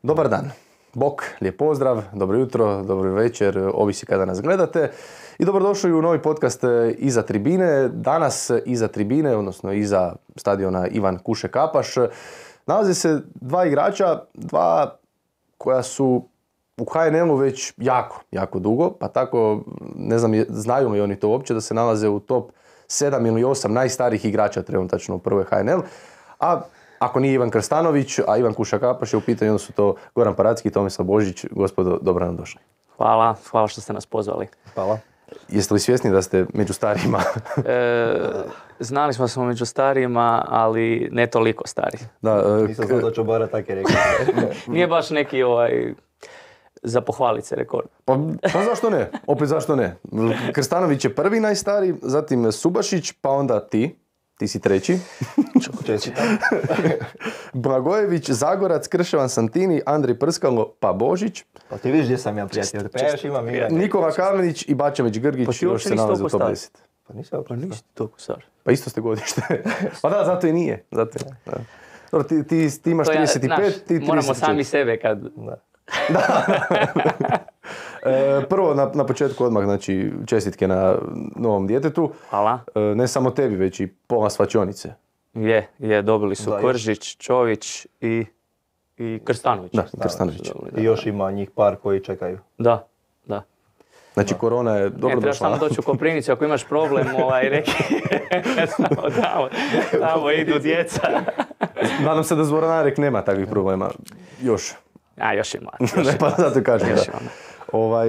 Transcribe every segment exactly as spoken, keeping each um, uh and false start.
Dobar dan, bok, lijep pozdrav, dobro jutro, dobro večer, ovisi kada nas gledate. I dobrodošli u novi podcast Iza tribine. Danas iza tribine, odnosno iza stadiona Ivan Kuše Kapaš, nalaze se dva igrača, dva koja su u ha en el-u već jako, jako dugo, pa tako, ne znam, znaju li oni to uopće, da se nalaze u top sedam ili osam najstarijih igrača trenutačno u prvoj ha en el. A ako nije Ivan Krstanović, a Ivan Kuša Kapaš je u pitanju, onda su to Goran Paracki i Tomislav Božić. Gospodo, dobro nam došli. Hvala, hvala što ste nas pozvali. Hvala. Jeste li svjesni da ste među starijima? e, znali smo da smo među starijima, ali ne toliko stari. Da, e, Nisam znao da ću Bara tako rekao. Nije baš neki ovaj, za pohvalit se rekord. Pa, pa zašto ne? Opet zašto ne? Krstanović je prvi najstariji, zatim Subašić, pa onda ti. Ti si treći. Čestitam. Blagojević, Zagorac, Krševan, Santini, Andrej Prskalo, pa Božić. Pa ti vidiš gdje sam ja prijatelj. Pa ja još imam igra. Nikola Kamenić i Bačević Grgić, pa još se nalaze u top deset. Pa nisam pa nisi toliko star. Pa isto ste godište. Pa da, zato i nije. Zato je. Da. Dobro, ti, ti, ti imaš to ja, trideset pet, naš, ti trideset četiri. Moramo sami sebe kad... Da. Da. e, prvo, na, na početku odmah, znači, čestitke na novom djetetu. Hvala. E, ne samo tebi, već i pola svačionice. Je, je, dobili su da, Koržić, Čović i, i Krstanović. Da, Krstanović. I još ima njih par koji čekaju. Da, da. Znači, da. Korona je dobro došla. Ne, trebaš samo doći u Koprivnicu, ako imaš problem, ovaj, reki, samo tamo, tamo idu djeca. Nadam se da Zvoranarek nema takvih problema. Još. A, još ima. Ne, pa zato kažem, još da. ima. Ovaj,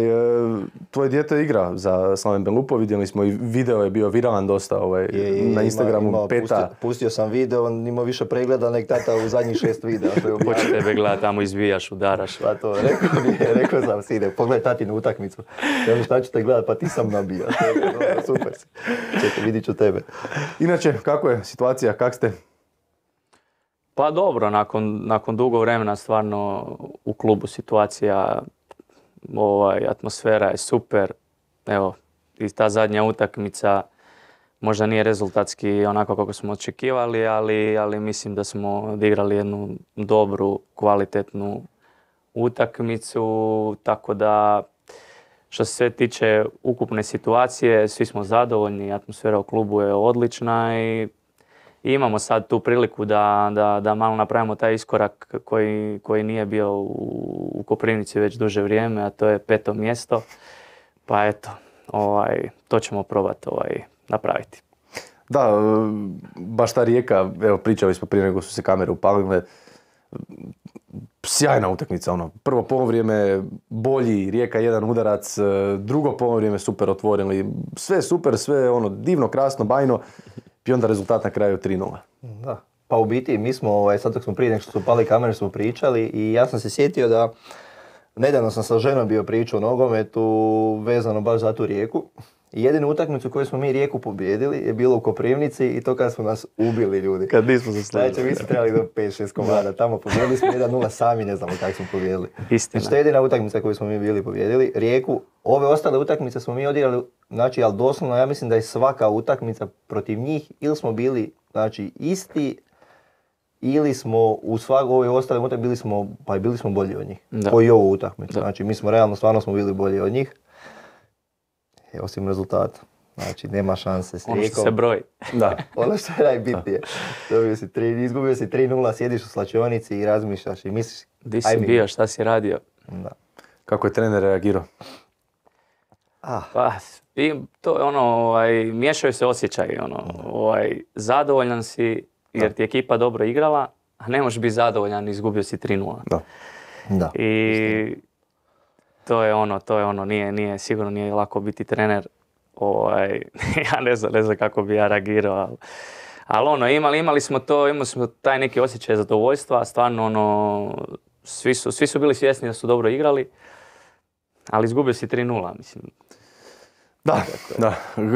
tvoje dijete igra za Slaven Belupo, vidjeli smo i video je bio viralan dosta ovaj, je, je, na Instagramu, ima, ima, peta. Pustio, pustio sam video, on ima više pregleda nek tata u zadnjih šest videa. Hoće tebe gledati, tamo izbijaš, udaraš. Pa to, rekao mi je, rekao sam sine, pogledaj tatinu utakmicu. Ja šta ćete gledati, pa ti sam nabija. Dobro, super si. Čekaj, vidit ću tebe. Inače, kako je situacija, kak ste? Pa dobro, nakon, nakon dugo vremena stvarno u klubu situacija, ovaj, atmosfera je super. Evo, i ta zadnja utakmica možda nije rezultatski onako kako smo očekivali, ali, ali mislim da smo odigrali jednu dobru, kvalitetnu utakmicu, tako da što se sve tiče ukupne situacije, svi smo zadovoljni, atmosfera u klubu je odlična i I imamo sad tu priliku da, da, da malo napravimo taj iskorak koji, koji nije bio u, u Koprivnici već duže vrijeme, a to je peto mjesto. Pa eto, ovaj, to ćemo probati ovaj, napraviti. Da, baš ta Rijeka, evo pričali smo prije nego su se kamere upalile, sjajna utakmica, ono, prvo polovrijeme bolji, Rijeka jedan udarac, drugo polovrijeme super otvorili, sve super, sve ono divno, krasno, bajno. I onda rezultat na kraju tri nula. Da. Pa u biti mi smo, ovaj, sad dok smo prije nek što su pali kamere, smo pričali i ja sam se sjetio da nedavno sam sa ženom bio pričao o nogometu vezano baš za tu Rijeku. I jedinu utakmicu koju smo mi Rijeku pobijedili je bilo u Koprivnici i to kad smo nas ubili ljudi. Kad nismo zaslužili. Znači mi smo trebali do pet šest komada, tamo pobijedili smo jedan nula, sami ne znamo kako smo pobijedili. Istina. Znači to je jedina utakmica koju smo mi bili pobijedili. Rijeku, ove ostale utakmice smo mi odigrali, znači ali doslovno ja mislim da je svaka utakmica protiv njih ili smo bili znači isti ili smo u svakoj ove ostale utakmice bili smo, pa bili smo bolji od njih. Da. Ko i ovu utakmicu. Da. Znači mi smo realno stvarno smo bili bolji od njih. E, osim rezultata. Znači, nema šanse s Rijekom. Ono što se broji. Da. Ono što je najbitnije. Dobio si tri, izgubio si tri nula, sjediš u slačionici i razmišljaš i misliš... Di si bio, šta si radio? Da. Kako je trener reagirao? Ah. Pa, i to je ono, ovaj, miješaju se osjećaji, ono, ovaj, zadovoljan si jer ti je ekipa dobro igrala, a ne možeš biti zadovoljan i izgubio si tri nula. Da. Da. I to je ono, to je ono, nije, nije, sigurno nije lako biti trener. Ovaj, ja ne znam, ne znam kako bi ja reagirao, ali, ali ono, imali, imali smo to, imali smo taj neki osjećaj zadovoljstva, stvarno ono, svi su, svi su bili svjesni da su dobro igrali, ali izgubio si tri nula, mislim. Da, da.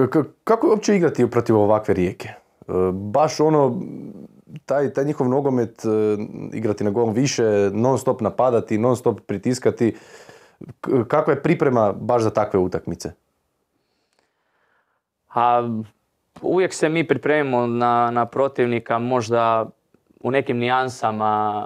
K- kako je uopće igrati protiv ovakve Rijeke? E, baš ono, taj, taj njihov nogomet, e, igrati na gol više, non stop napadati, non stop pritiskati. K- kakva je priprema baš za takve utakmice? A uvijek se mi pripremimo na, na protivnika, možda u nekim nijansama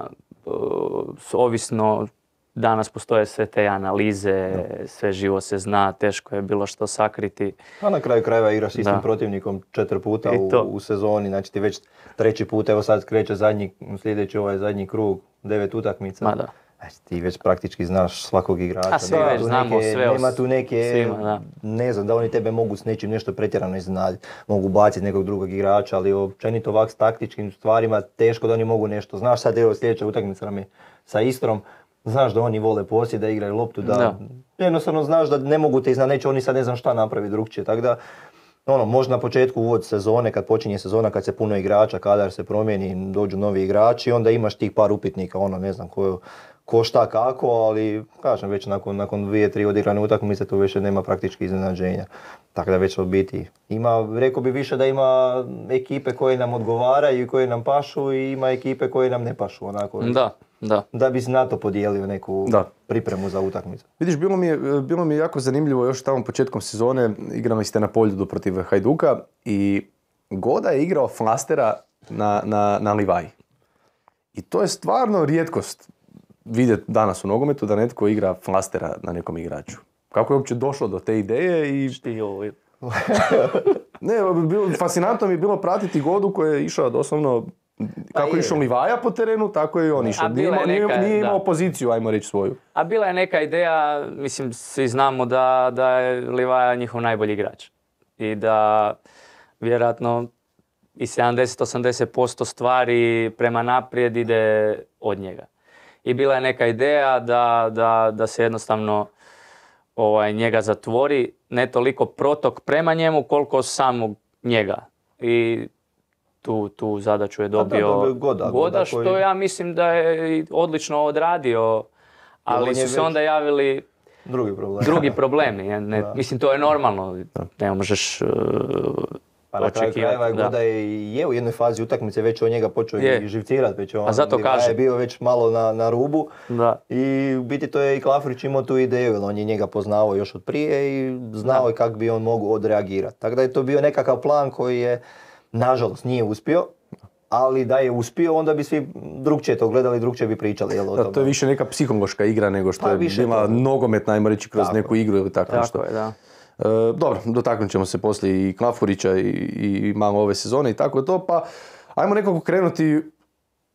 ovisno, danas postoje sve te analize, no. sve živo se zna, teško je bilo što sakriti. A na kraju krajeva igraš s istim da. protivnikom četiri puta u, u sezoni, znači ti već treći put, evo sad kreće zadnji, sljedeći ovaj zadnji krug, devet utakmica. Ma da. Znači, ti već praktički znaš svakog igrača. A svi već znamo neke, sve. Nema tu neke, svima, da. ne znam, da oni tebe mogu s nečim nešto pretjerano iznenaditi. Mogu baciti nekog drugog igrača, ali općenito ovak s taktičkim stvarima teško da oni mogu nešto. Znaš sad evo sljedeća utakmica nam je sa Istrom, znaš da oni vole posjed, da igraju loptu, da, da. jednostavno znaš da ne mogu te iznad, neće oni sad ne znam šta napravi drugčije. Tako da, ono, možda na početku uvod sezone, kad počinje sezona, kad se puno igrača, kadar se promijeni, dođu novi igrači, onda imaš tih par upitnika, ono, ne znam ko, ko šta kako, ali kažem već nakon, nakon dvije, tri odigrane utakmice tu više nema praktički iznenađenja. Tako da već od biti ima, rekao bi više da ima ekipe koje nam odgovaraju i koje nam pašu i ima ekipe koje nam ne pašu, onako. Da. Da. Da bi na to podijelio neku da. pripremu za utakmicu. Vidiš, bilo mi, je, bilo mi je jako zanimljivo još tamo početkom sezone, igrali ste na Poljudu protiv Hajduka i Goda je igrao flastera na, na, na Livaji. I to je stvarno rijetkost vidjeti danas u nogometu da netko igra flastera na nekom igraču. Kako je uopće došlo do te ideje i... Šti ovo je. Ne, bilo, fascinantno mi je bilo pratiti Godu koji je išao doslovno... Kako je išao Livaja po terenu, tako je i on išao. Nije, neka, nije imao poziciju, ajmo reći, svoju. A bila je neka ideja, mislim, svi znamo da, da je Livaja njihov najbolji igrač. I da vjerojatno i sedamdeset do osamdeset posto stvari prema naprijed ide od njega. I bila je neka ideja da, da, da se jednostavno ovaj, njega zatvori, ne toliko protok prema njemu koliko samog njega. I Tu, tu zadaću je dobio da, Goda, Goda, Goda što koji... ja mislim da je odlično odradio, ali su se onda javili drugi problemi. Drugi problemi. Ne, mislim, to je normalno, ne možeš uh, pa na kraju krajeva Goda je, je u jednoj fazi utakmice već od njega počeo je. i živcirati, već on A zato kaže. je bio već malo na, na rubu da. i u biti to je i Klafurić imao tu ideju, jer on je njega poznavao još od prije i znao je kako bi on mogao odreagirati. Tako da je to bio nekakav plan koji je nažalost nije uspio, ali da je uspio, onda bi svi drugčije to gledali, drugčije bi pričali. Jel, o da, to je više neka psihološka igra nego što pa, je bila to... nogometna, ajmo reći, kroz tako. neku igru ili tako, tako nešto. Je, da. E, dobro, dotaknut ćemo se poslije i Klafurića i, i malo ove sezone i tako to, pa ajmo nekako krenuti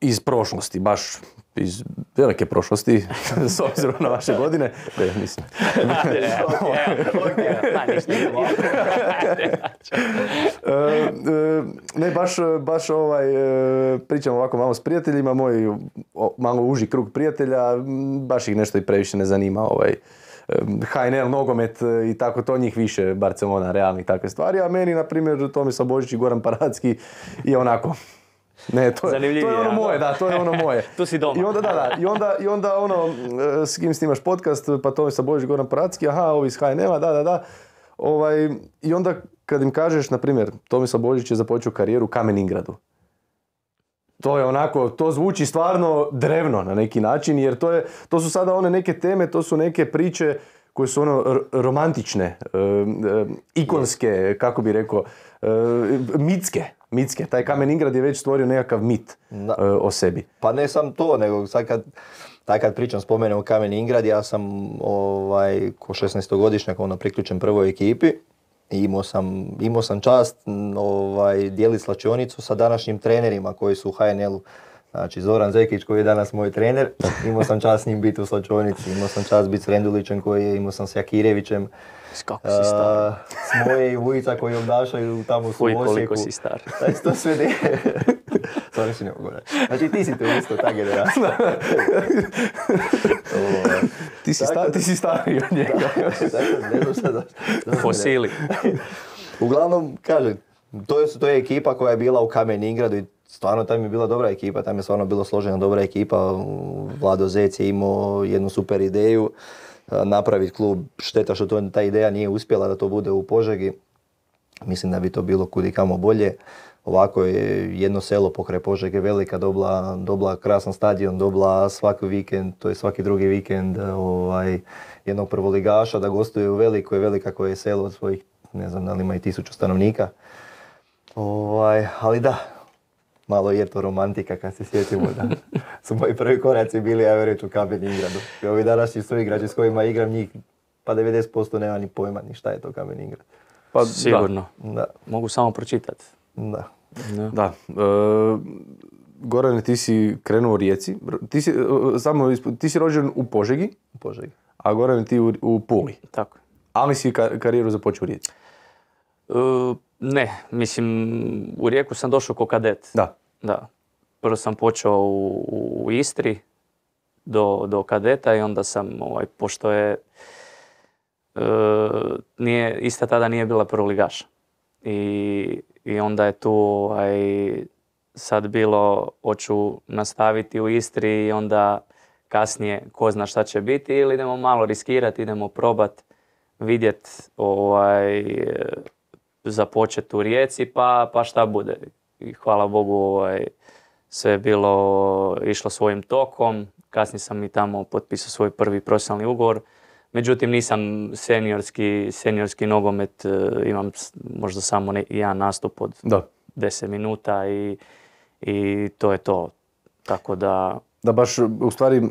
iz prošlosti, baš iz velike prošlosti, s obzirom na vaše godine. Ne, mislim. Ne, baš, baš ovaj, pričam ovako malo s prijateljima, moj malo uži krug prijatelja, baš ih nešto i previše ne zanima ovaj, H N L, nogomet i tako, to njih više, Barcelona, Real i takve stvari, a meni, na primjer, Tomislav Božić i Goran Paracki je onako... Ne, to je, to je ono ja, moje, da, to je ono moje. Tu si doma. I onda, da, da, i onda, i onda ono, s kim snimaš podcast, pa Tomislav Božić, Goran Paracki, aha, ovi iz H N L-a, da, da, da. Ovaj, i onda kad im kažeš, na primjer, Tomislav Božić je započeo karijeru u Kamen Ingradu. To je onako, to zvuči stvarno drevno na neki način, jer to, je, to su sada one neke teme, to su neke priče koje su ono r- romantične, e, e, ikonske, kako bi rekao, e, mitske. Mitske. Taj Kamen Ingrad je već stvorio nekakav mit da. e, o sebi. Pa ne sam to, nego sad kad, taj kad pričam, spomenem Kamen Ingrad, ja sam ovaj, ko šesnaestogodišnjak ono, priključen prvoj ekipi. I imao sam, imao sam čast ovaj, dijeliti slačionicu sa današnjim trenerima koji su u H N L-u. Znači Zoran Zekić koji je danas moj trener, imao sam čast s njim biti u slačionici, imao sam čast biti s Rendulićem koji je, imao sam s Jakirevićem. Kako si star. Uh, s moje i Vujica koji obdašaju tamo u Osijeku. Koliko si star. Znači to sve ne... Stvarno si ne mogu reći. Znači ti si to isto, ta generacija. ti, si sta, ti si stariji od njega. Fosili. Uglavnom, kažem, to je, to je ekipa koja je bila u Kamen Ingradu i stvarno tam je bila dobra ekipa, tam je stvarno bilo složena dobra ekipa. Vlado Zec je imao jednu super ideju napraviti klub. Šteta što to, ta ideja nije uspjela da to bude u Požegi. Mislim da bi to bilo kudikamo bolje. Ovako je jedno selo pokraj Požege, velika, dobila, dobila krasan stadion, dobila svaki vikend, to je svaki drugi vikend ovaj, jednog prvoligaša da gostuje u Velikoj, Velika koje je selo od svojih, ne znam da li ima i tisuću stanovnika. Ovaj, ali da, malo je to romantika kad se sjetimo da su moji prvi koraci bili, ja reći, u Kamen Ingradu. I ovi današnji su igrači s kojima igram njih, pa devedeset posto nema ni pojma ni šta je to Kamen Ingrad. Pa sigurno. Da. Mogu samo pročitati. Da. Da. Da. E, Gorane, ti si krenuo u Rijeci. Ti si, e, samo, isp- ti si rođen u Požegi, U Požegi. a Gorane ti u, u Puli. Tako. Ali si ka- karijeru započeo u Rijeci. E, ne, mislim, u Rijeku sam došao ko kadet. Da. Da. Prvo sam počeo u, u Istri do, do kadeta i onda sam, ovaj, pošto je e, nije, Istra tada nije bila prvoligaša. I, I onda je tu ovaj, sad bilo, hoću nastaviti u Istri i onda kasnije ko zna šta će biti ili idemo malo riskirati, idemo probat vidjeti ovaj, započeti u Rijeci pa, pa šta bude. I hvala Bogu ovaj, sve je bilo išlo svojim tokom. Kasnije sam i tamo potpisao svoj prvi profesionalni ugovor. Međutim, nisam seniorski, seniorski nogomet, imam možda samo ne, jedan nastup od Da. deset minuta i, i to je to. Tako da... Da baš, u stvari,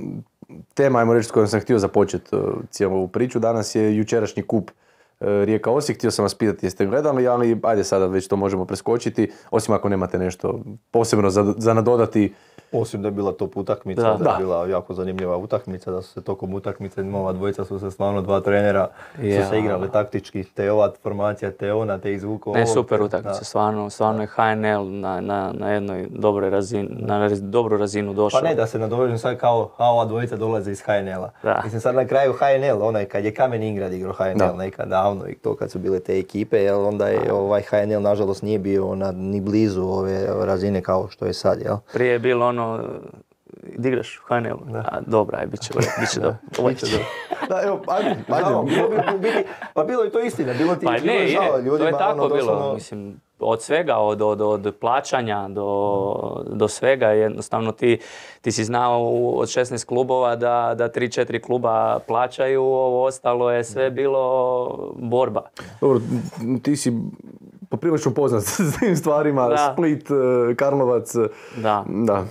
tema, ajmo reći, s kojom sam htio započeti uh, cijelu ovu priču, danas je jučerašnji kup uh, Rijeka Osijek. Htio sam vas pitati jeste gledali, ali ajde sada već to možemo preskočiti, osim ako nemate nešto posebno za, za nadodati. Osim da je bila top utakmica, Da. da, Da. je bila jako zanimljiva utakmica, da su se tokom utakmice, ova dvojica su se stvarno, dva trenera, Ja. su se igrali taktički, te ova formacija, te ona, te izvuko. Ne, ovog, super te- utakmica, da. stvarno, stvarno je H N L na, na, na jednoj dobroj razini, na raz- dobru razinu došao. Pa ne, da se nadovežem sad kao, a ova dvojica dolaze iz H N L-a. Da. Mislim sad na kraju H N L, onaj kad je Kamen Ingrad igrao H N L Da. nekad davno i to kad su bile te ekipe, jer onda je ovaj H N L nažalost nije bio na, ni blizu ove razine kao što je sad, jel? Prije je bilo ono, da igraš u H N L-u? A, dobra, aj, bit će, bit će dobro. Biće dobro. Da, evo, ajde, Žao, ajde. bilo bi u biti- pa bilo je to istina, bilo ti Pa bilo ne, je je, žao to je ljudima, tako ono, bilo, doslovno- mislim, od svega, od, od, od plaćanja do, do svega, jednostavno ti, ti si znao u- od šesnaest klubova da, da tri četiri kluba plaćaju, ovo ostalo je sve bilo borba. Dobro, ti si poprilično poznat s tim stvarima, Da. Split, eh, Karlovac, eh, Da. da.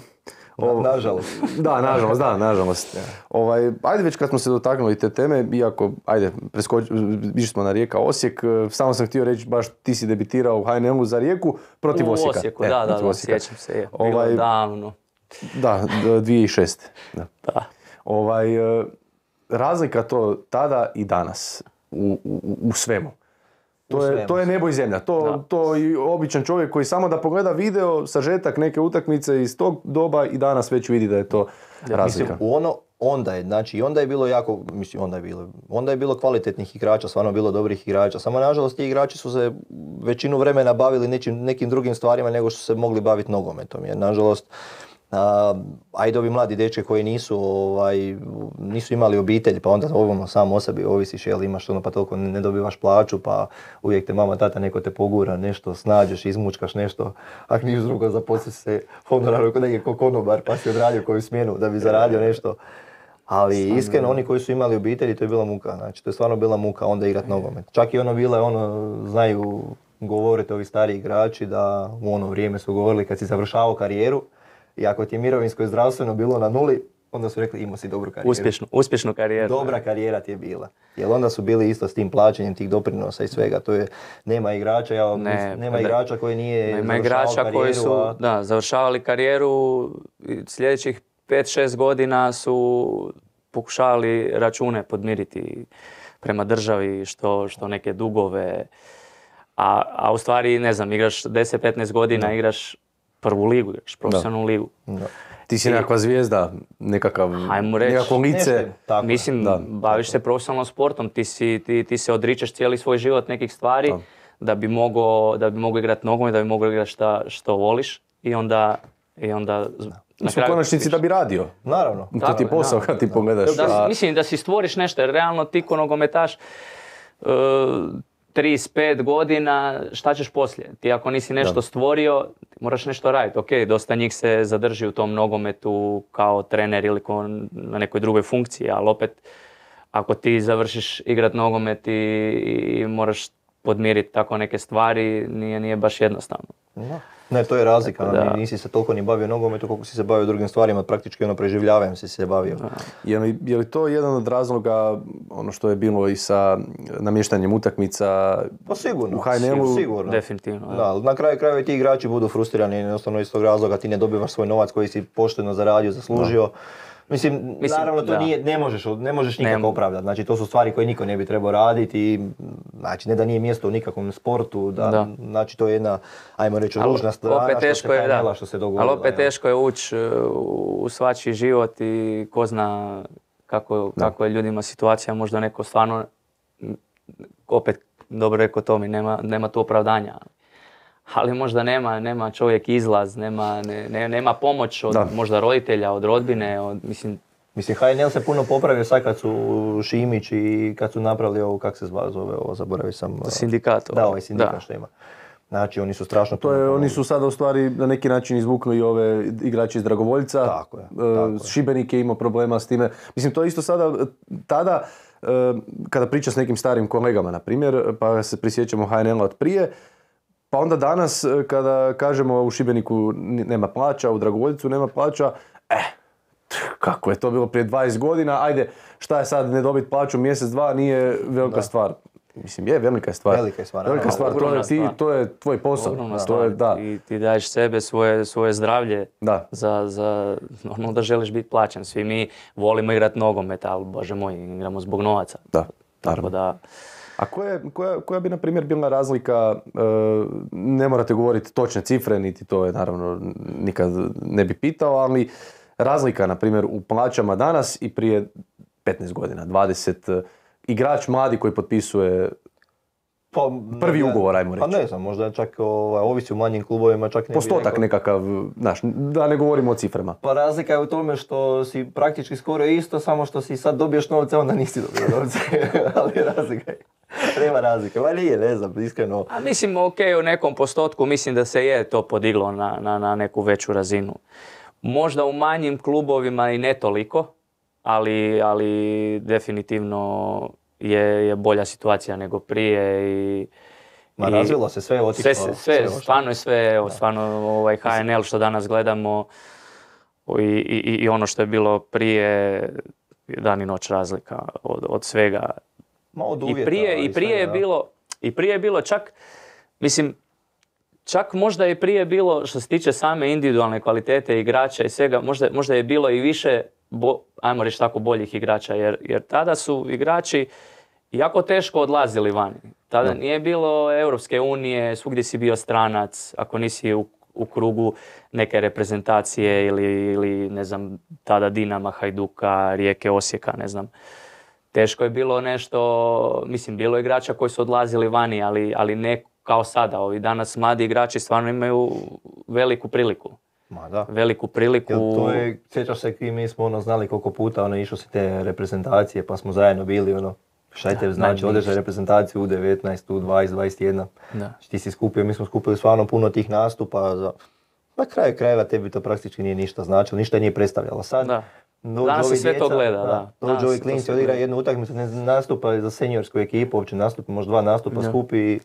Ovo- Na- nažalost. Da, nažalost, da, nažalost. Ovaj, ajde već kad smo se dotaknuli te teme, iako, ajde, preskoči, išli smo na Rijeka Osijek, eh, samo sam htio reći, baš ti si debitirao u H N L-u za Rijeku protiv U Osijeka. Osijeku, E, da, da, protiv da, Osijeka. sjećam se, je, bilo Ovaj, davno. Da, d- dvije tisuće šeste. Da. Da. Ovaj, eh, razlika to tada i danas u, u, u svemu. To U je, svemu. to je nebo i zemlja. To, Da. to i običan čovjek koji samo da pogleda video, sažetak neke utakmice iz tog doba i danas već vidi da je to razlika. Mislim, u ono, onda je, znači i onda je bilo jako, mislim, onda je bilo, onda je bilo kvalitetnih igrača, stvarno bilo dobrih igrača, samo nažalost ti igrači su se većinu vremena bavili nečim, nekim drugim stvarima nego što su se mogli baviti nogometom, jer nažalost, a, ajde ovi mladi dečke koji nisu, ovaj, nisu imali obitelj, pa onda ovom sam o sebi ovisiš, jel imaš ono pa toliko ne dobivaš plaću, pa uvijek te mama, tata neko te pogura, nešto snađeš, izmučkaš nešto, ako niš drugo zaposliš se honoraru kod negdje ko konobar, pa si odradio koju smjenu da bi zaradio nešto. Ali iskreno oni koji su imali obitelji, to je bila muka, znači to je stvarno bila muka onda igrat nogomet. Čak i ono bile, ono, znaju, govorite ovi stari igrači da u ono vrijeme su govorili kad si završavao karijeru i ako ti je mirovinsko i zdravstveno bilo na nuli, onda su rekli imao si dobru karijeru. Uspješnu, uspješnu karijeru. Dobra karijera ti je bila. Jer onda su bili isto s tim plaćanjem tih doprinosa i svega. To je, nema igrača, ja, Ne, mislim, nema pa da. igrača koji nije Ima završavao igrača karijeru, koji su a- da, završavali karijeru i sljedećih pet šest godina su pokušavali račune podmiriti prema državi, što, što neke dugove. A, a u stvari, ne znam, igraš deset petnaest godina, igraš prvu ligu, igraš profesionalnu ligu. Da. Ti si nekakva zvijezda, nekakav, Ajmo reći, nekakvo lice. nešto, tako je. Mislim, Da, baviš se profesionalnom sportom, ti, si, ti, ti se odričeš cijeli svoj život nekih stvari Da. da bi mogao da bi mogao igrati nogomet, da bi mogao igrati šta, što voliš i onda, i onda z- na Mislim, u konačnici da bi radio. Naravno. To ti je Tako je, posao da. kad ti pogledaš. Da, a- mislim da si stvoriš nešto, jer realno ti ko nogometaš uh, trideset pet godina, šta ćeš poslije? Ti ako nisi nešto Da. stvorio, ti moraš nešto raditi. Ok, dosta njih se zadrži u tom nogometu kao trener ili ko na nekoj drugoj funkciji, ali opet ako ti završiš igrat nogomet i, i moraš podmiriti tako neke stvari, nije, nije baš jednostavno. Da. Ne, to je razlika, Tako da- da. Nisi se toliko ni bavio nogometu koliko si se bavio drugim stvarima, praktički ono preživljavanjem si se bavio. Je li, je li to jedan od razloga, ono što je bilo i sa namještanjem utakmica Pa sigurno, u H N L-u? sigurno. Definitivno. Da. Da, ali na kraju krajeva i ti igrači budu frustrirani jednostavno iz tog razloga, ti ne dobivaš svoj novac koji si pošteno zaradio, zaslužio. Mislim, Mislim, naravno to da. nije, ne možeš, ne možeš nikako Ne- opravdati, znači to su stvari koje niko ne bi trebao raditi i znači ne da nije mjesto u nikakvom sportu, da, Da. znači to je jedna, ajmo reći, Ali ružna strana opet što se teško je, H N L-a da. što se dogodilo. Ali opet evo. teško je ući u svačiji život i ko zna kako, kako je ljudima situacija, možda neko stvarno, m, opet dobro rekao Tomi, nema, nema tu opravdanja. Ali možda nema, nema čovjek izlaz, nema, ne, ne- nema pomoć od Da. možda roditelja, od rodbine, od, mislim, Mislim, H N L se puno popravio sad kad su Šimić i kad su napravili ovo, kak se zva- zove ovo, zaboravio sam. uh, sindikat. Da, ovaj sindikat Da. što ima. Znači, oni su strašno To je, puno oni pomogli. su sada u stvari na neki način izvukli i ove igrače iz Dragovoljca. Tako je, E, tako je. Šibenik je imao problema s time. Mislim, to je isto sada, e, tada, e, kada priča s nekim starim kolegama, na primjer, pa se prisjećamo H N L-a od prije, pa onda danas e, kada kažemo u Šibeniku ni- nema plaća, u Dragovoljcu nema plaća, eh, kako je to bilo prije dvadeset godina, ajde, šta je sad ne dobiti plaću mjesec, dva, nije velika Da. stvar. Mislim, je, velika je stvar. Velika je stvar, Velika naravno. stvar, to je, Ogromna ti, stvar. to je tvoj posao. Ogromna To stvar. je, da. Ti, ti daješ sebe, svoje, svoje zdravlje Da. za, za ono da želiš biti plaćen. Svi mi volimo igrati nogomet, ali bože moj, igramo zbog novaca. Da, Tako naravno. da, A koja, koja, koja bi, na primjer, bila razlika, e, ne morate govoriti točne cifre, niti to je, naravno, nikad ne bi pitao, ali razlika, na primjer, u plaćama danas i prije petnaest godina, dvadeset, e, igrač mladi koji potpisuje Pa, prvi ne, ugovor, ajmo Pa reći. ne znam, možda čak ovaj, ovisi u manjim klubovima, čak ne bi Postotak rekao. nekakav, znaš, da ne govorimo o ciframa. Pa razlika je u tome što si praktički skoro isto, samo što si sad dobiješ novce, onda nisi dobio novce. Ali razlika je. Nema razlike. Ma nije, ne znam, iskreno. a mislim, ok, u nekom postotku mislim da se je to podiglo na, na, na neku veću razinu. Možda u manjim klubovima i ne toliko, ali, ali definitivno je, je bolja situacija nego prije i Ma i razvilo se sve, otišlo. sve, se- sve, otišlo. stvarno je sve, evo, stvarno ovaj H N L što danas gledamo i, i, i ono što je bilo prije, dan i noć razlika od, od svega. Ma od I uvjeta, prije, ali i prije svega, je da. bilo, i prije je bilo čak, mislim, čak možda je prije bilo, što se tiče same individualne kvalitete igrača i svega, možda, možda je bilo i više, bo, ajmo reći tako, boljih igrača, jer, jer tada su igrači jako teško odlazili vani. Tada nije bilo Europske unije, svugdje si bio stranac, ako nisi u, u krugu neke reprezentacije ili, ili, ne znam, tada Dinama, Hajduka, Rijeke, Osijeka, ne znam. Teško je bilo nešto, mislim, bilo je igrača koji su odlazili vani, ali, ali ne kao sada. Ovi danas mladi igrači stvarno imaju veliku priliku. Ma da. Veliku priliku. Jel to je, sjećaš se i mi smo ono znali koliko puta ono išlo se te reprezentacije pa smo zajedno bili ono, šta te znači najbolji. odeš na reprezentaciju u devetnaest, u dvadeset, dvadeset jedan. Da. Znači, ti si skupio, mi smo skupili stvarno puno tih nastupa. Za... Na kraju krajeva tebi to praktički nije ništa značilo, ništa nije predstavljalo. Sad, Da. dođu Danas se ovi sve to djeca, gleda, da. Dođu Danas ovi se to klinci, sve odigra gleda. jednu utakmicu, ne nastupa za seniorsku ekipu, uopće nastupa, možda dva nastupa Da. skupi i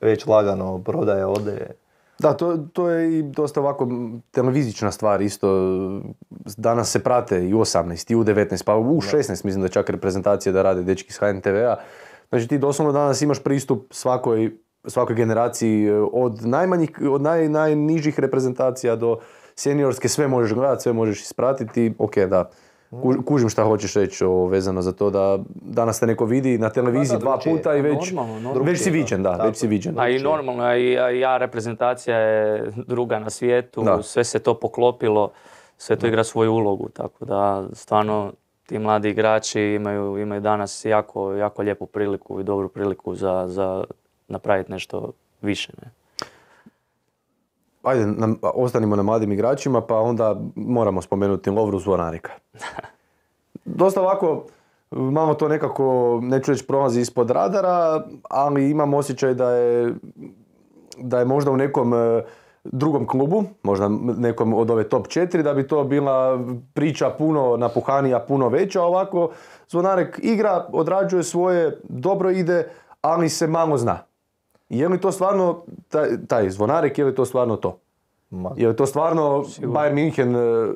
već lagano prodaje, ode. Da, to, to je i dosta ovako m, televizična stvar isto. Danas se prate i u osamnaest, i u devetnaest, pa u šesnaest mislim da čak reprezentacije da rade dečki iz H N T V-a. Znači ti doslovno danas imaš pristup svakoj, svakoj generaciji e, od najmanjih, od naj, najnižih reprezentacija do seniorske, sve možeš gledati, sve možeš ispratiti. Ok, da, ku- kužim šta hoćeš reći o, vezano za to da danas te neko vidi na televiziji Da, da, dva drugčije. puta i već, Normalno, normalno. već si Drugčije, viđen, da. da, Tako već si je. viđen. A i normalno, a i, a i ja reprezentacija je druga na svijetu, Da. sve se to poklopilo, sve to igra svoju ulogu, tako da stvarno ti mladi igrači imaju, imaju danas jako, jako lijepu priliku i dobru priliku za, za napraviti nešto više. Ne? Ajde, na, ostanimo na mladim igračima, pa onda moramo spomenuti Lovru Zvonarika. Dosta ovako, malo to nekako, neću reći prolazi ispod radara, ali imam osjećaj da je, da je možda u nekom e, drugom klubu, možda nekom od ove top četiri, da bi to bila priča puno napuhanija, puno veća. Ovako, Zvonarek igra, odrađuje svoje, dobro ide, ali se malo zna. Je li to stvarno, taj, taj Zvonarek, je li to stvarno to? Ma. Je to stvarno Sigurno. Bayern München e,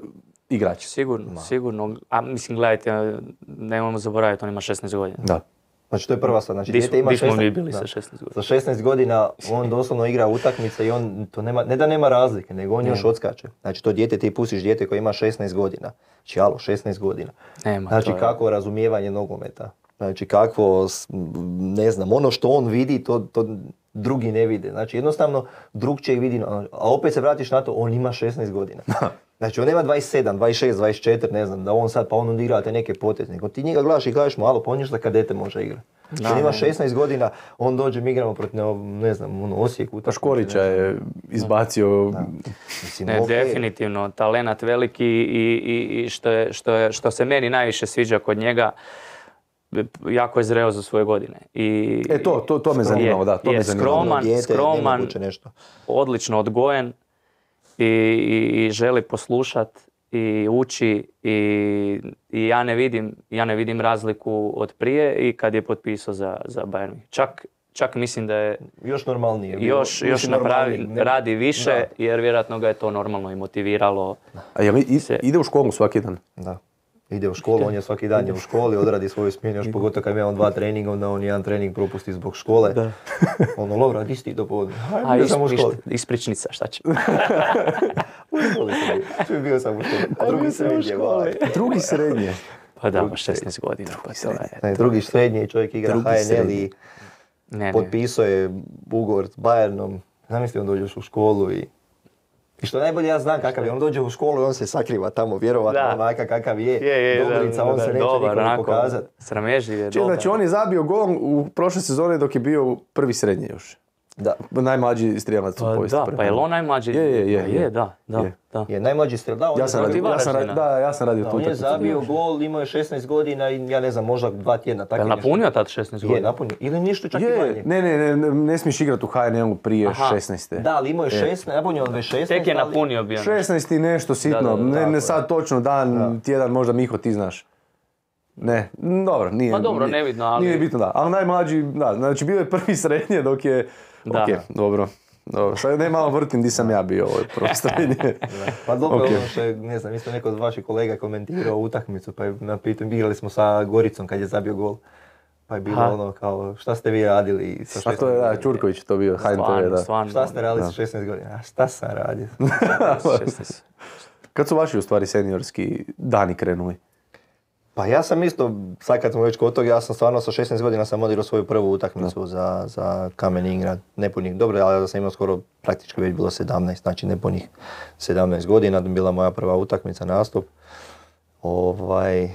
igrač? Sigurno, sigurno. A mislim, gledajte, nemojmo zaboraviti, on ima šesnaest godina. Da. Znači to je prva stvar. Znači, Di dijete ima di smo mi šesnaest bili da. sa šesnaest godina? Sa šesnaest godina on doslovno igra utakmice i on to nema, ne da nema razlike, nego on još odskače. Znači to dijete, ti pustiš dijete koje ima šesnaest godina. Znači alo, šesnaest godina. Nema, Znači to je- kakvo razumijevanje nogometa. Znači kakvo, s- ne znam, ono što on vidi, to, to drugi ne vide. Znači jednostavno drugčije vidi, a opet se vratiš na to, on ima šesnaest godina. Znači on nema dvadeset sedam, dvadeset šest, dvadeset četiri, ne znam, da on sad pa on onda igra te neke poteze. Nego ti njega gledaš i kažeš mu, alo, pa on još za kadete može igrati. Znači on ima šesnaest godina, on dođe, mi igramo protiv, ne, ne znam, ono, Osijek. Pa utakmice, Škorića ne znam. je izbacio... Mislim, Ne, okej. definitivno, talenat veliki i, i, i što, je, što, je, što se meni najviše sviđa kod njega, jako je zreo za svoje godine. I, E to, to, to me zanimalo, da, to je me zanimalo. skroman, Dijete, skroman, nemoguće nešto. odlično odgojen i, i, i želi poslušat i uči i, i ja ne vidim, ja ne vidim razliku od prije i kad je potpisao za, za Bayern München. Čak, čak mislim da je Još normalnije. bilo. još, Mislim, još napravi, normalnije, ne- radi više Da. jer vjerojatno ga je to normalno i motiviralo. A jel i- Se- ide u školu svaki dan? Da. Ide u školu, on je svaki dan je u školi, odradi svoju smjenu, još pogotovo kad ima on dva treninga, onda on jedan trening propusti zbog škole. Da. Ono, Lovra, di si ti do podne? A Bio sam u isp- školi. iš- ispričnica, šta će? U školi sam bio. Čuj, bio sam u školi. A drugi bio sam u srednje, školi. vaj. Drugi srednje. Pa da, ima šesnaest godina. Pa to je. Ne, drugi srednje i čovjek igra Drugi H N L srednje. i Ne, ne. potpisao je ugovor s Bayernom. Zamisli, on dođeš u školu i... I što najbolje ja znam kakav je, on dođe u školu i on se sakriva tamo, vjerovatno Da. onaka kakav je, Je, je, Dobrica, da, on da, se neće dobar, nikome onako, pokazati. Sramežljiv je, Čini, dobar. znači on je zabio gol u prošle sezone dok je bio prvi srednje još. Da. Najmlađi strijelac u Pa povijesti. da, prve. pa je li on najmlađi? Je, je, je, Pa je. je, da, da, Je. da. Je najmlađi strel, da, on Ja je sam zabio- radio, ja sam radio, da, ja sam radio Da, tu on je utakmicu. zabio gol, imao je šesnaest godina i ja ne znam, možda dva tjedna. tako Je li nešto. napunio tad šesnaest Je, godina? napunio. Ili ništa čak i Je, manje. ne, ne, ne, ne, ne smiješ igrati u H N L-u prije Aha. šesnaeste. Da, ali imao je šesnaest, napunio on već šesnaest. Tek je ali- napunio bio. šesnaest i nešto sitno, Da, da, da, ne, tako ne je. sad točno dan, tjedan, možda Miho ti znaš. Ne, m, dobro, nije. Pa dobro, nije- nebitno, ali- Nije bitno, da. Ali najmlađi, da, znači bio je prvi srednje dok je, Da. ok, dobro. Dobro, sad ne malo vrtim di sam ja bio, ovo je prvo srednje. Pa dobro, Ok. ono što je, ne znam, isto neko od vaših kolega komentirao utakmicu, pa je na pitanju, igrali smo sa Goricom kad je zabio gol. Pa je bilo Aha. ono kao, šta ste vi radili sa A šesnaest to je, da, godina? Čurković to bio, H N T V, Stvarno, da. stvarno. Šta ste radili sa šesnaest godina? A šta sam radio? šesnaest. Kad su vaši u stvari seniorski dani krenuli? Pa ja sam isto, sad kad smo već kod toga, ja sam stvarno sa šesnaest godina sam odigrao svoju prvu utakmicu za, za Kamen Ingrad. Nepunih, dobro, ali da sam imao skoro praktički već bilo sedamnaest, znači nepunih sedamnaest godina, bila moja prva utakmica, nastup. Ovaj,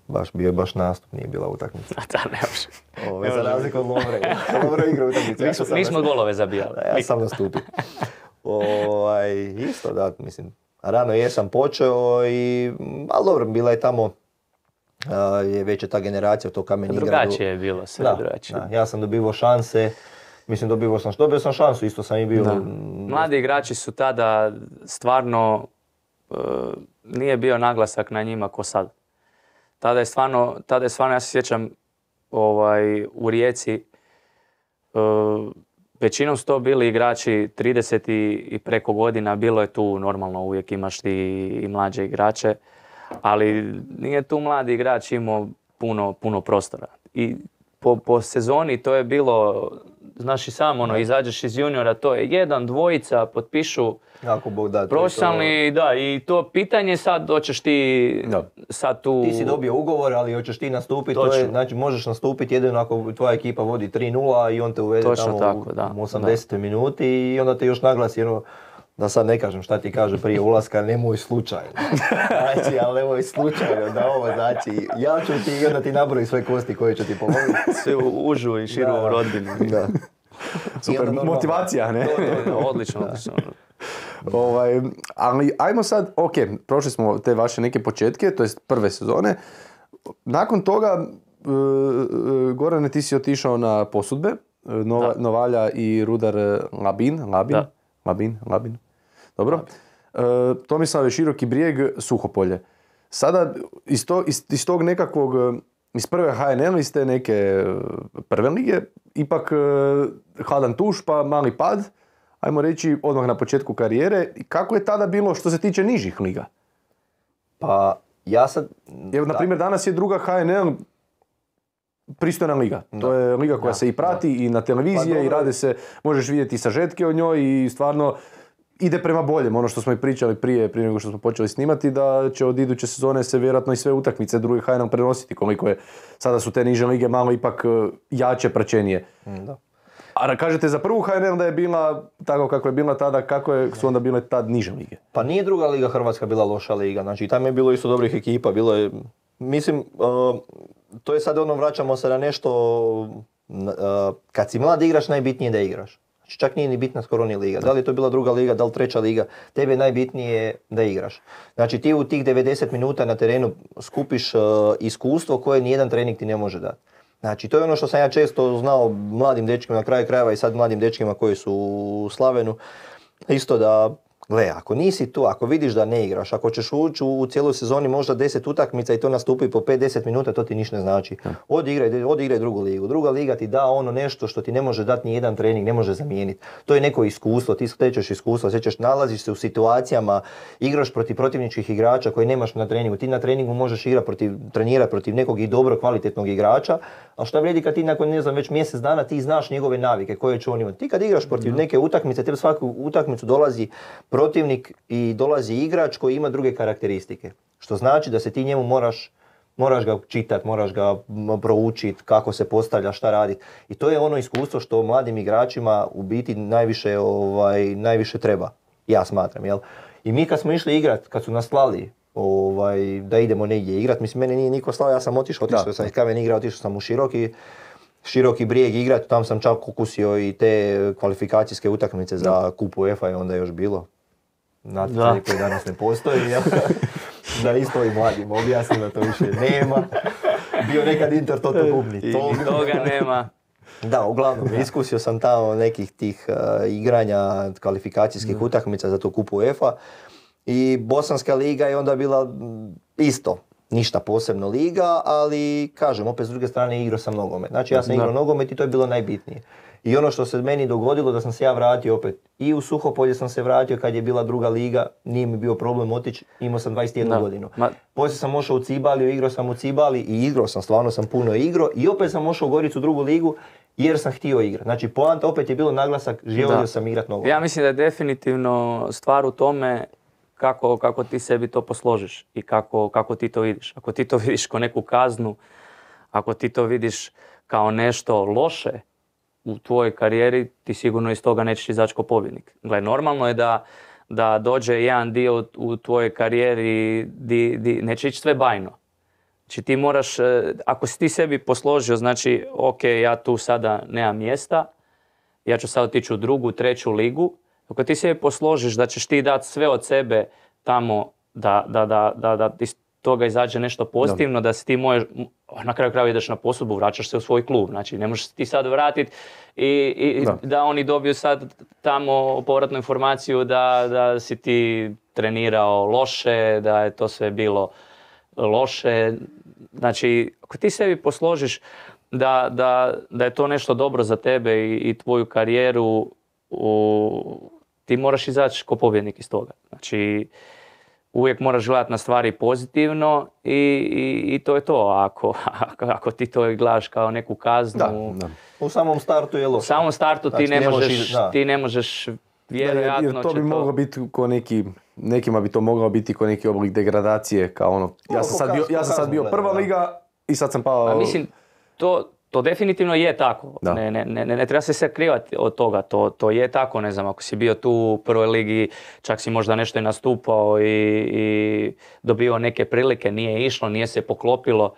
baš bio je baš nastup, nije bila utakmica. A da, ne može. Ovaj, za razliku od Lovre. Lovre igra utakmicu. Nismo, nismo golove zabijali. Da, ja sam nastupio. Ovaj, isto da, mislim, rano jesam počeo i, ali dobro, bila je tamo, a, je već je ta generacija u to Kamen Ingradu. Drugačije je bilo, sve Da, drugačije. da, ja sam dobivao šanse, mislim dobivao sam, dobio sam šansu, isto sam i bio. Da. mm, Mladi igrači su tada stvarno, e, nije bio naglasak na njima ko sad. Tada je stvarno, tada je stvarno, ja se sjećam, ovaj, u Rijeci, e, većinom su to bili igrači trideset i, i preko godina, bilo je tu normalno, uvijek imaš ti i mlađe igrače, ali nije tu mladi igrač imao puno, puno prostora. I po, po sezoni to je bilo, znaš i sam, ono, izađeš iz juniora, to je jedan, dvojica, potpišu Ako Bog da. to je to. profesionalni, da, i to pitanje sad hoćeš ti Da. sad tu... Ti si dobio ugovor, ali hoćeš ti nastupiti, to je, Točno. znači možeš nastupiti jedino ako tvoja ekipa vodi tri nula i on te uvede Točno tamo tako, da, u osamdesetoj minuti i onda te još naglasi ono, da sad ne kažem šta ti kaže prije ulaska, nemoj slučajno. Znači, ali nemoj slučajno da ovo znači, ja ću ti i onda ti nabroji sve kosti koje će ti pomoći. sve u užu i širu Da. rodbinu. Da. Super, I onda normalno- motivacija, ne? To, to, to. Odlično, odlično. Ovaj, ali ajmo sad, ok, prošli smo te vaše neke početke, to jest prve sezone. Nakon toga, e, e, Gorane, ti si otišao na posudbe, e, Nova, Da. Novalja i Rudar e, Labin, Labin, Da. Labin, Labin, dobro. E, Tomislav je Široki Brijeg, Suhopolje. Sada iz, to, iz, iz tog nekakvog, e, iz prve H N L iz te neke e, prve lige, ipak e, hladan tuš pa mali pad, ajmo reći, odmah na početku karijere. Kako je tada bilo što se tiče nižih liga? Pa ja sad... Jer, na primjer, danas je druga H N L pristojna liga. Da. To je liga koja da, se i prati da. i na televizije pa, i rade se, možeš vidjeti sažetke o njoj i stvarno ide prema boljem. Ono što smo i pričali prije, prije nego što smo počeli snimati, da će od iduće sezone se vjerojatno i sve utakmice druge H N L prenositi, koliko je, sada su te niže lige malo ipak jače, praćenije. Da. A kažete za prvu H N L da je bila tako kako je bila tada, kako je, su onda bile tad niže lige? Pa nije druga liga Hrvatska bila loša liga, znači tamo je bilo isto dobrih ekipa, bilo je, mislim, uh, to je sad ono, vraćamo se na nešto, uh, kad si mlad igraš, najbitnije je da igraš. Znači čak nije ni bitna skoro ni liga. Da li je to bila druga liga, da li treća liga, tebi je najbitnije da igraš. Znači ti u tih devedeset minuta na terenu skupiš uh, iskustvo koje nijedan trening ti ne može dati. Znači to je ono što sam ja često znao mladim dečkima na kraju krajeva i sad mladim dečkima koji su u Slavenu. Isto da, gle, ako nisi tu, ako vidiš da ne igraš, ako ćeš ući u, u cijeloj sezoni možda deset utakmica i to nastupi po pet do deset minuta, to ti ništa ne znači. Odigraj, odigraj drugu ligu. Druga liga ti da ono nešto što ti ne može dati ni jedan trening, ne može zamijeniti. To je neko iskustvo, ti stečeš iskustvo, stečeš, nalaziš se u situacijama, igraš protiv protivničkih igrača koje nemaš na treningu. Ti na treningu možeš igrati protiv, trenirati protiv nekog i dobro kvalitetnog igrača, a šta vrijedi kad ti nakon, ne znam, već mjesec dana ti znaš njegove navike koje će on imati. Ti kad igraš protiv neke utakmice, tebi svaku utakmicu dolazi protivnik i dolazi igrač koji ima druge karakteristike. Što znači da se ti njemu moraš, moraš ga čitati, moraš ga proučiti, kako se postavlja, šta raditi. I to je ono iskustvo što mladim igračima u biti najviše, ovaj, najviše treba. Ja smatram, jel? I mi kad smo išli igrat, kad su nas slali ovaj, da idemo negdje igrat, mislim, mene nije niko slao, ja sam otišao, otišao sam iz Kamen igra, otišao sam u Široki, Široki Brijeg igrat, tam sam čak ukusio i te kvalifikacijske utakmice za da. Kup UEFA i onda je još bilo. Natjecanje koje danas ne postoji, ja. Da isto i mladim objasnim da to više nema. Bio nekad Inter Toto Bubni. I toga nema. Da, uglavnom, iskusio sam tamo nekih tih uh, igranja kvalifikacijskih mm. utakmica za to Kup UEFA. I Bosanska liga je onda bila isto. Ništa posebno liga, ali kažem, opet s druge strane igrao sam nogomet. Znači ja sam igrao nogomet i to je bilo najbitnije. I ono što se meni dogodilo da sam se ja vratio opet i u Suhopolje sam se vratio kad je bila druga liga, nije mi bio problem otići, imao sam dvadeset jednu godinu. Ma... Poslije sam ošao u Cibaliju, igrao sam u Cibali i igrao sam, stvarno sam puno igrao i opet sam ošao u Goricu u drugu ligu jer sam htio igrati. Znači poanta opet je bilo naglasak, želio sam igrati nogomet. Ja mislim da je definitivno stvar u tome kako, kako ti sebi to posložiš i kako, kako ti to vidiš. Ako ti to vidiš kao neku kaznu, ako ti to vidiš kao nešto loše u tvojoj karijeri, ti sigurno iz toga nećeš izaći kao pobjednik. Gle, normalno je da, da dođe jedan dio u, u tvojoj karijeri di, di neće ići sve bajno. Znači ti moraš, ako si ti sebi posložio, znači ok, ja tu sada nemam mjesta, ja ću sad otići u drugu, treću ligu. Ako ti sebi posložiš da ćeš ti dati sve od sebe tamo da, da, da, da, da iz toga izađe nešto pozitivno, da, da si ti možeš, na kraju krajeva ideš na posudbu, vraćaš se u svoj klub. Znači ne možeš ti sad vratiti i, i da. da oni dobiju sad tamo povratnu informaciju da, da si ti trenirao loše, da je to sve bilo loše. Znači ako ti sebi posložiš da, da, da je to nešto dobro za tebe i, i tvoju karijeru, u, ti moraš izaći kao pobjednik iz toga. Znači, uvijek moraš gledati na stvari pozitivno i, i, i to je to. Ako, ako, ako ti to gledaš kao neku kaznu... Da, da. U samom startu je loše. U samom startu znači, ti, ne možeš, ti ne možeš vjerojatno... Jer to bi to... moglo biti ko neki... Nekima bi to moglo biti ko neki oblik degradacije, kao ono... Ja sam sad bio, ja sam sad bio prva liga i sad sam pao... A mislim, to... To definitivno je tako, ne, ne, ne, ne treba se sve krivati od toga, to, to je tako, ne znam, ako si bio tu u prvoj ligi, čak si možda nešto i nastupao i, i dobio neke prilike, nije išlo, nije se poklopilo,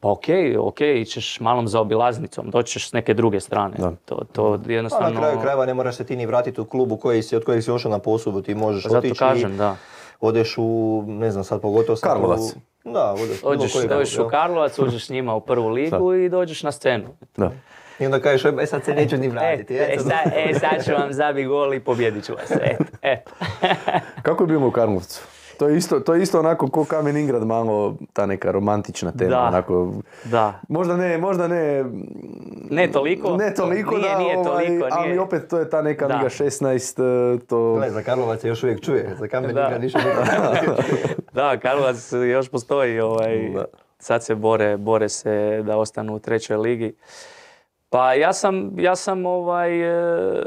pa okej, okay, okej, okay, ićeš malom za obilaznicom, doćeš s neke druge strane, da. to, to jednostavno... A na kraju krajeva ne moraš se ti ni vratiti u klub u koji si, od kojeg si ošao na posudbu, ti možeš zato otići kažem, da. Odeš u, ne znam sad pogotovo... Karlovac. U, da, odeš, Ođeš, dođeš u Karlovac, uđeš s njima u prvu ligu i dođeš na scenu. Da. I onda kažeš, e sad se neću ni vratiti. E, e, sad, e sad ću vam zabi gol i pobjedit ću vas. Eto, eto. Kako je bilo u Karlovcu? To je isto, to je isto onako ko Kamen Ingrad, malo ta neka romantična tema. Da, onako, da. Možda ne, možda ne... Ne toliko? Ne toliko, nije, da, nije ovaj, toliko, ali nije. opet to je ta neka Da. Liga šesnaest, to... Gle, za Karlovac se još uvijek čuje, za Kamen Da. Ingrad ništa nije. Da, Karlovac još postoji, ovaj, Da. sad se bore, bore se da ostanu u trećoj ligi. Pa ja sam, ja sam ovaj, e,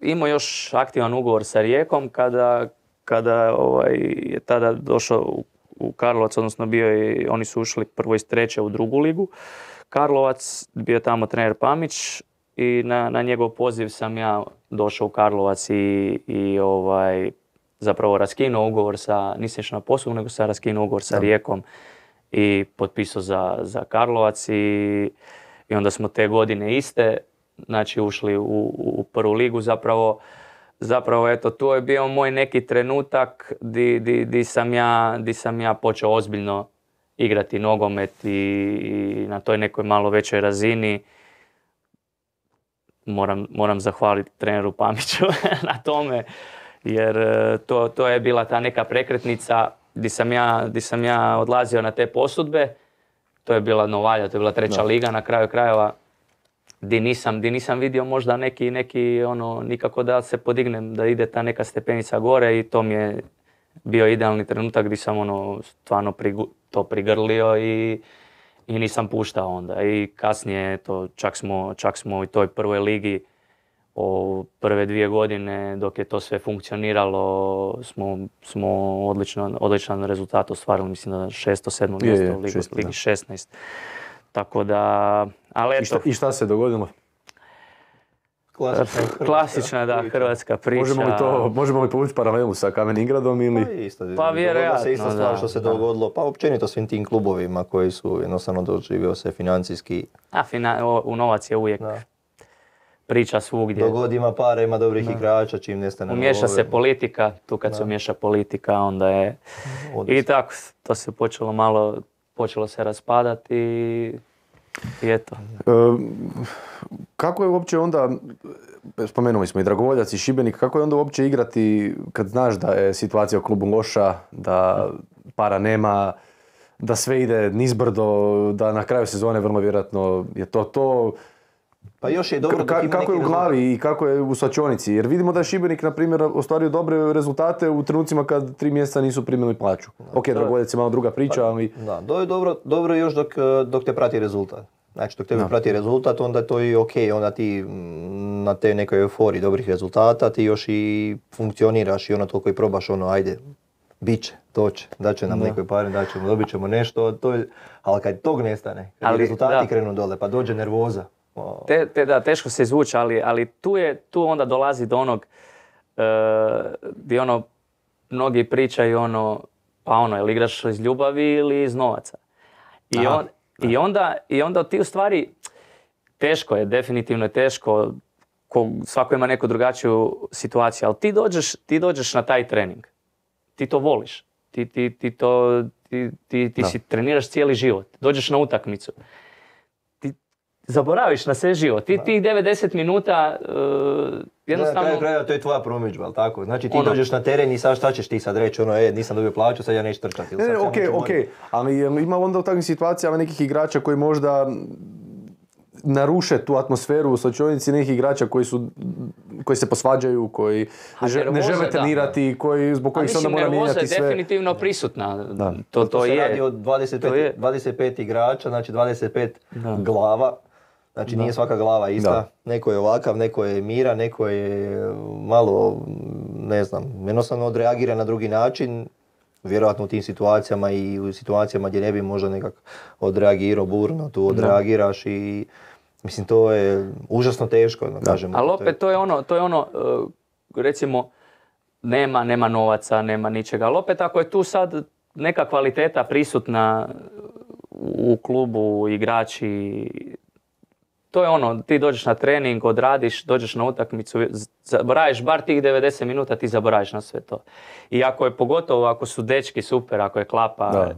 imao još aktivan ugovor sa Rijekom kada, kada ovaj, je tada došao u, u Karlovac, odnosno bio je, oni su ušli prvo iz treće u drugu ligu. Karlovac, bio je tamo trener Pamić i na, na njegov poziv sam ja došao u Karlovac i, i ovaj, zapravo raskinuo ugovor sa, nisam išao na poslu, nego sam raskinuo ugovor sa Rijekom i potpisao za, za Karlovac i, i onda smo te godine iste, znači ušli u, u prvu ligu. Zapravo, zapravo eto, to je bio moj neki trenutak di, di, di, sam, ja, di sam ja počeo ozbiljno igrati nogomet i, i na toj nekoj malo većoj razini. Moram, moram zahvaliti treneru Pamiću na tome, jer to, to je bila ta neka prekretnica di sam ja, di sam ja odlazio na te posudbe. To je bila Novalja, to je bila treća Da. liga na kraju krajeva, di nisam, di nisam vidio možda neki, neki ono, nikako da se podignem, da ide ta neka stepenica gore i to mi je bio idealni trenutak gdje sam ono stvarno prigu, to prigrlio i, i nisam puštao onda. I kasnije to, čak, smo, čak smo u toj prvoj ligi o prve dvije godine dok je to sve funkcioniralo smo, smo odlično, odličan rezultat ostvarili, mislim da šesto, sedmo Je, mjesto je, u Ligi, šesto, Ligi da. šesnaest. Tako da, ali I eto, šta, I šta se dogodilo? Klasična hrvatska klasična da, priča. hrvatska priča. Možemo li, to, možemo li povući paralelu sa Kamen Ingradom ili... Pa isto, Pa dogodila vjerojatno, se ista stvar da, što se da. dogodilo, pa općenito svim tim klubovima koji su jednostavno doživio se financijski. A, fina, o, u novac je uvijek Da. priča svugdje. Dogod ima para, ima dobrih igrača, čim nestane Umiješa nove. se politika, tu kad se umiješa politika onda je... Ode I se. tako, to se počelo malo, počelo se raspadati i, i eto. E, kako je uopće onda, spomenuli smo i Dragovoljac i Šibenik, kako je onda uopće igrati kad znaš da je situacija u klubu loša, da para nema, da sve ide nizbrdo, da na kraju sezone vrlo vjerojatno je to to. Pa još je dobro Ka- dok ima kako je neki u glavi i kako je u svačionici? Jer vidimo da je Šibenik, na primjer, ostvario dobre rezultate u trenucima kad tri mjeseca nisu primili plaću. Ok, Dragovoljac je malo druga priča, ali... Da, to je dobro, dobro još dok, dok te prati rezultat. Znači, dok tebe Da. prati rezultat, onda to je ok, onda ti mm, na te nekoj euforiji dobrih rezultata ti još i funkcioniraš i ono toliko i probaš ono, ajde, bit će, to će, daće nam Da. nekoj pare, daćemo, dobit ćemo nešto, to je, ali kad tog nestane, kad Ali, rezultati da. krenu dole, pa dođe nervoza. O, Te, te da, teško se izvući, ali, ali tu, je, tu onda dolazi do onog e, gdje ono, mnogi pričaju ono, pa ono, jel igraš iz ljubavi ili iz novaca? I, Aha. on, i, onda, I onda ti u stvari, teško je, definitivno je teško, ko, svako ima neku drugačiju situaciju, ali ti dođeš, ti dođeš na taj trening, ti to voliš, ti, ti, ti, to, ti, ti, ti Da. si treniraš cijeli život, dođeš na utakmicu. Zaboraviš na sve život. Ti tih devedeset minuta uh, Na jednostavno... kraju krajeva to je tvoja promidžba, ali tako? Znači ti Ono. dođeš na teren i sad šta ćeš ti sad reći, ono, e, nisam dobio plaću, sad ja neću trčati. ili Ne, sad ne, samo ok, ću ok, morat- ali jel ima onda u takvim situacijama nekih igrača koji možda naruše tu atmosferu u slačionici, nekih igrača koji su koji se posvađaju, koji A ne, žele- ne nervoza, žele da. trenirati, koji, zbog A kojih se onda mislim, mora nervoza je mijenjati sve. definitivno prisutna. Da. To, To, to se je. radi od dvadeset pet, to je. dvadeset pet igrača, znači dvadeset pet Da. glava. Znači nije svaka glava ista. Da. Neko je ovakav, neko je miran, neko je malo, ne znam, jednostavno odreagira na drugi način. Vjerojatno u tim situacijama i u situacijama gdje ne bi možda nekak odreagirao burno, tu odreagiraš i mislim to je užasno teško, da kažem. Ali To je- opet to je ono, to je ono uh, recimo, nema, nema novaca, nema ničega. Ali opet ako je tu sad neka kvaliteta prisutna u klubu, igrači, to je ono, ti dođeš na trening, odradiš, dođeš na utakmicu, zaboraviš bar tih devedeset minuta, ti zaboraviš na sve to. I ako je pogotovo, ako su dečki super, ako je klapa, Da.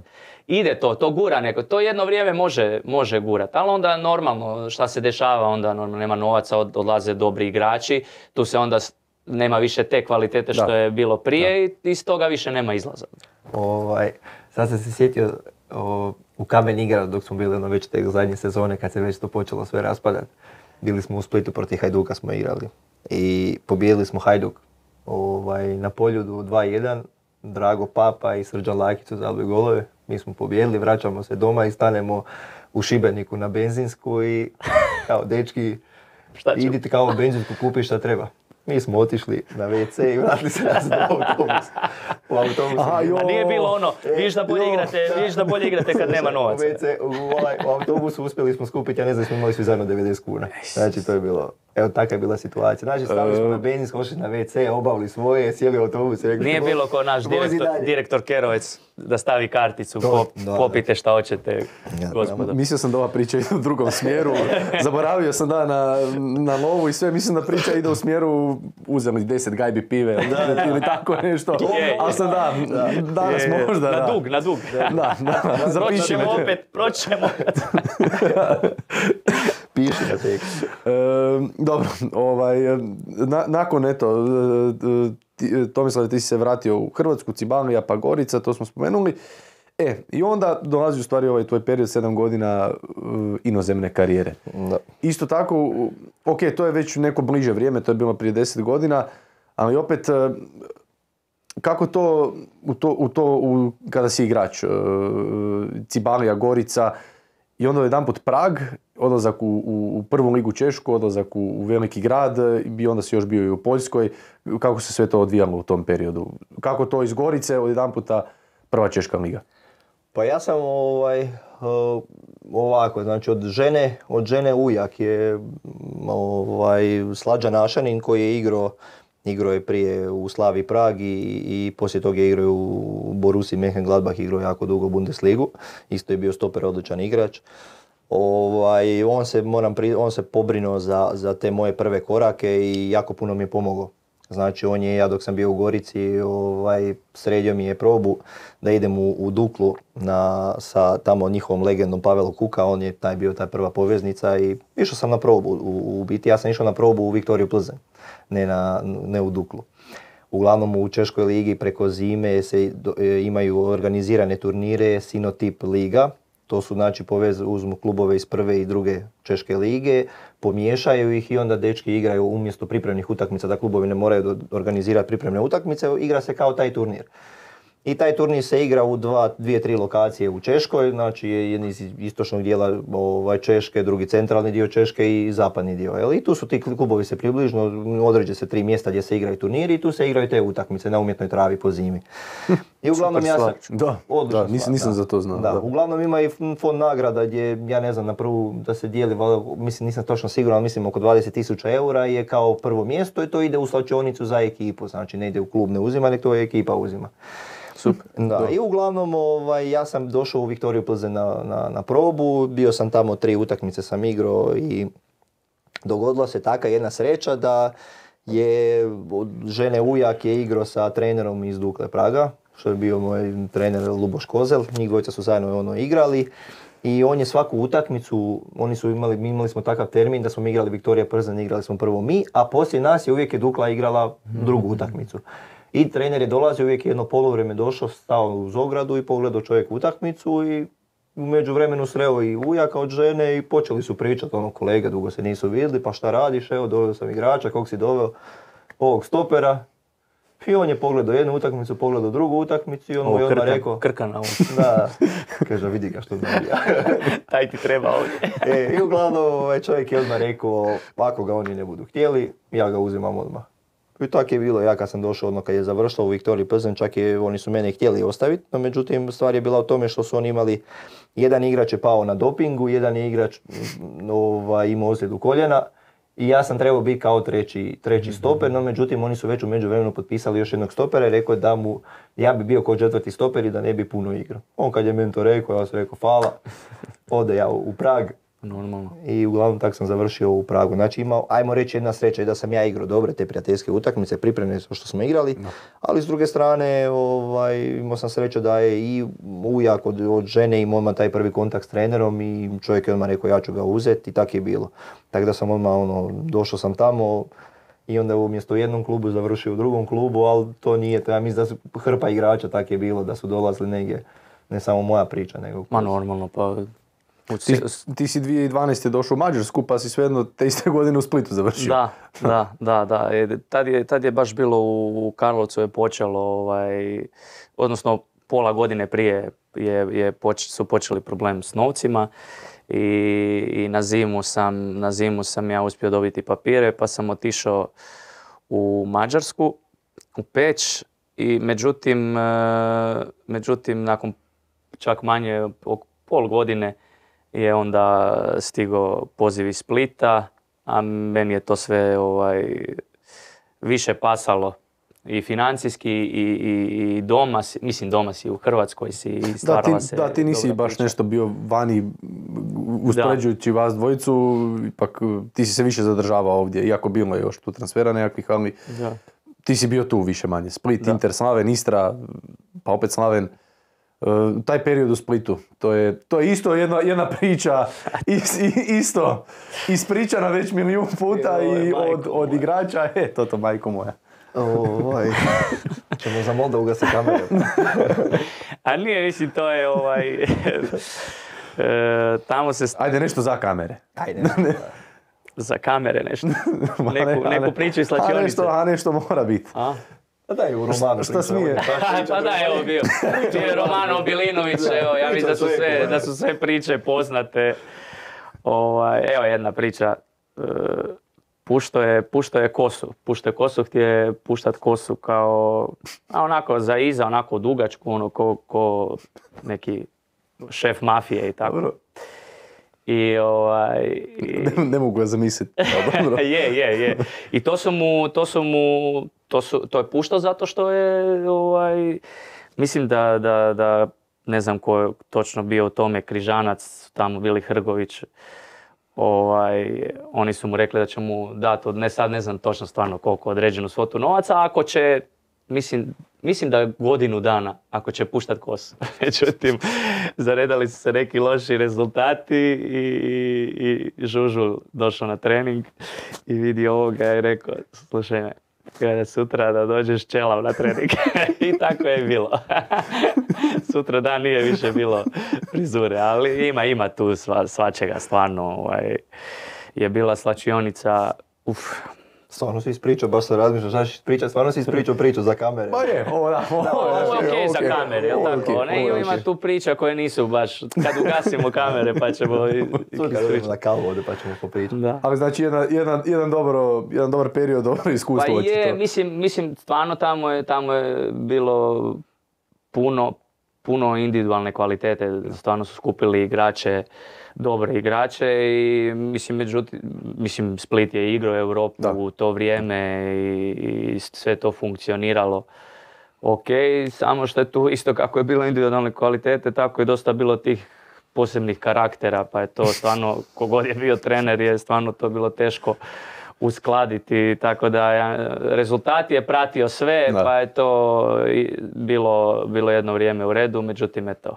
ide to, to gura neko, to jedno vrijeme može, može gurat, ali onda normalno šta se dešava, onda normalno nema novaca, od- odlaze dobri igrači, tu se onda s- nema više te kvalitete što Da. je bilo prije i iz toga više nema izlaza. Ovaj, sad sam se sjetio o, u Kamen igrao dok smo bili ono već te zadnje sezone kad se već to počelo sve raspadati. Bili smo u Splitu protiv Hajduka smo igrali i pobijedili smo Hajduk ovaj, na Poljudu dva jedan. Drago Papa i Srđan Lakić su zabili golove. Mi smo pobijedili, vraćamo se doma i stanemo u Šibeniku na benzinsku i kao dečki idite kao u benzinsku kupi šta treba. Mi smo otišli na ve ce i vratili se nazad u autobus. U autobusu. Aha, a nije bilo ono, vidiš da bolje igrate, vidiš da bolje igrate kad nema novaca. U, ve ce, u, ovaj, u autobusu uspjeli smo skupiti, ja ne znam, smo imali svi zajedno devedeset kuna. Znači to je bilo, evo takva je bila situacija. Znači stavili smo na benzinsko, ošli na ve ce, obavili svoje, sjeli u autobus i rekli... Nije bilo ko naš direktor, direktor Kerovec da stavi karticu, pop, popite šta hoćete, gospodo. Mislio sam da ova priča ide u drugom smjeru, zaboravio sam da na, na lovu i sve, mislim da priča ide u smjeru uzeli deset gajbi pive da, ili tako nešto, ali sam da, danas je, možda na da. dug, na dug. Da, da, da zapišimo opet, proćemo. Piši na tekst. E, dobro, ovaj, na, nakon eto, ti, Tomislav, ti si se vratio u Hrvatsku, Cibalia pa Gorica, to smo spomenuli. E, i onda dolazi u stvari ovaj tvoj period sedam godina uh, inozemne karijere. Da. Isto tako, ok, to je već neko bliže vrijeme, to je bilo prije deset godina, ali opet, uh, kako to, u to, u to u, kada si igrač, uh, Cibalia, Gorica, i onda jedanput Prag, odlazak u, u, u prvu ligu Češku, odlazak u, u veliki grad i onda si još bio i u Poljskoj. Kako se sve to odvijalo u tom periodu? Kako to iz Gorice odjedanputa prva Češka liga? Pa ja sam ovaj, ovako, znači od žene, od žene ujak je ovaj, Slađan Ašanin koji je igrao, igrao je prije u Slavi Prag i, i poslije toga je igrao u Borussiji Mönchengladbach, igrao jako dugo Bundesligu, isto je bio stoper, odličan igrač. Ovaj, on, se, moram pri, on se pobrinuo za, za te moje prve korake i jako puno mi je pomogao. Znači on je, ja dok sam bio u Gorici, ovaj, sredio mi je probu da idem u, u Duklu na, sa tamo njihovom legendom Pavelo Kuka, on je taj bio ta prva poveznica i išao sam na probu u, u biti, ja sam išao na probu u Viktoriju Plzeň, ne, na, ne u Duklu. Uglavnom u Češkoj ligi preko zime se do, e, imaju organizirane turnire Sinotip liga. To su znači povez, uzmu klubove iz prve i druge Češke lige, pomiješaju ih i onda dečki igraju umjesto pripremnih utakmica, da klubovi ne moraju organizirati pripremne utakmice, igra se kao taj turnir. I taj turnir se igra u dva, dvije, tri lokacije u Češkoj, znači jedan iz istočnog dijela ovaj, Češke, drugi centralni dio Češke i zapadni dio. Jel? I tu su ti klubovi se približno, određe se tri mjesta gdje se igraju turniri i tu se igraju te utakmice na umjetnoj travi po zimi. I uglavnom ja sam... Da, da, nisam, nisam da. za to znao. Da, da. Uglavnom ima i fond nagrada gdje, ja ne znam, na prvu da se dijeli, mislim, nisam točno siguran, ali mislim oko dvadeset tisuća eura je kao prvo mjesto i to ide u slačionicu za ekipu, znači ne ide u klub, ne uzima, nek to ekipa uzima. Super. Da, i uglavnom ovaj, ja sam došao u Viktoriju Plzeň na, na, na probu, bio sam tamo tri utakmice sam igrao i dogodila se taka jedna sreća da je žene ujak je igrao sa trenerom iz Dukle Praga, što je bio moj trener Luboš Kozel, njih dvojica su zajedno ono igrali i on je svaku utakmicu, oni su imali, mi imali smo takav termin da smo igrali Viktorija Plzeň, igrali smo prvo mi, a poslije nas je uvijek je Dukla igrala drugu utakmicu. I trener je dolazio, uvijek jedno polovrijeme došao, stao uz ogradu i pogledao čovjek utakmicu i u međuvremenu sreo i ujaka od žene i počeli su pričati, ono kolega, dugo se nisu vidjeli, pa šta radiš, evo doveo sam igrača, kog si doveo, ovog stopera. I on je pogledao jednu utakmicu, pogledao drugu utakmicu i on mu je odmah rekao... Krkana on. Da, kaže vidi ga što zabija. Taj ti treba ovdje. E, I uglavnom ovaj čovjek je odmah rekao, ako ga oni ne budu htjeli, ja ga uzimam odmah. I tako je bilo, ja kad sam došao, odmah kad je završilo u Viktoriji Plzeň, čak je, oni su mene htjeli ostaviti, no međutim stvar je bila u tome što su oni imali, jedan igrač je pao na dopingu, jedan je igrač ovaj, imao ozljedu koljena i ja sam trebao biti kao treći, treći stoper, no međutim oni su već u međuvremenu potpisali još jednog stopera i rekao da mu, ja bi bio kao četvrti stoper i da ne bi puno igrao. On kad je meni to rekao, ja sam rekao hvala, ode ja u Prag. Normalno. I uglavnom tako sam završio u Pragu. Znači imao, ajmo reći jedna sreća i da sam ja igrao dobre te prijateljske utakmice, pripremne što smo igrali, no. Ali s druge strane ovaj, imao sam sreću da je i ujak od, od žene imao odmah taj prvi kontakt s trenerom i čovjek je odmah rekao ja ću ga uzeti i tako je bilo. Tako da sam odmah ono, došao sam tamo i onda umjesto u jednom klubu završio u drugom klubu, ali to nije, to ja mislim da su hrpa igrača tak je bilo, da su dolazili negdje, ne samo moja priča, nego... Ma normalno, pa... Ti, ti si dvije tisuće dvanaeste došao u Mađarsku, pa si svejedno te iste godine u Splitu završio. Da, da, da, da. E, Tad je, tad je baš bilo u Karlovcu je počelo, ovaj, odnosno pola godine prije je, je poč, su počeli problem s novcima i, i na, zimu sam, na zimu sam ja uspio dobiti papire, pa sam otišao u Mađarsku, u Peć, i međutim, međutim nakon čak manje pol godine je onda stigao poziv iz Splita, a meni je to sve ovaj, više pasalo i financijski i, i, i doma, si, mislim doma si u Hrvatskoj si i stvarala da, ti, se da, ti nisi baš priča. Nešto bio vani uspoređujući vas dvojicu, ipak ti si se više zadržavao ovdje, iako bilo je još tu transfera nekakvih, ali da. Ti si bio tu više manje. Split, da. Inter, Slaven, Istra, pa opet Slaven. Uh, taj period u Splitu, to je, to je isto jedna, jedna priča, is, isto ispričana već milijun puta i, i od, od igrača, e, to to majko moja. Ovaj, ćemo za Moldavu ga se kamere. A nije, mislim, to je ovaj, e, tamo se... Ajde nešto za kamere. Ajde. Za kamere nešto. Neku, neku priču iz slačionice. A nešto, a nešto mora biti. A? Pa da je u Romanu. Šta smije? Pa da, evo bio. Bio je Romano Bilinović, evo, ja mislim da su sve, da su sve priče poznate. Ovaj, evo jedna priča. Pušto je, pušto je kosu. Pušto je kosu, htije puštat kosu kao, a onako za iza, onako dugačku, ono ko, ko neki šef mafije i tako. Dobro. I ovaj... I... Ne, ne mogu ga zamisliti. je, je, je. I to su mu, to su mu, to, su, to je puštao zato što je, ovaj, mislim da, da, da ne znam ko je točno bio u tome, Križanac, tamo bili Hrgović, ovaj, oni su mu rekli da će mu dati, ne sad ne znam točno stvarno koliko određenu svotu novaca, ako će, mislim, mislim da godinu dana, ako će puštat kosu. Međutim, zaredali su se neki loši rezultati i, i, i Žužul došao na trening i vidio ovoga i rekao, slušaj me, kada sutra da dođeš čelav na trening. I tako je bilo. Sutra dan nije više bilo frizure, ali ima, ima tu sva, svačega stvarno. Ovaj, je bila slačionica, uf. Stvarno si ispričao, baš se razmišljao, znaš ispričati, stvarno si ispričao priču za kamere. Pa je, ovo da, ovo, da, ovo je okej okay okay, za kamere, jel tako? Okay, ne, ima okay. Tu priča koje nisu baš, kad ugasimo kamere pa ćemo ispričati. Na kavu ovdje pa ćemo popričati. Da. Ali znači jedan, jedan, jedan, dobro, jedan dobar period, dobro iskustvo. Pa je, mislim, mislim, stvarno tamo je, tamo je bilo puno, puno individualne kvalitete, stvarno su skupili igrače, dobre igrače i mislim, međutim, mislim Split je igrao Europu da. U to vrijeme i, i sve to funkcioniralo ok, samo što je tu isto kako je bilo individualne kvalitete, tako je dosta bilo tih posebnih karaktera, pa je to stvarno, kogod je bio trener je stvarno to bilo teško uskladiti, tako da ja, rezultat je pratio sve, da. Pa je to bilo, bilo jedno vrijeme u redu, međutim eto,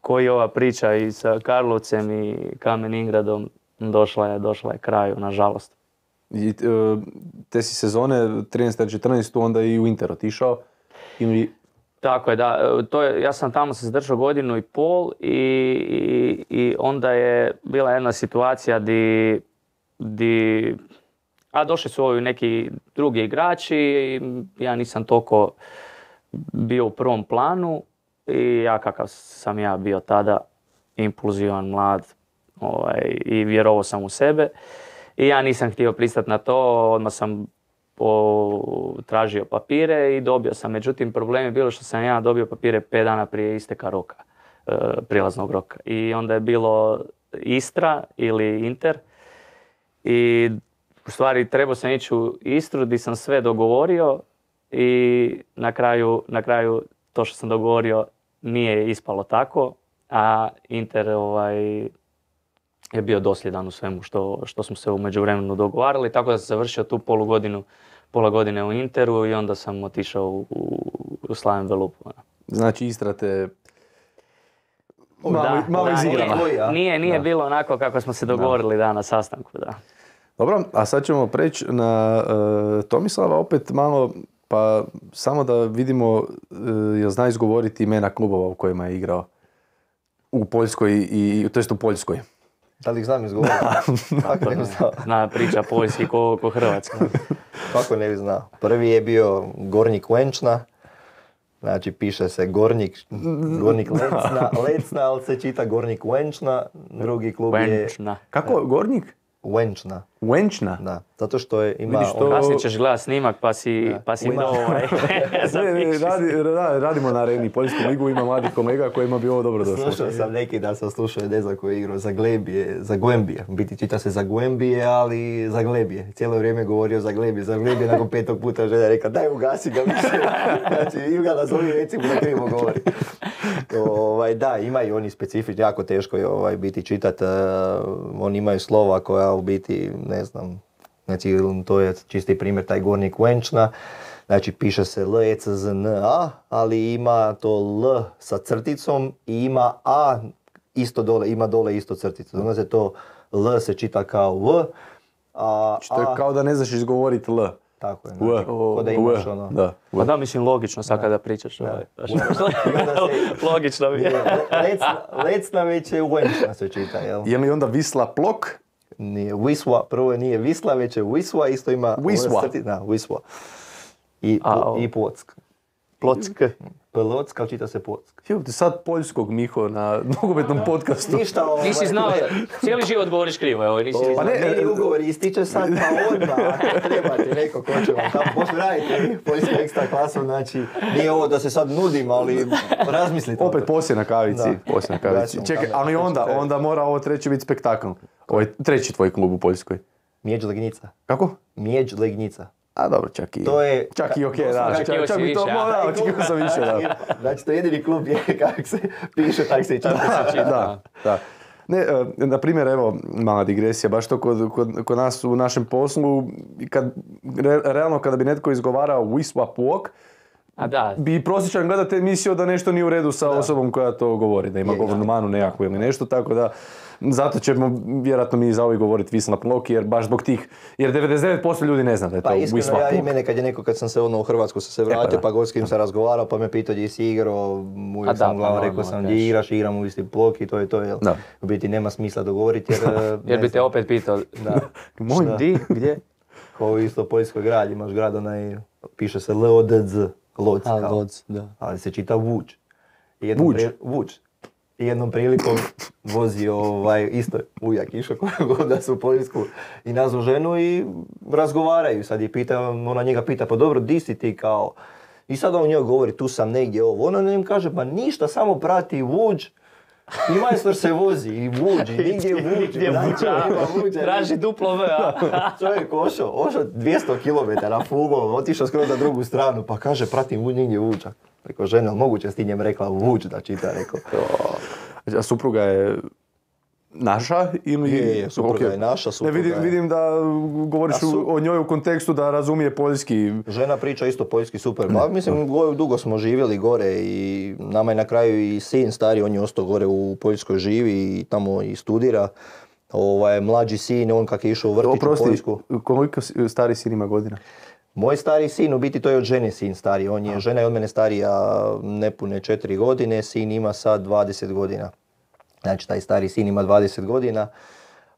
koji ova priča i sa Karlovcem i Kamen Ingradom došla je, došla je kraju, nažalost. I, te si sezone trinaesta četrnaesta onda i u Inter otišao? Ili... Tako je, da. To je, ja sam tamo se zadržao godinu i pol i, i, i onda je bila jedna situacija di, di a došli su ovi neki drugi igrači i ja nisam toliko bio u prvom planu. I ja kakav sam ja bio tada, impulzivan, mlad ovaj, i vjerovao sam u sebe. I ja nisam htio pristati na to, odmah sam po, tražio papire i dobio sam. Međutim, problem je bilo što sam ja dobio papire pet dana prije isteka roka, e, prilaznog roka. I onda je bilo Istra ili Inter. I u stvari trebao sam ići u Istru gdje sam sve dogovorio i na kraju, na kraju to što sam dogovorio nije ispalo tako, a Inter ovaj, je bio dosljedan u svemu što, što smo se u međuvremenu dogovarali, tako da sam završio tu polu godinu, pola godine u Interu i onda sam otišao u, u, u Slaven Velupu. Znači Istra te malo, da, malo da, izigrala. Nije, nije, nije bilo onako kako smo se dogovorili da. Da, na sastanku. Da. Dobro, a sad ćemo preći na uh, Tomislava opet malo, pa samo da vidimo uh, jel zna izgovoriti imena klubova u kojima je igrao u Poljskoj, i, to jest u Poljskoj. Da li ih znam izgovoriti? Kako ne bi znao? Zna priča poljski ko, ko Hrvatska. Kako ne bi znao? Prvi je bio Gornik Wenčna, znači piše se Gornik, Gornik Lecna, Lecna, ali se čita Gornik Wenčna. Drugi klub je... Wenčna. Kako? Gornik? Wenčna. Wenčna? Da, zato što je ima... Vidiš to- on- Kasnije ćeš gledat snimak pa si, pa si Wenčna. imao ovaj... Ne, ne, radi, ra- radimo na areni Poljsku ligu, ima mladih kolega kojima bi ovo dobro došlo. Slušao sam neki dan sam slušao Edeza koji je igrao za Glebije, za Guembije. U biti čita se za Guembije, ali za Glebije. Cijelo vrijeme govorio za Glebije, za Glebije, nakon petog puta žena rekao daj ugasi ga više. Znači im ga nazovi recimo da krivo govori. Ovaj, da, imaju oni specifični, jako teško je ovaj, biti čitat. Uh, oni imaju slova koja u biti, ne znam, znači to je čisti primjer taj Gornik Wenčna. Znači piše se L E C Z N A, ali ima to L sa crticom i ima A isto dole, ima dole isto crticu. Onda se to L se čita kao V, a Što je A, kao da ne znaš izgovoriti L. tako je, U, znači, ko da imaš u, ono. da. Pa da, mislim, logično sad kada pričaš. Ovaj. I onda se- Logično mi je. Lecna, lecna već je Wenčna se čita, jel? Je li onda Visla Plok? Nije Wisła, prvo je nije Visla, već je Wisła, isto ima... Wisła. crti- Da, Wisła. I, A, po, o. i Płock. Plock. Płock, ali čita se Płock. Evo ti sad poljskog Miho na nogometnom podcastu. Ništa ovaj... Nisi znao, cijeli život govoriš krivo, evo, nisi ni Pa znao. ne, meni ugovor ističe sad, pa odmah, ako treba ti neko ko će vam tamo poslije raditi poljsku ekstra klasu, znači nije ovo da se sad nudim, ali razmislite. o Opet tome. poslije na kavici. Da. Poslije na kavici. Gaćemo Čekaj, kameru, ali to će onda, trajati. onda mora ovo treći biti spektakl. Ovo je treći tvoj klub u Poljskoj. Miedź Legnica. Kako? Miedź Legnica. A dobro, čak i... To je- Čak i okej, da. Očekivao Čak, čak si bi to... više, a? Da, očekivao sam više, da. Znači to je jedini klub je kako se piše, tako se i čita. Da, da. Ne, e, na primjer, evo, mala digresija, baš to kod, kod, kod nas u našem poslu, kad, re, realno kada bi netko izgovarao Wisła Płock, A da, bi prosječan gledatelj mislio da nešto nije u redu sa osobom koja to govori, da ima Je, govornu manu nekakvu ili nešto, tako da zato ćemo vjerojatno mi zauvijek govoriti Wisła Płock, jer baš zbog tih, jer devedeset devet posto ljudi ne zna da je to Pa Wisła iskreno, ja i Płock. mene kad je neko, kad sam se ono u Hrvatsku sam se vratio, da. pa god s kim sam razgovarao, pa me pitao gdje si igrao, A uvijek da, sam pa uglavnom rekao normalno, sam kažeš. gdje igraš, igram u Wisła Płock i to je to, jel? Da. U biti nema smisla dogovoriti jer... jer ne bi te znam, opet pitao. Da. Moj, Šta? Di? Gdje? Kao isto poljskoj grad, imaš grad onaj, piše se L O D Z, Lodz, A, kao. Lodz, da. Ali se čita Vuč. I jednom Vuč? pri- Vuč. I jednom prilikom vozi ovaj, isto ujak išao koju god da su u Poljsku i nazvu ženu i razgovaraju. Sad je pita, ona njega pita, pa dobro, di si ti kao? I sad on njoj govori, tu sam negdje ovo. Ona njemu kaže, pa ništa, samo prati Vuč. I majstor se vozi i Vuč, i nigdje Vuč. Gdje znači, Vuča? nema Vuča. Traži duplo V, a? Čovjek ošao, ošao dvjesto kilometara fugom, otišao skoro na drugu stranu, pa kaže, pratim Vuč, nigdje Vuča. Rekao, žena, moguće s ti njem rekla Vuč da čita, rekao. A supruga je naša ili... Je, je, supruga Ok. je naša, supruga Ne, vidim, je- vidim da govoriš A su- o njoj u kontekstu da razumije poljski. Žena priča isto poljski super. Pa mislim, go- dugo smo živjeli gore i nama je na kraju i sin stari, on je ostao gore u Poljskoj, živi i tamo i studira. Ovaj, mlađi sin, on kak je išao u vrtić u Oprosti, Poljsku. koliko si- stari sin ima godina? Moj stari sin, u biti to je od žene sin stari. On je, žena je od mene starija nepune četiri godine, sin ima sad dvadeset godina. Znači, taj stari sin ima dvadeset godina.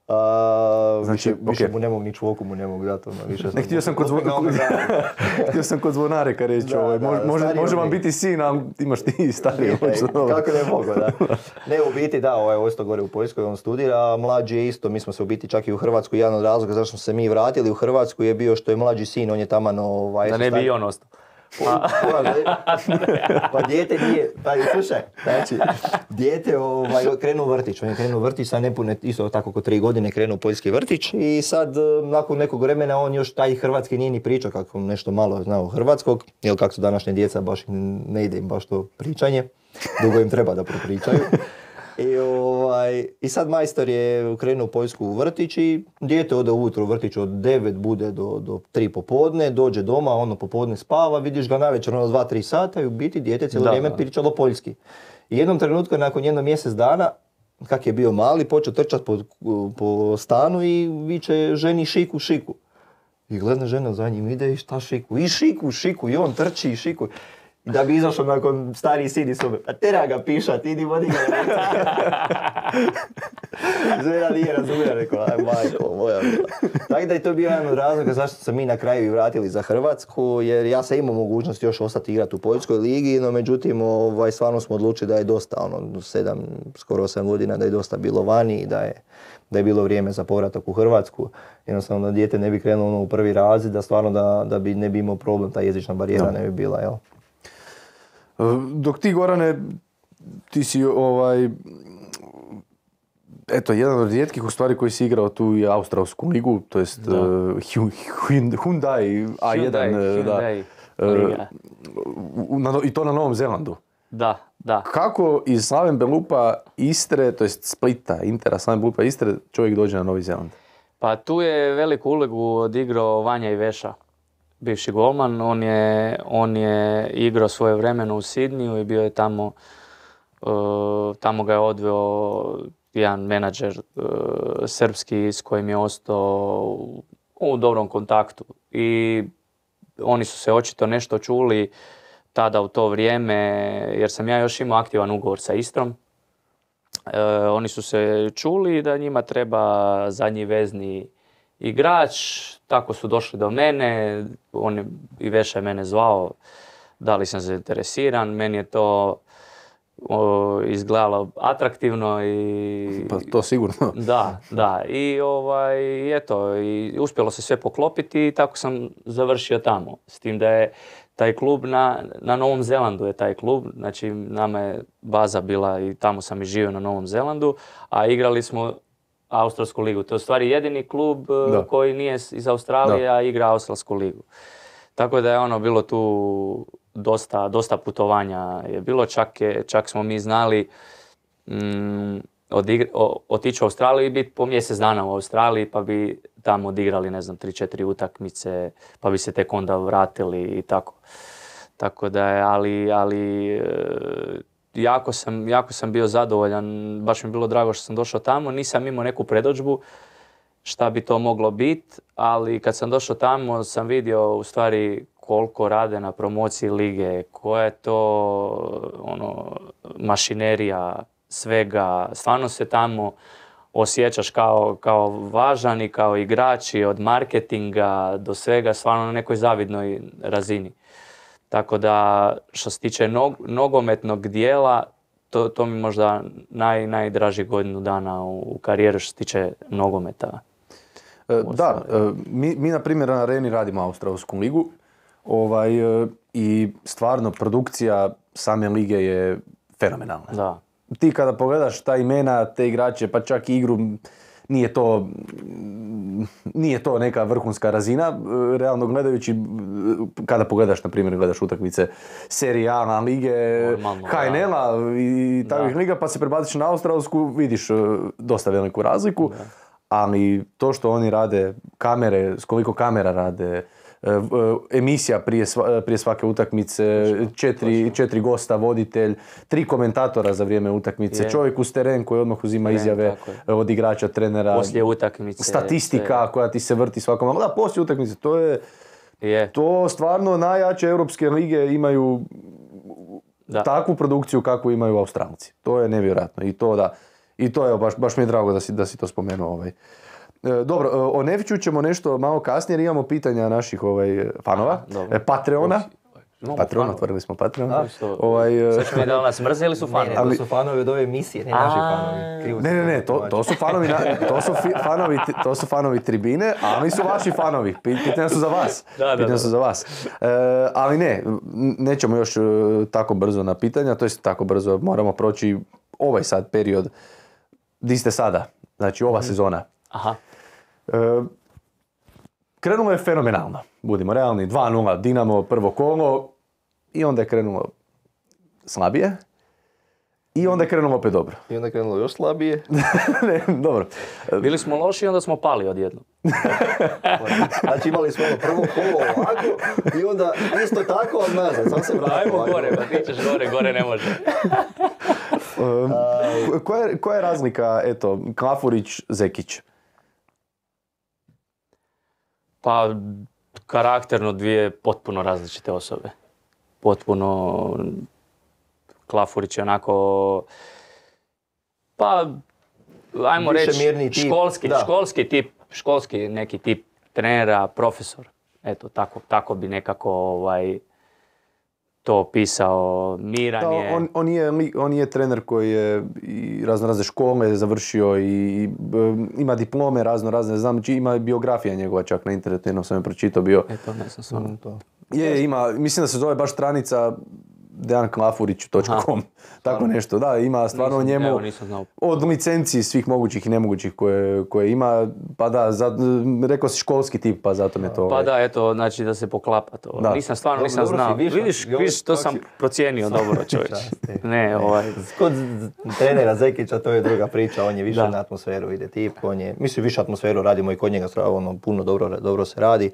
A, Znači, više, više ok. mu ne mogu, ni čvoku mu ne mogu dati. Ono, više Ne, htio sam kod, zvo... uzme ga ono za- htio sam kod zvonareka reći, Da, ovaj, da, može, može, stariji može vam oni. biti sin, ali imaš ti stariji. Nije, hoće, dobro. kako ne mogu, da. Ne, u biti da, ovaj ostao gore u Poljskoj, on studira, a mlađi je isto, mi smo se u biti čak i u Hrvatsku, jedan od razloga zašto smo se mi vratili u Hrvatsku je bio što je mlađi sin, on je tamo ovaj... Da ne bi i on ostao. Pa, pa dijete nije, pa slušaj, znači, dijete ovaj, krenuo u vrtić, on je krenuo u vrtić, sad nepune, isto tako oko tri godine krenuo u poljski vrtić i sad eh, nakon nekog vremena on još taj hrvatski nije ni pričao kako nešto malo znao hrvatskog, jer kako su današnje djeca baš im ne ide im baš to pričanje, dugo im treba da propričaju. I, ovaj, I sad majstor je krenuo u Poljsku u vrtić i dijete ode ujutro u vrtić od devet bude do, do tri popodne, dođe doma, ono popodne spava, vidiš ga navečer ono dva tri sata i u biti dijete cijelo Da, vrijeme da. pričalo poljski. I jednom trenutku nakon jedno mjesec dana kak je bio mali, počeo trčati po, po stanu i viče ženi šiku, šiku. I gledam žena za njim, ide i šta šiku? I šiku, šiku, i on trči i šiku. I da bi izašao nakon stariji sin iz sobe, a tera ga pišat, idi vodi ga. Žena nije razumijela, rekao, aj majko moja. Tako da je to bio jedan od razloga zašto se mi na kraju i vratili za Hrvatsku, jer ja sam imao mogućnost još ostati igrati u Poljskoj ligi, no međutim, ovaj, stvarno smo odlučili da je dosta, ono, sedam, skoro osam godina, da je dosta bilo vani i da je, da je bilo vrijeme za povratak u Hrvatsku. Jednostavno da dijete ne bi krenulo ono, u prvi razred, da stvarno da, da bi ne bi imao problem, ta jezična barijera no. ne bi bila, jel? Dok ti, Gorane, ti si ovaj, eto, jedan od rijetkih u stvari koji si igrao tu i Australsku ligu, to jest uh, Hyundai A jedan, Hyundai, da, uh, na, i to na Novom Zelandu. Da, da. Kako iz Slaven Belupa Istre, to jest Splita, Intera Slaven Belupa Istre, čovjek dođe na Novi Zeland? Pa tu je veliku ulogu odigrao Vanja Iveša, bivši golman. On je, on je igrao svoje vremeno u Sidniju i bio je tamo, uh, tamo ga je odveo jedan menadžer uh, srpski s kojim je ostao u, u dobrom kontaktu. I oni su se očito nešto čuli tada u to vrijeme, jer sam ja još imao aktivan ugovor sa Istrom. E, oni su se čuli da njima treba zadnji vezni igrač, tako su došli do mene, on je, i Veša je mene zvao, da li sam zainteresiran, meni je to o, izgledalo atraktivno i... Pa to sigurno. Da, da, i ovaj, eto, i uspjelo se sve poklopiti i tako sam završio tamo, s tim da je taj klub na, na Novom Zelandu je taj klub, znači nama je baza bila i tamo sam i živio na Novom Zelandu, a igrali smo Australsku ligu. To je u stvari jedini klub da. koji nije iz Australije, da. a igra Australsku ligu. Tako da je ono bilo tu dosta, dosta putovanja je bilo, čak, je, čak smo mi znali mm, odigra, o, otići u Australiju i biti po mjesec dana u Australiji, pa bi tamo odigrali, ne znam, tri četiri utakmice, pa bi se tek onda vratili i tako. Tako da je, ali, ali jako sam, jako sam bio zadovoljan, baš mi je bilo drago što sam došao tamo, nisam imao neku predodžbu šta bi to moglo biti, ali kad sam došao tamo sam vidio u stvari koliko rade na promociji lige, koja je to ono, mašinerija svega, stvarno se tamo osjećaš kao, kao važan i kao igrač i od marketinga do svega, stvarno na nekoj zavidnoj razini. Tako da, što se tiče nog, nogometnog dijela, to, to mi možda naj, najdraži godinu dana u, u karijeri što se tiče nogometa. E, da, e, mi, mi na primjer na Areni radimo Australsku ligu ovaj, e, i stvarno produkcija same lige je fenomenalna. Da. Ti kada pogledaš ta imena, te igrače, pa čak i igru, nije to, nije to neka vrhunska razina, realno gledajući, kada pogledaš, na primjer, gledaš utakmice Serie A lige, H N L-a i takvih liga, pa se prebaciš na Australsku, vidiš dosta veliku razliku, da. Ali to što oni rade, kamere, s koliko kamera rade, emisija prije, sva, prije svake utakmice, četiri, četiri gosta, voditelj, tri komentatora za vrijeme utakmice, je. Čovjek uz teren koji odmah uzima teren, izjave od igrača, trenera, poslije utakmice, statistika sve. Koja ti se vrti svakom. Da, poslije utakmice, to je, je. To stvarno najjače europske lige imaju da. Takvu produkciju kakvu imaju Australci. To je nevjerojatno i to da, i to je baš, baš mi je drago da si, da si to spomenuo. Ovaj. Dobro, o Neviću ćemo nešto malo kasnije jer imamo pitanja naših ovaj, fanova, Aha, Patreona. No, Patreon, otvorili smo Patreon. A, što, ovaj, sad ćemo da nas mrze ili su fanovi? Ne, ne, to su fanovi od ove emisije, ne naši fanovi. Krivo ne, ne, ne, to, to su fanovi, na, to su fi, fanovi, to su fanovi tribine, ali su vaši fanovi. Pitanja su za vas. Da, da, pitanja da. su za vas. E, ali ne, nećemo još tako brzo na pitanja, to je tako brzo, moramo proći ovaj sad period. Di ste sada? Znači ova mm. sezona. Aha. E, krenulo je fenomenalno, budimo realni, dva nula Dinamo, prvo kolo i onda je krenulo slabije i onda je krenulo opet dobro. I onda je krenulo još slabije. ne, dobro. Bili smo loši i onda smo pali odjednom. Znači imali smo ono prvo kolo ovako i onda isto tako od nazad, sam se vratio. Ajmo gore, pa ti ćeš gore, gore ne može. Um, koja, je, koja je razlika, eto, Klafurić-Zekić? Pa, karakterno dvije potpuno različite osobe. Potpuno... Klafurić je onako... Pa, ajmo Više reći, mirni tip, školski, da. školski tip, školski neki tip trenera, profesor. Eto, tako, tako bi nekako ovaj, to opisao. Miran Da, je... on, on, je, li- on je trener koji je i razno razne škole završio i e, ima diplome razno razne, znam, či ima biografija njegova čak na internetu, jednom sam je pročitao bio. Eto, ne znam stvarno. To. Je, ima, mislim da se zove baš stranica dejan klafurić točka com, tako nešto, da, ima stvarno o Nisam- njemu evo, nisam znao. od licenciji svih mogućih i nemogućih koje, koje ima, pa da, za, rekao si školski tip, pa zato mi je to... Pa ovaj, da, eto, znači da se poklapa to. Da. Nisam stvarno, Dobro, nisam dobro si znao. vidiš, Vidiš, još- vidiš, to još sam si- procijenio dobro, čovječ. Časti. Ne, ovaj... Kod trenera Zekića to je druga priča, on je više Da. na atmosferu ide tip, on je, mislim više atmosferu radimo i kod njega, ono, puno dobro, dobro se radi,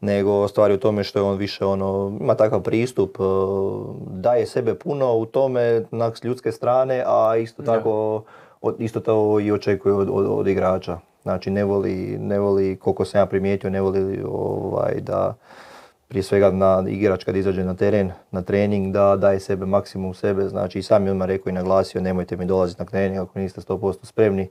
nego stvari u tome što je on više ono, ima takav pristup, eh, daje sebe puno u tome na s ljudske strane, a isto tako, od, isto to i očekuje od, od, od igrača. Znači ne voli, ne voli, koliko sam ja primijetio, ne voli ovaj, da prije svega na igrač kad izađe na teren, na trening, da daje sebe maksimum sebe, znači i sam je odmah rekao i naglasio nemojte mi dolaziti na trening ako niste sto posto spremni,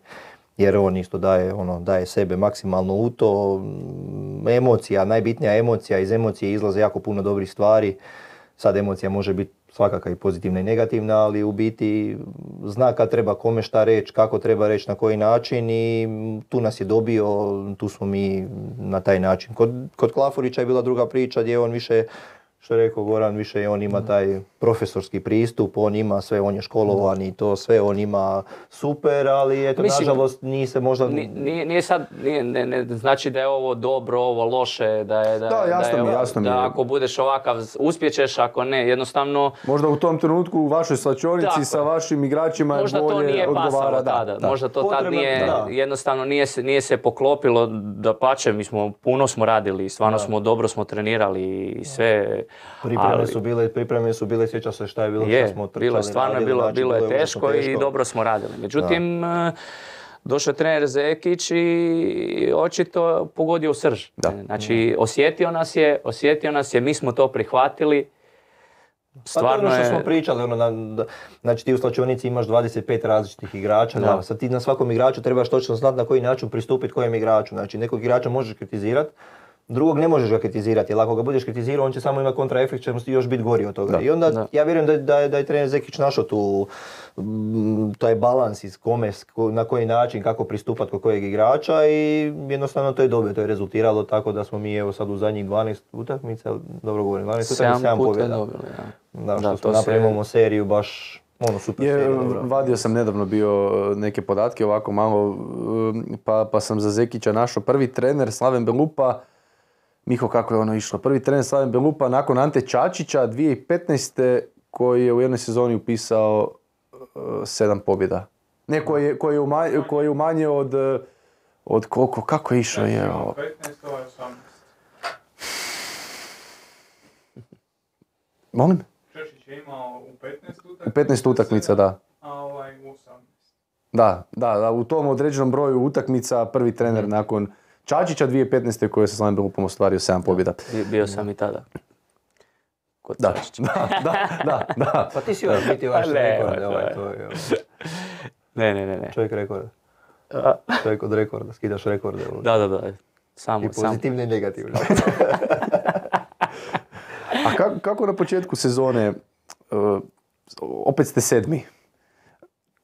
jer on isto daje, ono, daje sebe maksimalno u to. Mm, Emocija, najbitnija emocija, iz emocije izlaze jako puno dobrih stvari. Sad emocija može biti svakakva i pozitivna i negativna, ali u biti zna kad treba kome šta reći, kako treba reći, na koji način i tu nas je dobio, tu smo mi na taj način. Kod, kod Klafurića je bila druga priča gdje on više, što je rekao Goran, više on ima taj profesorski pristup, on ima sve, on je školovan i to sve, on ima super, ali eto, Mislim, nažalost nije se možda... Ni- Nije, nije sad, nije, ne, ne znači da je ovo dobro, ovo loše, da je, da, Da, jasno je mi, ovo- jasno mi je. da ako budeš ovakav uspjećeš, ako ne, jednostavno Možda u tom trenutku u vašoj slačionici Tako sa je. vašim igračima je možda bolje to nije odgovara. pasalo Da, tada, da. možda to tad Potrebno- nije, da. jednostavno nije se, nije se poklopilo, dapače, mi smo, puno smo radili, stvarno smo, dobro smo trenirali i sve, Pripreme ali- su bile, pripreme su bile, sjeća se šta je bilo, Je, šta smo trčali, bilo je stvarno, radili, bilo, znači, bilo je užasno teško, i dobro smo radili. Međutim, eh, došao je trener Zekić i očito pogodio u srž. Da. Znači, osjetio nas je, osjetio nas je, mi smo to prihvatili. Pa to je Stvarno ono što je... smo pričali, ono, na, da, znači ti u slačionici imaš dvadeset pet različitih igrača, Da. da. Sad ti na svakom igraču trebaš točno znati na koji način pristupiti kojem igraču. Znači nekog igrača možeš kritizirati, drugog ne možeš ga kritizirati, jer ako ga budeš kritizirao on će samo imati kontraefekt, će mu još biti gori od toga. Da. I onda Da. ja vjerujem da, da, je- da je trener Zekić našao tu mm, taj balans iz kome, s ko- na koji način, kako pristupati kod kojeg igrača i jednostavno to je dobro, to je rezultiralo tako da smo mi evo sad u zadnjih dvanaest utakmica, dobro govorim, dvanaest utakmica, Sedam sedam puta pobjeda. dobili, ja. Da, što Da, smo to se- napravili imamo seriju baš ono super Je, seriju. dobro. vadio sam nedavno bio e, neke podatke ovako malo, e, pa, pa sam za Zekića našao prvi trener Slaven Belupa, Miho kako je ono išlo, prvi trener Slaven Belupa nakon Ante Čačića dvije tisuće petnaeste koji je u jednoj sezoni upisao e, sedam pobjeda. Ne, koji je, koji je, umanjio, koji je umanjio od, e, od koliko, kako je išao je ovo? petnaest, ovo je osamnaest. Molim? Češić je imao u petnaest U utakmica. petnaest utakmica, da. A ovaj u osamnaest. Da, da, da, u tom određenom broju utakmica prvi trener nakon Čačića dvije tisuće petnaeste koji je sa Slaven Belupom ostvario sedam pobjeda. Bi- Bio sam i tada. Kod Da, Čačića. da, da, da, da. Pa ti si još biti ovaj što Ne, rekord, ne, ovaj, ne. to je ovaj, Ne, ne, ne, ne. čovjek rekord. A, Čovjek od rekorda, skidaš rekorde. ono. Da, da, da. Samo, I samo. pozitivne i negativne. A kako, kako na početku sezone, uh, opet ste sedmi,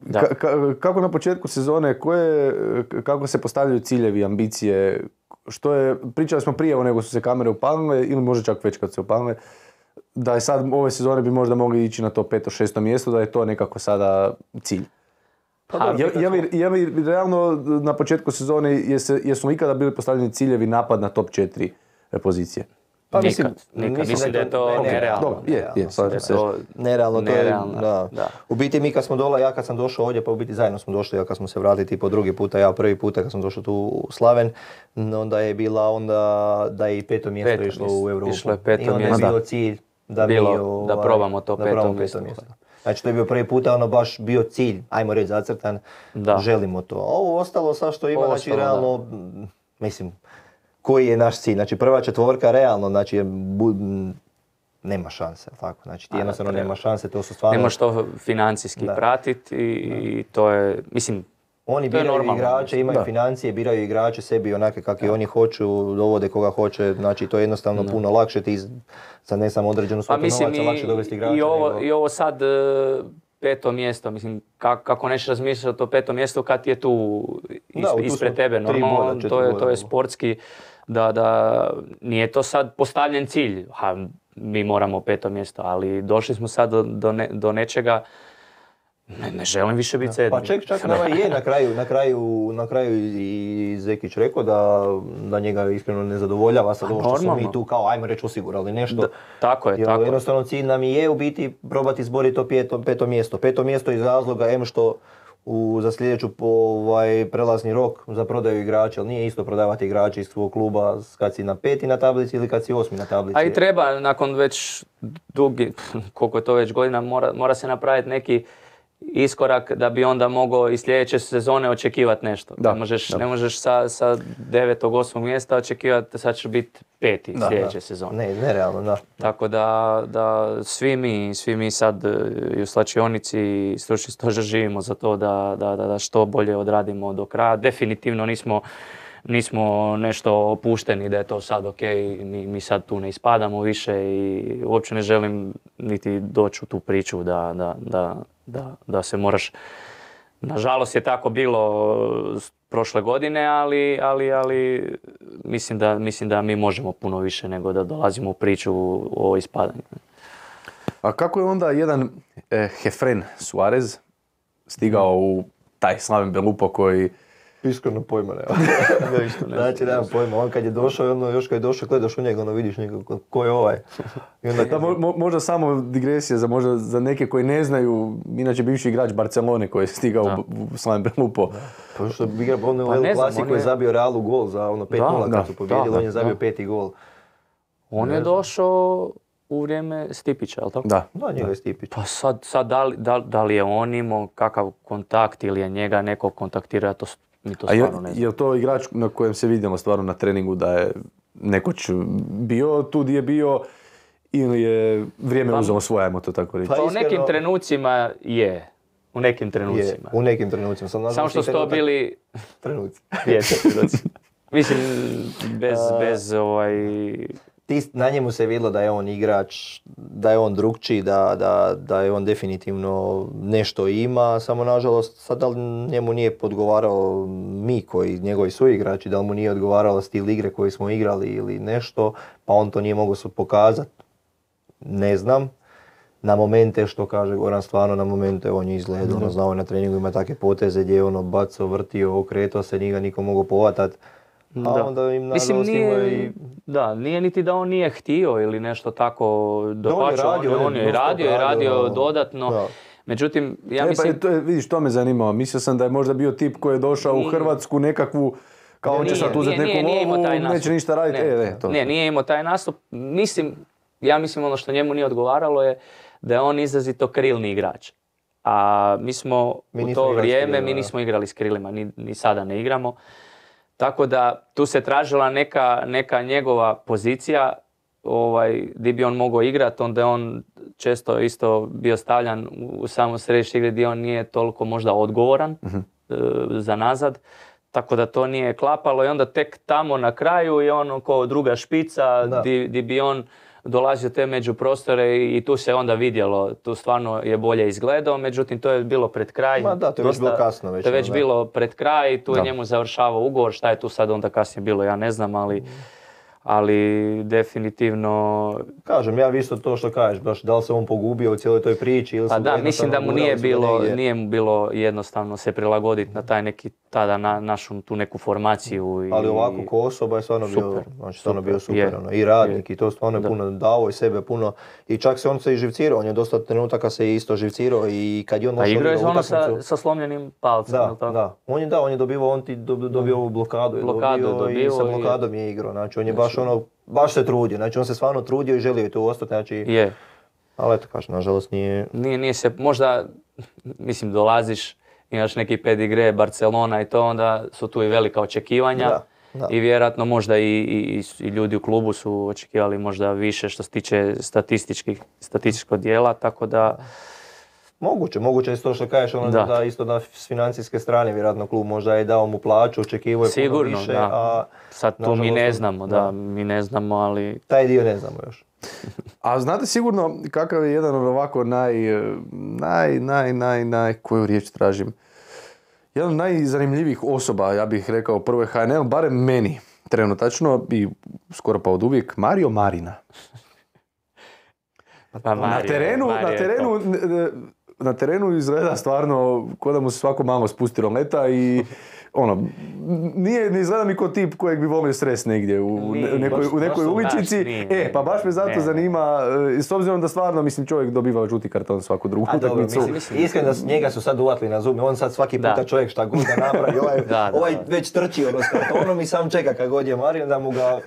Da. Ka- ka- kako na početku sezone, koje, kako se postavljaju ciljevi, ambicije, što je, pričali smo prije nego su se kamere upalile ili možda čak već kad su se upalile, da je sad ove sezone bi možda mogli ići na to peto, šesto mjesto, da je to nekako sada cilj. Pa Ha, dobro, Je, je, li, je li realno na početku sezone, jese, jesu li ikada bili postavljeni ciljevi napad na top četiri pozicije? Pa Nikad, mislim, nikad. Mislim da je to ne- nerealno. Dobro, je, je, nerealno. slažem Da je se. to Nerealno, to je, nerealno, da. da. U biti mi kad smo dola, ja kad sam došao ovdje, pa u biti zajedno smo došli, ja kad smo se vratili tipo drugi puta, ja prvi puta kad sam došao tu u Slaven, onda je bila onda da je i peto mjesto Peto išlo mjesto. u Europu. Išlo je peto I onda mjesto. je bio Da. cilj da Bilo mi da ovaj, probamo to da peto probamo mjesto. Znači to je bio prvi puta ono baš bio cilj, ajmo reći zacrtan, Da. želimo to. A ovo ostalo sad što ima, Ovo znači ostalo, realno, m, mislim, koji je naš cilj? Znači prva četvorka realno, znači je bu- m, nema šanse, jel tako? Znači ti A, jednostavno treba. nema šanse, to su stvarno... Ne možeš to financijski Da. pratiti i, i to je, mislim, Oni to je biraju normalno, igrače, mislim. imaju Da. financije, biraju igrače sebi onake kakvi oni hoću, dovode koga hoće, znači to je jednostavno Da. puno lakše, ti z- za ne samo određenu pa svotu mislim novaca lakše dovesti i, igrača. i, ovo, nego- i ovo sad e, peto mjesto, mislim, kako, kako nećeš razmišljati o petom mjestu kad ti je tu, is, Da, tu ispred smo tebe, tri normalno, boda, četiri to je, boda. to je sportski, da, da nije to sad postavljen cilj, ha, mi moramo peto mjesto, ali došli smo sad do, do, ne- do nečega, ne, ne želim više biti sedmi. Pa ček, čak nama je na kraju, na kraju, na kraju i Zekić rekao da, da njega iskreno ne zadovoljava sad Pa ovo što smo normalno. mi tu kao ajmo reći osigurali nešto. Da, tako je, Jer tako je. jednostavno cilj nam i je u biti probati izboriti to peto, peto mjesto. Peto mjesto iz razloga em što u, za sljedeću po, ovaj, prelazni rok za prodaju igrača, ali nije isto prodavati igrače iz svog kluba kad si na peti na tablici ili kad si osmi na tablici. A i treba, nakon već dugi, koliko je to već godina, mora, mora se napraviti neki iskorak da bi onda mogao i sljedeće sezone očekivati nešto. Da, ne možeš, da. ne možeš sa, sa devetog, osmog mjesta očekivati da sad će biti peti Da, sljedeće da. sezone. Ne, nerealno, da. Tako da, da svi mi, svi mi sad e, i u slačionici i stručni stožer živimo za to da, da, da, da što bolje odradimo do kraja. Definitivno nismo, nismo nešto opušteni da je to sad ok, mi, mi sad tu ne ispadamo više i uopće ne želim niti doći u tu priču da, da, da, da, da se moraš... Nažalost je tako bilo s- prošle godine, ali, ali, ali mislim, da, mislim da mi možemo puno više nego da dolazimo u priču o ispadanju. A kako je onda jedan eh, Hefren Suarez stigao u taj slaven Belupo koji... Iskreno pojma nema. Znači, nemam pojma. On kad je došao, ono, još kad je došao, gledaš u njega, ono vidiš njega, ko- ko je ovaj. I onda Da, mo- mo- možda samo digresija za, možda za neke koji ne znaju, inače bivši igrač Barcelone koji je stigao Da. u, u slaven Belupo. Pa što bi igra ono Pa u ne El znam, Clasico on je je- zabio Realu gol za ono pet nula Da, kad su da, pobijedili, da, on je zabio da. peti gol. On Ne je znam. došao u vrijeme Stipića, jel tako? Da. Da, njega je Stipić. Pa sad, sad da, li, da, li- da li je on imao kakav kontakt ili je njega neko kontaktirao, ja to, s- mi to A je, stvarno ne znam. je li to igrač na kojem se vidimo stvarno na treningu da je nekoć bio tu gdje je bio ili je vrijeme Pa- uzelo svoje, ajmo to tako reći? Pa Pa u iskreno- nekim trenucima je. U nekim Je, trenucima. u nekim trenucima. Sam nažalost Samo što i su to trenutak- bili... trenuci. Je, trenuci. Mislim, bez, bez ovaj... Ti, na njemu se vidjelo da je on igrač, da je on drugčiji, da, da, da je on definitivno nešto ima, samo nažalost sad da li njemu nije podgovarao mi koji, njegovi suigrači, da li mu nije odgovaralo stil igre koji smo igrali ili nešto, pa on to nije mogao pokazati, ne znam. Na momente, što kaže Goran, stvarno na momente on je izgledao, ono, znao je na treningu ima takve poteze gdje je ono bacao, vrtio, okretao se, nije ga niko mogao povatat. A Da. onda im Mislim, nažalost imao nije, i... da, nije niti da on nije htio ili nešto tako dapače, radio, on, on on je je non-stop radio i radio radio, dodatno. da. Međutim, ja e, mislim... pa, to je, vidiš, to me zanimalo. Mislio sam da je možda bio tip koji je došao u Nije. Hrvatsku nekakvu, kao on će Nije, sad uzeti nije, neku nije imao lovu, taj nastup. neće ništa raditi. Ne, E, ne, to. ne, nije imao taj nastup. Mislim, ja mislim ono što njemu nije odgovaralo je da je on izrazito krilni igrač. A mi smo Mi u nismo to igrali s vrijeme, krilima, mi da. nismo igrali s krilima, ni, ni sada ne igramo. Tako da tu se tražila neka, neka njegova pozicija ovaj, gdje bi on mogao igrati, onda je on često isto bio stavljan u samo središte igre gdje on nije toliko možda odgovoran e, za nazad. Tako da to nije klapalo i onda tek tamo na kraju je on kao druga špica Da. di, di bi on dolazio te među prostore i, i tu se onda vidjelo, tu stvarno je bolje izgledao, međutim to je bilo pred kraj. Ma da, to je već bilo kasno već, To je već da. bilo pred kraj, tu je Da. njemu završavao ugovor, šta je tu sad onda kasnije bilo, ja ne znam, ali, ali definitivno... Kažem, ja bi isto to što kažeš, baš da li se on pogubio u cijeloj toj priči ili Pa su ga da, mislim da mu jednostavno nije gurali su ga bilo, negdje. nije mu bilo jednostavno se prilagoditi na taj neki, tada na, našu tu neku formaciju. I, Ali ovako ko osoba je stvarno bio, Super, znači stvarno super, bio super, je, ono, i radnik i to stvarno je Da. puno dao i sebe puno i čak se on se i živcirao, on je dosta trenutaka se i isto živcirao i kad je on A došao igrao je na ono sa, utakmicu- sa slomljenim palcem, Da, jel tako? da. On je da, on je dobivao, on ti dob- dobio ovu blokadu, je Blokadu dobio i dobivao sa i- blokadom je igrao, znači on je baš ono, baš se trudio, znači on se stvarno trudio i želio je tu ostati, znači Je. Ali eto, kažem, nažalost nije... Nije, nije se, možda, mislim, dolaziš, imaš neki pedigre, Barcelona i to, onda su tu i velika očekivanja. Da, da. I vjerojatno možda i, i, i ljudi u klubu su očekivali možda više što se tiče statističkih, statističkog dijela, tako da... Moguće, moguće je to što kažeš, ono Da. da. isto da s financijske strane, vjerojatno klub možda je dao mu plaću, očekivao je puno Sigurno, više, da. a Sad tu mi nažalost, ne znamo, da, da. mi ne znamo, ali... taj dio ne znamo još. A znate sigurno kakav je jedan od ovako naj, naj, naj, naj, naj, koju riječ tražim? Jedan od najzanimljivijih osoba, ja bih rekao, prvo je H N L, barem meni, trenutačno i skoro pa od uvijek, Mario Marina. Pa Na Mario, terenu, Mario na je terenu, top. n- n- na terenu izgleda stvarno ko da mu se svako malo spustilo leta i ono, nije, ne izgleda mi kao tip kojeg bi volio srest negdje u, u Nije, nekoj, baš- u nekoj baš uličici. baš nije, E, nije. pa baš me zato Ne, ne. zanima, e, s obzirom da stvarno, mislim, čovjek dobiva žuti karton svaku drugu A dobro, utakmicu. mislim, iskreno da s njega su sad uvatili na zub, on sad svaki puta Da. čovjek šta god da napravi, ovaj, Da, da, ovaj da. već trči ono s kartonom i sam čeka kad god je Mario da mu ga,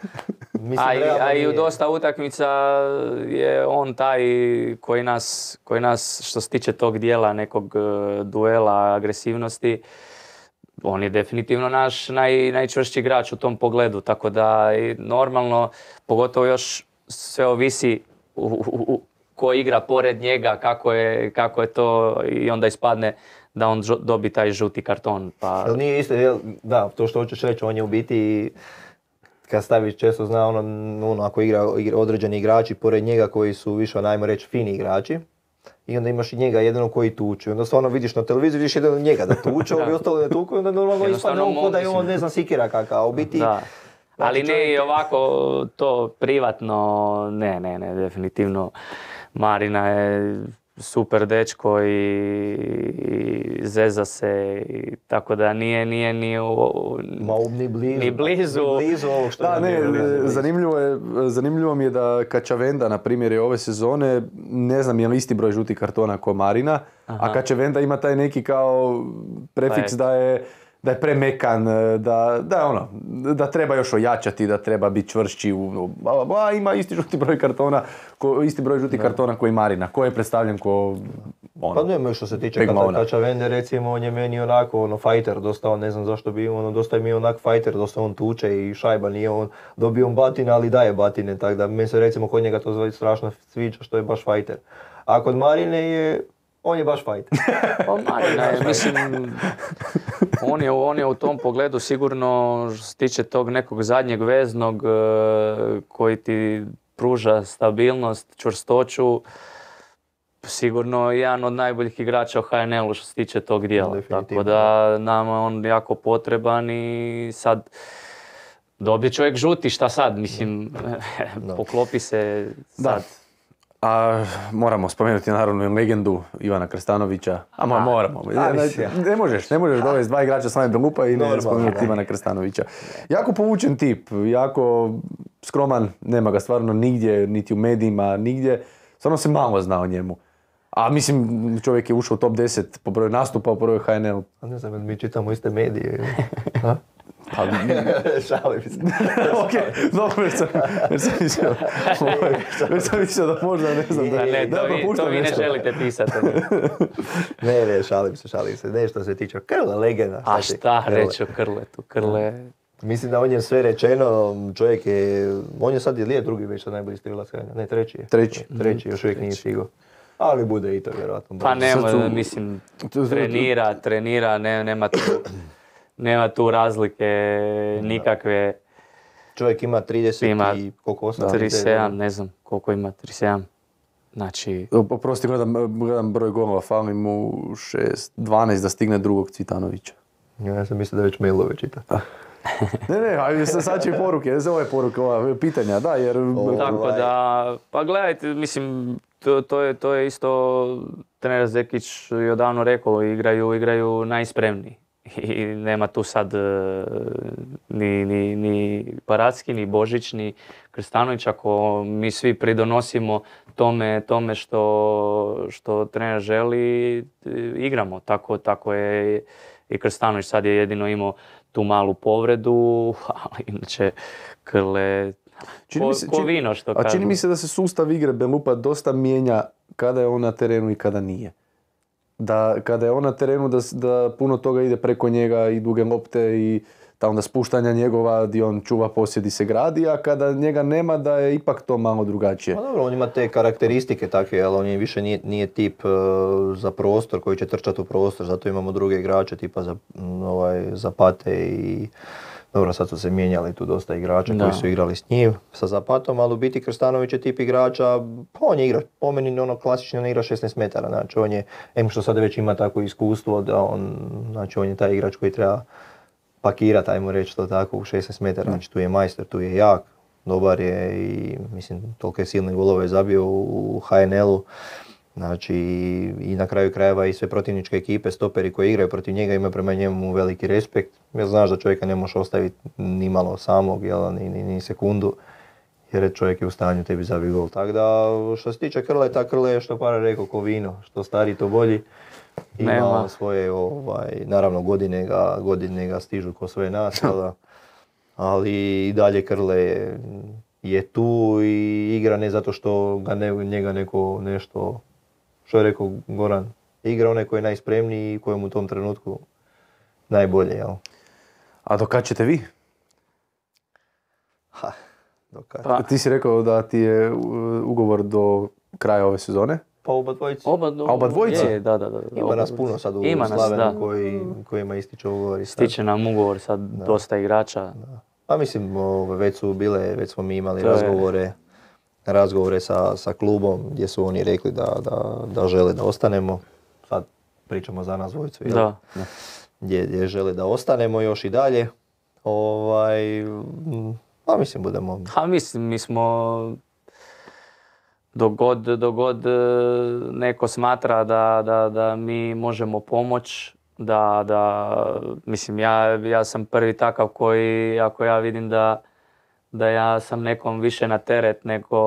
mislim, A, i, realno a i u nije. dosta utakmica je on taj koji nas, koji nas što se tiče tog dijela nekog e, duela, agresivnosti, on je definitivno naš naj, najčvršći igrač u tom pogledu, tako da i normalno, pogotovo još sve ovisi u, u, u, ko igra pored njega, kako je, kako je to i onda ispadne da on žo- dobi taj žuti karton. Pa, Jel nije isto, jel, da, to što hoćeš reći, on je u biti, kad staviš često zna ono, ono ako igra, igra određeni igrači pored njega koji su više, najmo reći, fini igrači, i onda imaš i njega jednog koji tuče. Onda stvarno vidiš na televiziji, vidiš jedan njega da tuče, ovi ostalo ne tuku, i onda normalno Jednostavno ispadne on ko da je mo- on, ne znam, sikira kakav, a u biti... Da. znači, Ali ne čovjek i je- ovako to privatno, ne, ne, ne, definitivno Marina je super dečko i, i zeza se, i tako da nije, nije ni u, Ma, ni blizu. Ni blizu. Ni blizu ovog što Da, je ne, bilo, blizu. zanimljivo je, zanimljivo mi je da Kačavenda, na primjer, je ove sezone, ne znam je li isti broj žutih kartona kao Marina, a Aha. Kačavenda ima taj neki kao prefiks Pa da je da je premekan, da, da, je ono, da treba još ojačati, da treba biti čvršći, u, bla, bla, bla, ima isti žuti broj kartona, ko, isti broj žutih kartona koji Marina, koji je predstavljen ko ono. Pa nema što se tiče Big Kata, Mona. Kačavende, recimo, on je meni onako, ono, fighter, dosta on, ne znam zašto bi, ono, dosta je mi onak fighter, dosta on tuče i šajba, nije on, dobio on batine, ali daje batine, tako da meni se recimo kod njega to zove strašno sviđa što je baš fighter. A kod Marine je, on je baš fighter. Pa Marina je, mislim, on je, on je u tom pogledu sigurno što se tiče tog nekog zadnjeg veznog e, koji ti pruža stabilnost, čvrstoću, sigurno jedan od najboljih igrača u H N L-u što se tiče tog dijela. Definitivno. Tako da nama je on jako potreban i sad dobije čovjek žuti, šta sad, mislim, poklopi se Da. sad. A moramo spomenuti naravno i legendu Ivana Krstanovića. A mo- moramo. A, Ne, mislim. ne možeš, ne možeš dovesti dva igrača Slane Belupa i ne Normalno, spomenuti da. Ivana Krstanovića. Jako povučen tip, jako skroman, nema ga stvarno nigdje, niti u medijima, nigdje. Stvarno se malo zna o njemu. A mislim, čovjek je ušao u top deset po broju nastupa, po broju H N L. A ne znam, jel mi čitamo iste medije. Ha? Pa, Šalim se. ok, dobro, već sam, već sam mislio, ovaj, već sam mislio da možda, ne znam, da, Da ne, da to, vi, propuštam to vi ne nešto. želite pisati. Ne, ne, šalim se, šalim se. Ne, što se tiče Krle, legenda. A ti? šta Krle. reći o Krletu? Krle... Mislim da on je sve rečeno, čovjek je, on je sad je drugi već sad najbolji strilac, ne, treći je. Treći. Treći, još uvijek nije stigao. Ali bude i to vjerojatno. Pa nema, Sad su- mislim, to- to- trenira, trenira, ne, nema, tu, nema tu razlike nikakve. Čovjek ima trideset Ima i koliko osam? trideset sedam, ne znam koliko ima, trideset sedam. Znači, Oprosti, gledam, gledam broj golova, fali mu šest, dvanaest da stigne drugog Cvitanovića. Ja sam mislio da već mailove čita. Ne, ne, ali sad sad će i poruke, ne ove poruke, ova pitanja, da, jer... tako Ovaj. da, pa gledajte, mislim, to, to, je, to je isto trener Zekić je odavno rekao, igraju, igraju najspremniji. I nema tu sad e, ni, ni, ni Paracki, ni Božić, ni Krstanović, ako mi svi pridonosimo tome, tome što, što trener želi, e, igramo. Tako, tako je i Krstanović, sad je jedino imao tu malu povredu, ali inače Krle Čini Ko, mi se- ko čini- vino što A čini kažu. mi se da se sustav igre Belupa dosta mijenja kada je on na terenu i kada nije. Da kada je on na terenu da, s- da puno toga ide preko njega i duge lopte i ta onda spuštanja njegova gdje on čuva posjed i se gradi, a kada njega nema da je ipak to malo drugačije. Pa dobro, on ima te karakteristike takve, ali on je više nije, nije tip e, za prostor koji će trčati u prostor, zato imamo druge igrače tipa za, m, ovaj, Zapate i dobro, sad su se mijenjali tu dosta igrača Da. koji su igrali s njim, sa Zapatom, ali u biti Krstanović je tip igrača, pa on je igrač, po meni ono klasično ne igra šesnaest metara, znači on je, em što sad već ima takvo iskustvo da on, znači on je taj igrač koji treba pakirati, ajmo reći to tako, u šesnaest metara, znači tu je majstor, tu je jak, dobar je i mislim tolike silne golove zabio u ha en el-u. Znači i na kraju krajeva i sve protivničke ekipe, stoperi koji igraju protiv njega imaju prema njemu veliki respekt. Jer znaš da čovjeka ne možeš ostaviti ni malo samog, jel, ni, ni, ni sekundu, jer čovjek je u stanju tebi zabiti gol. Tako da što se tiče Krleta, Krle je što Para rekao ko vino, što stariji to bolji. Ima Nema. on svoje, ovaj, naravno godine ga, godine ga stižu ko sve nas, jel da? Ali i dalje Krle je, je tu i igra ne zato što ga ne, njega neko nešto, što je rekao Goran, igra onaj koji je najspremniji i kojem u tom trenutku najbolje, jel? A do kad ćete vi? Ha, do kad? Pa, Ti si rekao da ti je uh, ugovor do kraja ove sezone. Pa oba dvojici. oba, A oba dvojica? Je, da, da, da. Ima oba nas dvojica. puno sad u Ima nas, Slavenu da. koji, kojima ističe ugovor. i sad. Stiče nam ugovor sad dosta igrača. Pa mislim, ove, već su bile, već smo mi imali To je- razgovore, razgovore sa, sa klubom gdje su oni rekli da, da, da žele da ostanemo. Sad pričamo za nas dvojicu, jel? Da. Gdje, gdje žele da ostanemo još i dalje. Ovaj, mm, pa mislim budemo... Ha, mislim, mi smo dogod, dogod e, neko smatra da, da, da mi možemo pomoć, da, da, mislim, ja, ja sam prvi takav koji, ako ja vidim da, da ja sam nekom više na teret nego,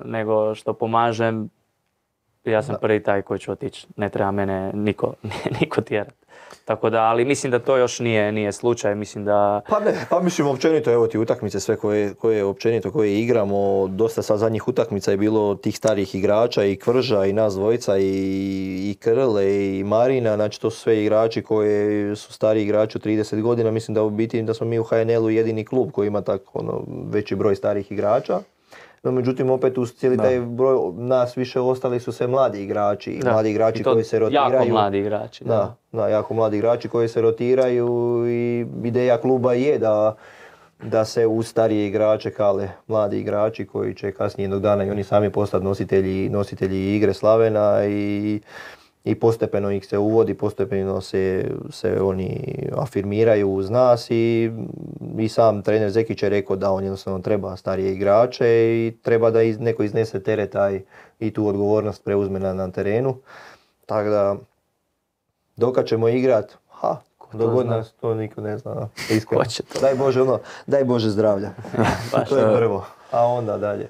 nego što pomažem, ja sam Da. prvi taj koji ću otići. Ne treba mene niko, niko tjerat. Tako da, ali mislim da to još nije, nije slučaj, mislim da... Pa ne, pa mislim općenito, evo ti utakmice sve koje, koje općenito koje igramo, dosta sa zadnjih utakmica je bilo tih starih igrača i Kvrža i nas dvojica i, i Krle i Marina, znači to su sve igrači koji su stari igrači od trideset godina, mislim da u biti da smo mi u ha en el-u jedini klub koji ima tako ono, veći broj starih igrača. No, međutim, opet uz cijeli taj broj nas više ostali su sve mladi igrači, i Da. mladi I igrači to koji se rotiraju. Jako mladi igrači. Da, da, jako mladi igrači koji se rotiraju i ideja kluba je da, da se uz starije igrače kale mladi igrači koji će kasnije jednog dana i oni sami postati nositelji, nositelji igre Slavena i, i postepeno ih se uvodi, postepeno se, se oni afirmiraju uz nas i, i sam trener Zekić je rekao da on jednostavno treba starije igrače i treba da iz, neko iznese teret taj i tu odgovornost preuzme na, na terenu. Tako da dokad ćemo igrat, ha, dogod zna? nas to niko ne zna, iskreno. Ko će to? Daj Bože ono, daj Bože zdravlja. Baš To je to. prvo, a onda dalje.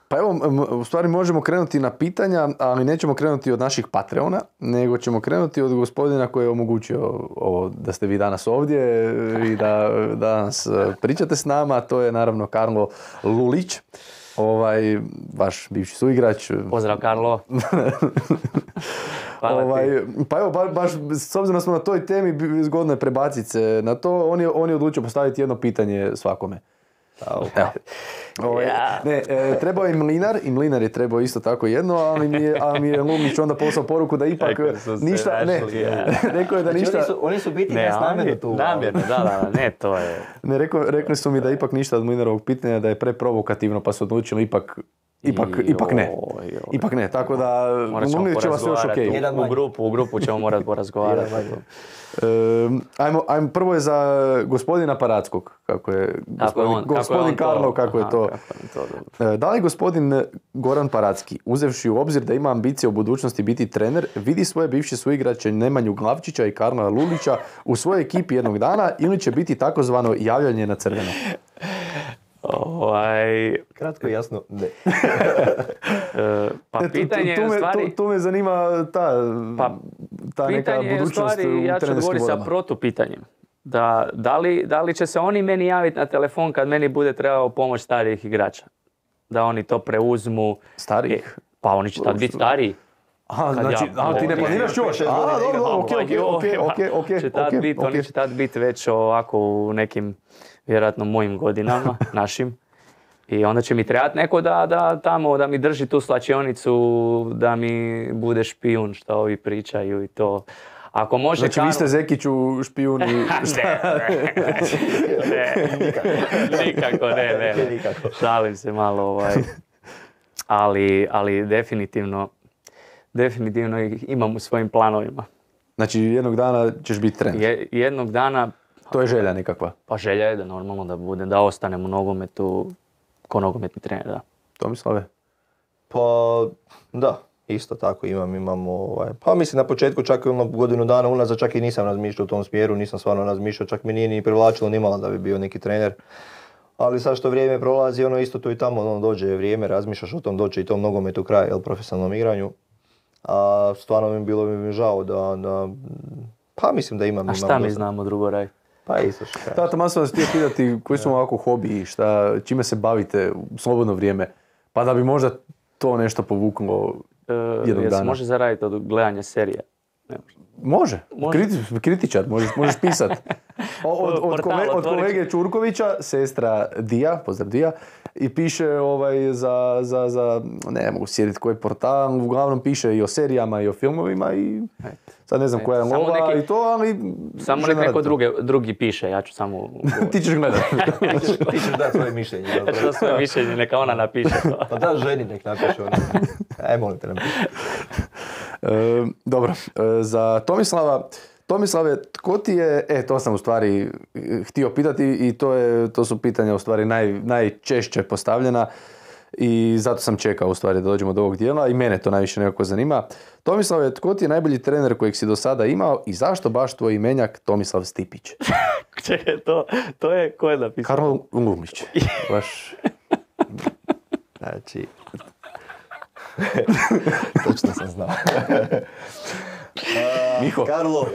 Pa evo, m- u stvari možemo krenuti na pitanja, ali nećemo krenuti od naših Patreona, nego ćemo krenuti od gospodina koji je omogućio ovo da ste vi danas ovdje i da danas e, pričate s nama, a to je naravno Karlo Lulić, ovaj, vaš bivši suigrač. Pozdrav, Karlo. Hvala ti. Ovaj, pa evo, ba- baš s obzirom da smo na toj temi, bi- zgodno je prebaciti se na to, on je, on je odlučio postaviti jedno pitanje svakome. Evo. Evo. Ovaj, Ja. ne, e, trebao je i Mlinar, i Mlinar je trebao isto tako jedno, ali mi je, ali mi je Lumić onda poslao poruku da ipak Rekao su se ništa, ne, našli, ja. rekao je da Znači, ništa, oni, su, oni su biti Ne, nas namjerno ali- tu. namjerno, da, da, da, ne, to je... ne, rekao, rekli su mi da ipak ništa od Mlinarovog pitanja, da je preprovokativno, pa su odlučili ipak, ipak, ipak ne. Joj, joj. Ipak ne, tako da Morat ćemo Mlinićeva sve još porazgovarati. okej. Jedan U, u manje. grupu, u grupu ćemo morati porazgovarati. Jedan manje. Ehm, ajmo, ajmo, prvo je za gospodina Parackog, kako je Kako je gospodin, on- kako je gospodin on to- Karlo, kako je aha, to. kako je to dobro. E, Da li gospodin Goran Paracki, uzevši u obzir da ima ambicije u budućnosti biti trener, vidi svoje bivše suigrače Nemanju Glavčića i Karla Lulića u svojoj ekipi jednog dana ili će biti takozvano javljanje na crveno? Ovaj, Kratko i jasno, ne. e, pa E, tu- tu- pitanje tu, je u me, stvari... tu, tu me zanima ta, Pa, ta neka pitanje je u budućnost stvari, u ja ću trenerskim odgovoriti sa vodama. protupitanjem. da, da, li, da li će se oni meni javiti na telefon kad meni bude trebao pomoć starijih igrača? Da oni to preuzmu. Starih? Pa oni će tad biti stariji. Aha, Kad znači, ja- a, ti ne ne, planiraš još? A, dobro, dobro, okej, okej, okej, okej, okej, Će tad okej, bit- okej. Oni će tad biti već ovako u nekim, vjerojatno mojim godinama, našim. I onda će mi trebati neko da, da tamo, da mi drži tu slačionicu, da mi bude špijun što ovi pričaju i to. Ako može Znači, vi Karlo- ste Zekiću špijuni, šta? ne, ne, nikako ne, ne, ne. Nikako. Šalim se malo, ovaj. Ali, ali definitivno, definitivno ih imam u svojim planovima. Znači, jednog dana ćeš biti trener. Je, jednog dana, To je želja nekakva. pa želja je da normalno da budem, da ostanem u nogometu ko nogometni trener, da. Tomislave? Pa da, isto tako imam, imamo, ovaj, pa mislim na početku čak i ono godinu dana unazad čak i nisam razmišljao u tom smjeru, nisam stvarno razmišljao, čak mi nije ni privlačilo ni malo da bi bio neki trener. Ali sad što vrijeme prolazi, ono isto tu i tamo, ono dođe vrijeme, razmišljaš o tom, dođe i tom nogometu kraj, jel, profesionalnom igranju. A stvarno mi bilo mi žao da, da, pa mislim da imam. A imam šta mi dosta. znamo drugo raditi? Pa isto što kažeš. Tata, malo sam vas htio pitati koji su vam ovako hobiji, šta, čime se bavite u slobodno vrijeme, pa da bi možda to nešto povuklo E, jednog jel se dana. može zaraditi od gledanja serija? Ne može. Može, Može. Kriti- kritičar, možeš, možeš pisat. O- Od, od, Portal, kole- od otvorit ću. kolege Čurkovića, sestra Dija, pozdrav Dija, i piše ovaj za, za, za, ne mogu sjediti koji portal, uglavnom piše i o serijama i o filmovima i sad ne znam koja je Samo lova neki- i to, ali... Samo žena nek neko radi to. druge, drugi piše, ja ću samo... Ti ćeš gledat. Ti ćeš, ti ćeš dati svoje mišljenje. jel? Ja ću dati svoje mišljenje, neka ona napiše to. Pa da, ženi nek napiše ono. Aj, molim te napiši. E, dobro, e, za Tomislava, Tomislave, tko ti je, e to sam u stvari e, htio pitati i to, je, to su pitanja u stvari naj, najčešće postavljena i zato sam čekao u stvari da dođemo do ovog dijela i mene to najviše nekako zanima. Tomislave, tko ti je najbolji trener kojeg si do sada imao i zašto baš tvoj imenjak Tomislav Stipić? Čekaj, to, to je, ko je napisao? Karlo Lumić. Baš, Znači, točno sam znao. A, Miho. Karlo.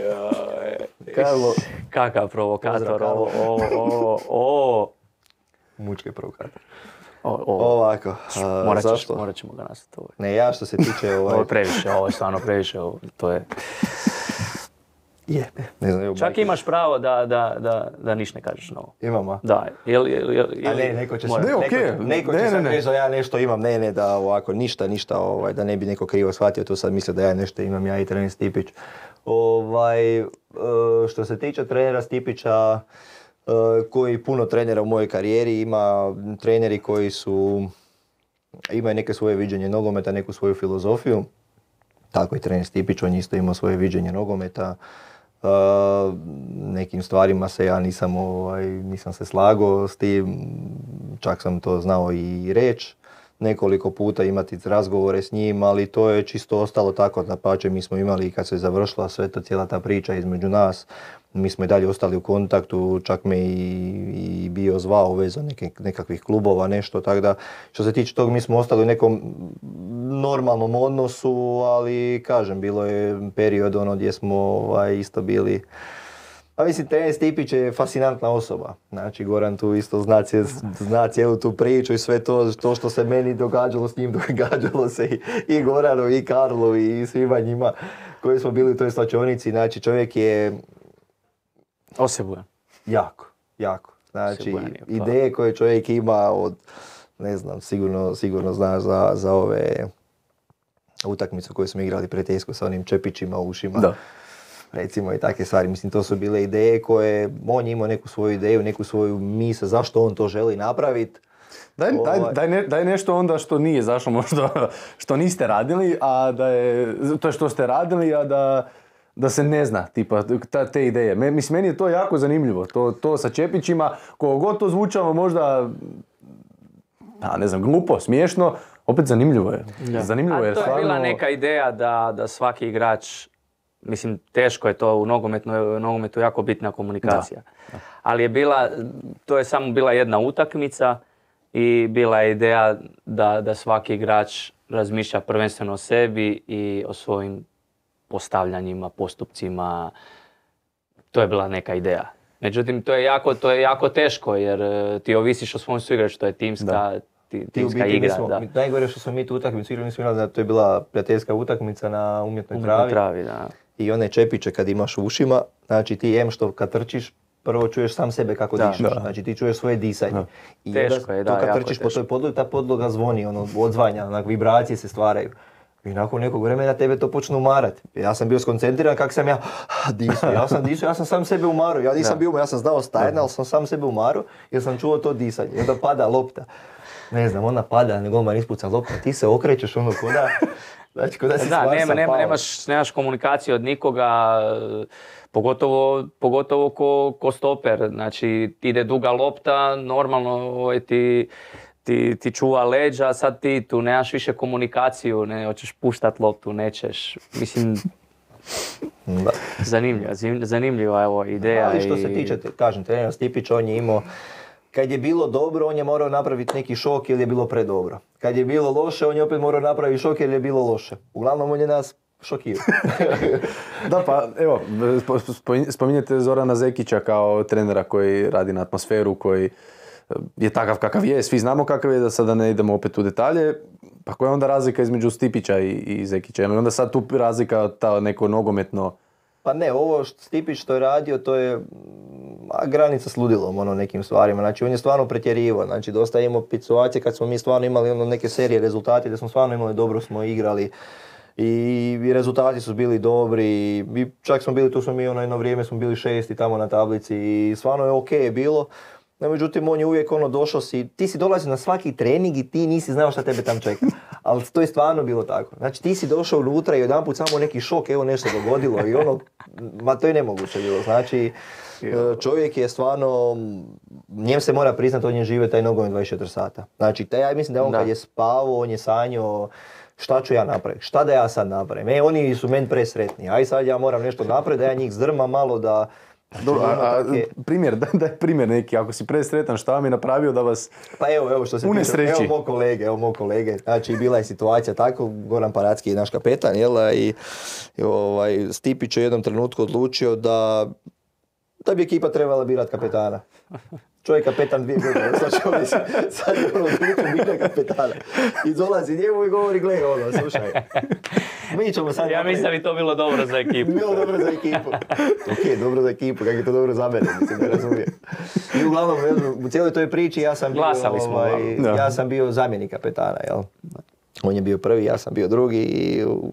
Karlo. Kakav provokator, Pozdrav, ovo, ovo, ovo, ovo, Mučke provokator. ovo, ovo. Ovako, a, Morat, ćeš, zašto? morat ćemo ga nastati ovo. Ne, ja što se tiče ovaj... Ovo je previše, ovo je stvarno previše, ovo, to je... Je, ne znam, evo, Čak majke. imaš pravo da, da, da, da niš ne kažeš novo. Imam, a? Da, jel, jel, jel, A ne, neko će, mora- se, Ne, neko, okej. neko Ne, će ne, sad ne. reći da ja nešto imam, ne, ne, da ovako, ništa, ništa, ovaj, da ne bi neko krivo shvatio, to sad misle da ja nešto imam, ja i trener Stipić. Ovaj, e, što se tiče trenera Stipića, e, koji puno trenera u mojoj karijeri, ima treneri koji su, imaju neke svoje viđenje nogometa, neku svoju filozofiju. Tako i trener Stipić, on je isto imao svoje viđenje nogometa. Uh, nekim stvarima se ja nisam, ovaj, nisam se slagao s tim, čak sam to znao i reći, nekoliko puta imati razgovore s njim, ali to je čisto ostalo tako, dapače mi smo imali kad se završila sve to, cijela ta priča između nas, mi smo i dalje ostali u kontaktu, čak me i, i bio zvao u vezu neke, nekakvih klubova, nešto, tako da što se tiče tog mi smo ostali u nekom normalnom odnosu, ali kažem, bilo je period ono gdje smo ovaj, isto bili. A mislim, trener Stipić je fascinantna osoba. Znači, Goran tu isto zna, cije- zna cijelu tu priču i sve to, to što se meni događalo s njim, događalo se i, i Goranu, i Karlu, i svima njima koji smo bili u toj slačionici. Znači, čovjek je Osebujan. jako, jako. Znači, Siguran je, pa. ideje koje čovjek ima od, ne znam, sigurno, sigurno znaš za, za ove utakmice koje smo igrali pred Tesco sa onim čepićima u ušima. Da. Recimo i takve stvari. Mislim, to su bile ideje koje, on je imao neku svoju ideju, neku svoju misao, zašto on to želi napraviti. Daj, daj, Ovaj. daj, ne- daj nešto onda što nije zašlo možda, što niste radili, a da je, to je što ste radili, a da, da se ne zna, tipa, ta, te ideje. Me, mislim, meni je to jako zanimljivo, to, to sa čepićima, koliko god to zvučalo možda, a ne znam, glupo, smiješno, opet zanimljivo je. Zanimljivo A je, to je stvarno. bila neka ideja da, da svaki igrač, mislim teško je to u nogometu, nogometu jako bitna komunikacija. Ali je bila, to je samo bila jedna utakmica i bila je ideja da, da svaki igrač razmišlja prvenstveno o sebi i o svojim postavljanjima, postupcima. To je bila neka ideja. Međutim, to je jako, to je jako teško jer e, ti ovisiš o svom suigraču, to je timska, Da. ti, Ti u timska biti, mi igra. smo, Da. mi- najgore što smo mi tu utakmicu igrali, mi smo igrali da to je bila prijateljska utakmica na umjetnoj Umjetnoj travi. travi, da. I one čepiće kad imaš u ušima, znači ti em što kad trčiš, prvo čuješ sam sebe kako Da. dišeš, Da. znači ti čuješ svoje disanje. Da. I Teško onda je, to da, kad jako trčiš po teško. toj podlogi, ta podloga zvoni, ono, odzvanja, onak, vibracije se stvaraju. I nakon nekog vremena tebe to počne umarati. Ja sam bio skoncentriran kako sam ja disao, ja sam disao, ja sam sam sebe umaru, ja nisam Da. bio, ja sam znao stajati, ali sam sam sebe umaru jer sam čuo to disanje. I onda pada lopta. Ne znam, ona pada, ne golman ispuca lopta, ti se okrećeš ono koda, znači koda si Da, stvar nema, sam nema, pao. nemaš, nemaš komunikaciju od nikoga, e, pogotovo, pogotovo ko, ko stoper. Znači, ide duga lopta, normalno ovaj, ti, ti, ti čuva leđa, sad ti tu nemaš više komunikaciju, ne, hoćeš puštat loptu, nećeš. Mislim, Da. zanimljiva, zim- zanimljiva je ovo ideja. Ali što se i- tiče, te- kažem, trener Stipić, on je imao, kad je bilo dobro, on je morao napraviti neki šok jer je bilo predobro. Kad je bilo loše, on je opet morao napraviti šok jer je bilo loše. Uglavnom, on je nas šokirao. Da, pa evo, spo- spo- spominjete Zorana Zekića kao trenera koji radi na atmosferu, koji je takav kakav je, svi znamo kakav je, da sada ne idemo opet u detalje. Pa koja je onda razlika između Stipića i, i Zekića? Je li onda sad tu razlika ta neko nogometno? Pa ne, ovo što Stipić što je radio, to je mm, a, granica s ludilom, ono, nekim stvarima. Znači, on je stvarno pretjerivao. Znači, dosta je imao situacije kad smo mi stvarno imali ono, neke serije rezultati, da smo stvarno imali, dobro smo igrali. I, i rezultati su bili dobri. I čak smo bili, tu smo mi ono jedno vrijeme smo bili šesti tamo na tablici i stvarno je ok je bilo. No, međutim, on je uvijek ono došao si, ti si dolazio na svaki trening i ti nisi znao šta tebe tam čeka. Ali to je stvarno bilo tako. Znači ti si došao unutra i odjedanput samo neki šok, evo nešto dogodilo i ono, ma to je nemoguće bilo. Znači čovjek je stvarno, njem se mora priznati, on je žive taj nogomet dvadeset četiri sata. Znači taj, ja mislim da on Da. kad je spavao, on je sanjao šta ću ja napraviti, šta da ja sad napravim. E, oni su meni presretni, aj sad ja moram nešto napraviti, da ja njih zdrmam malo, da... Dobro, a, a, Ono, tak je- primjer, daj, daj primjer neki, ako si presretan, šta vam je napravio da vas... Pa evo, evo što se tiče, Unesreći. evo mog kolege, evo mog kolege. Znači, bila je situacija tako, Goran Paracki je naš kapetan, jel, a, i, i ovaj, Stipić je u jednom trenutku odlučio da, da bi ekipa trebala birati kapetana. Čovjek kapetan dvije godine, znači ovdje si- sad je ono odlučio bira kapetana. I dolazi njemu i govori, gle, ono, slušaj, mi ćemo sad... Ja mislim da bi to bilo dobro za ekipu. Bilo dobro za ekipu. Ok, dobro za ekipu, kako je to dobro za mene, mislim, ne razumijem. I uglavnom, u cijeloj toj priči ja sam bio, Glasali smo, ovaj, da. ja sam bio zamjenik kapetana, jel? On je bio prvi, ja sam bio drugi i u-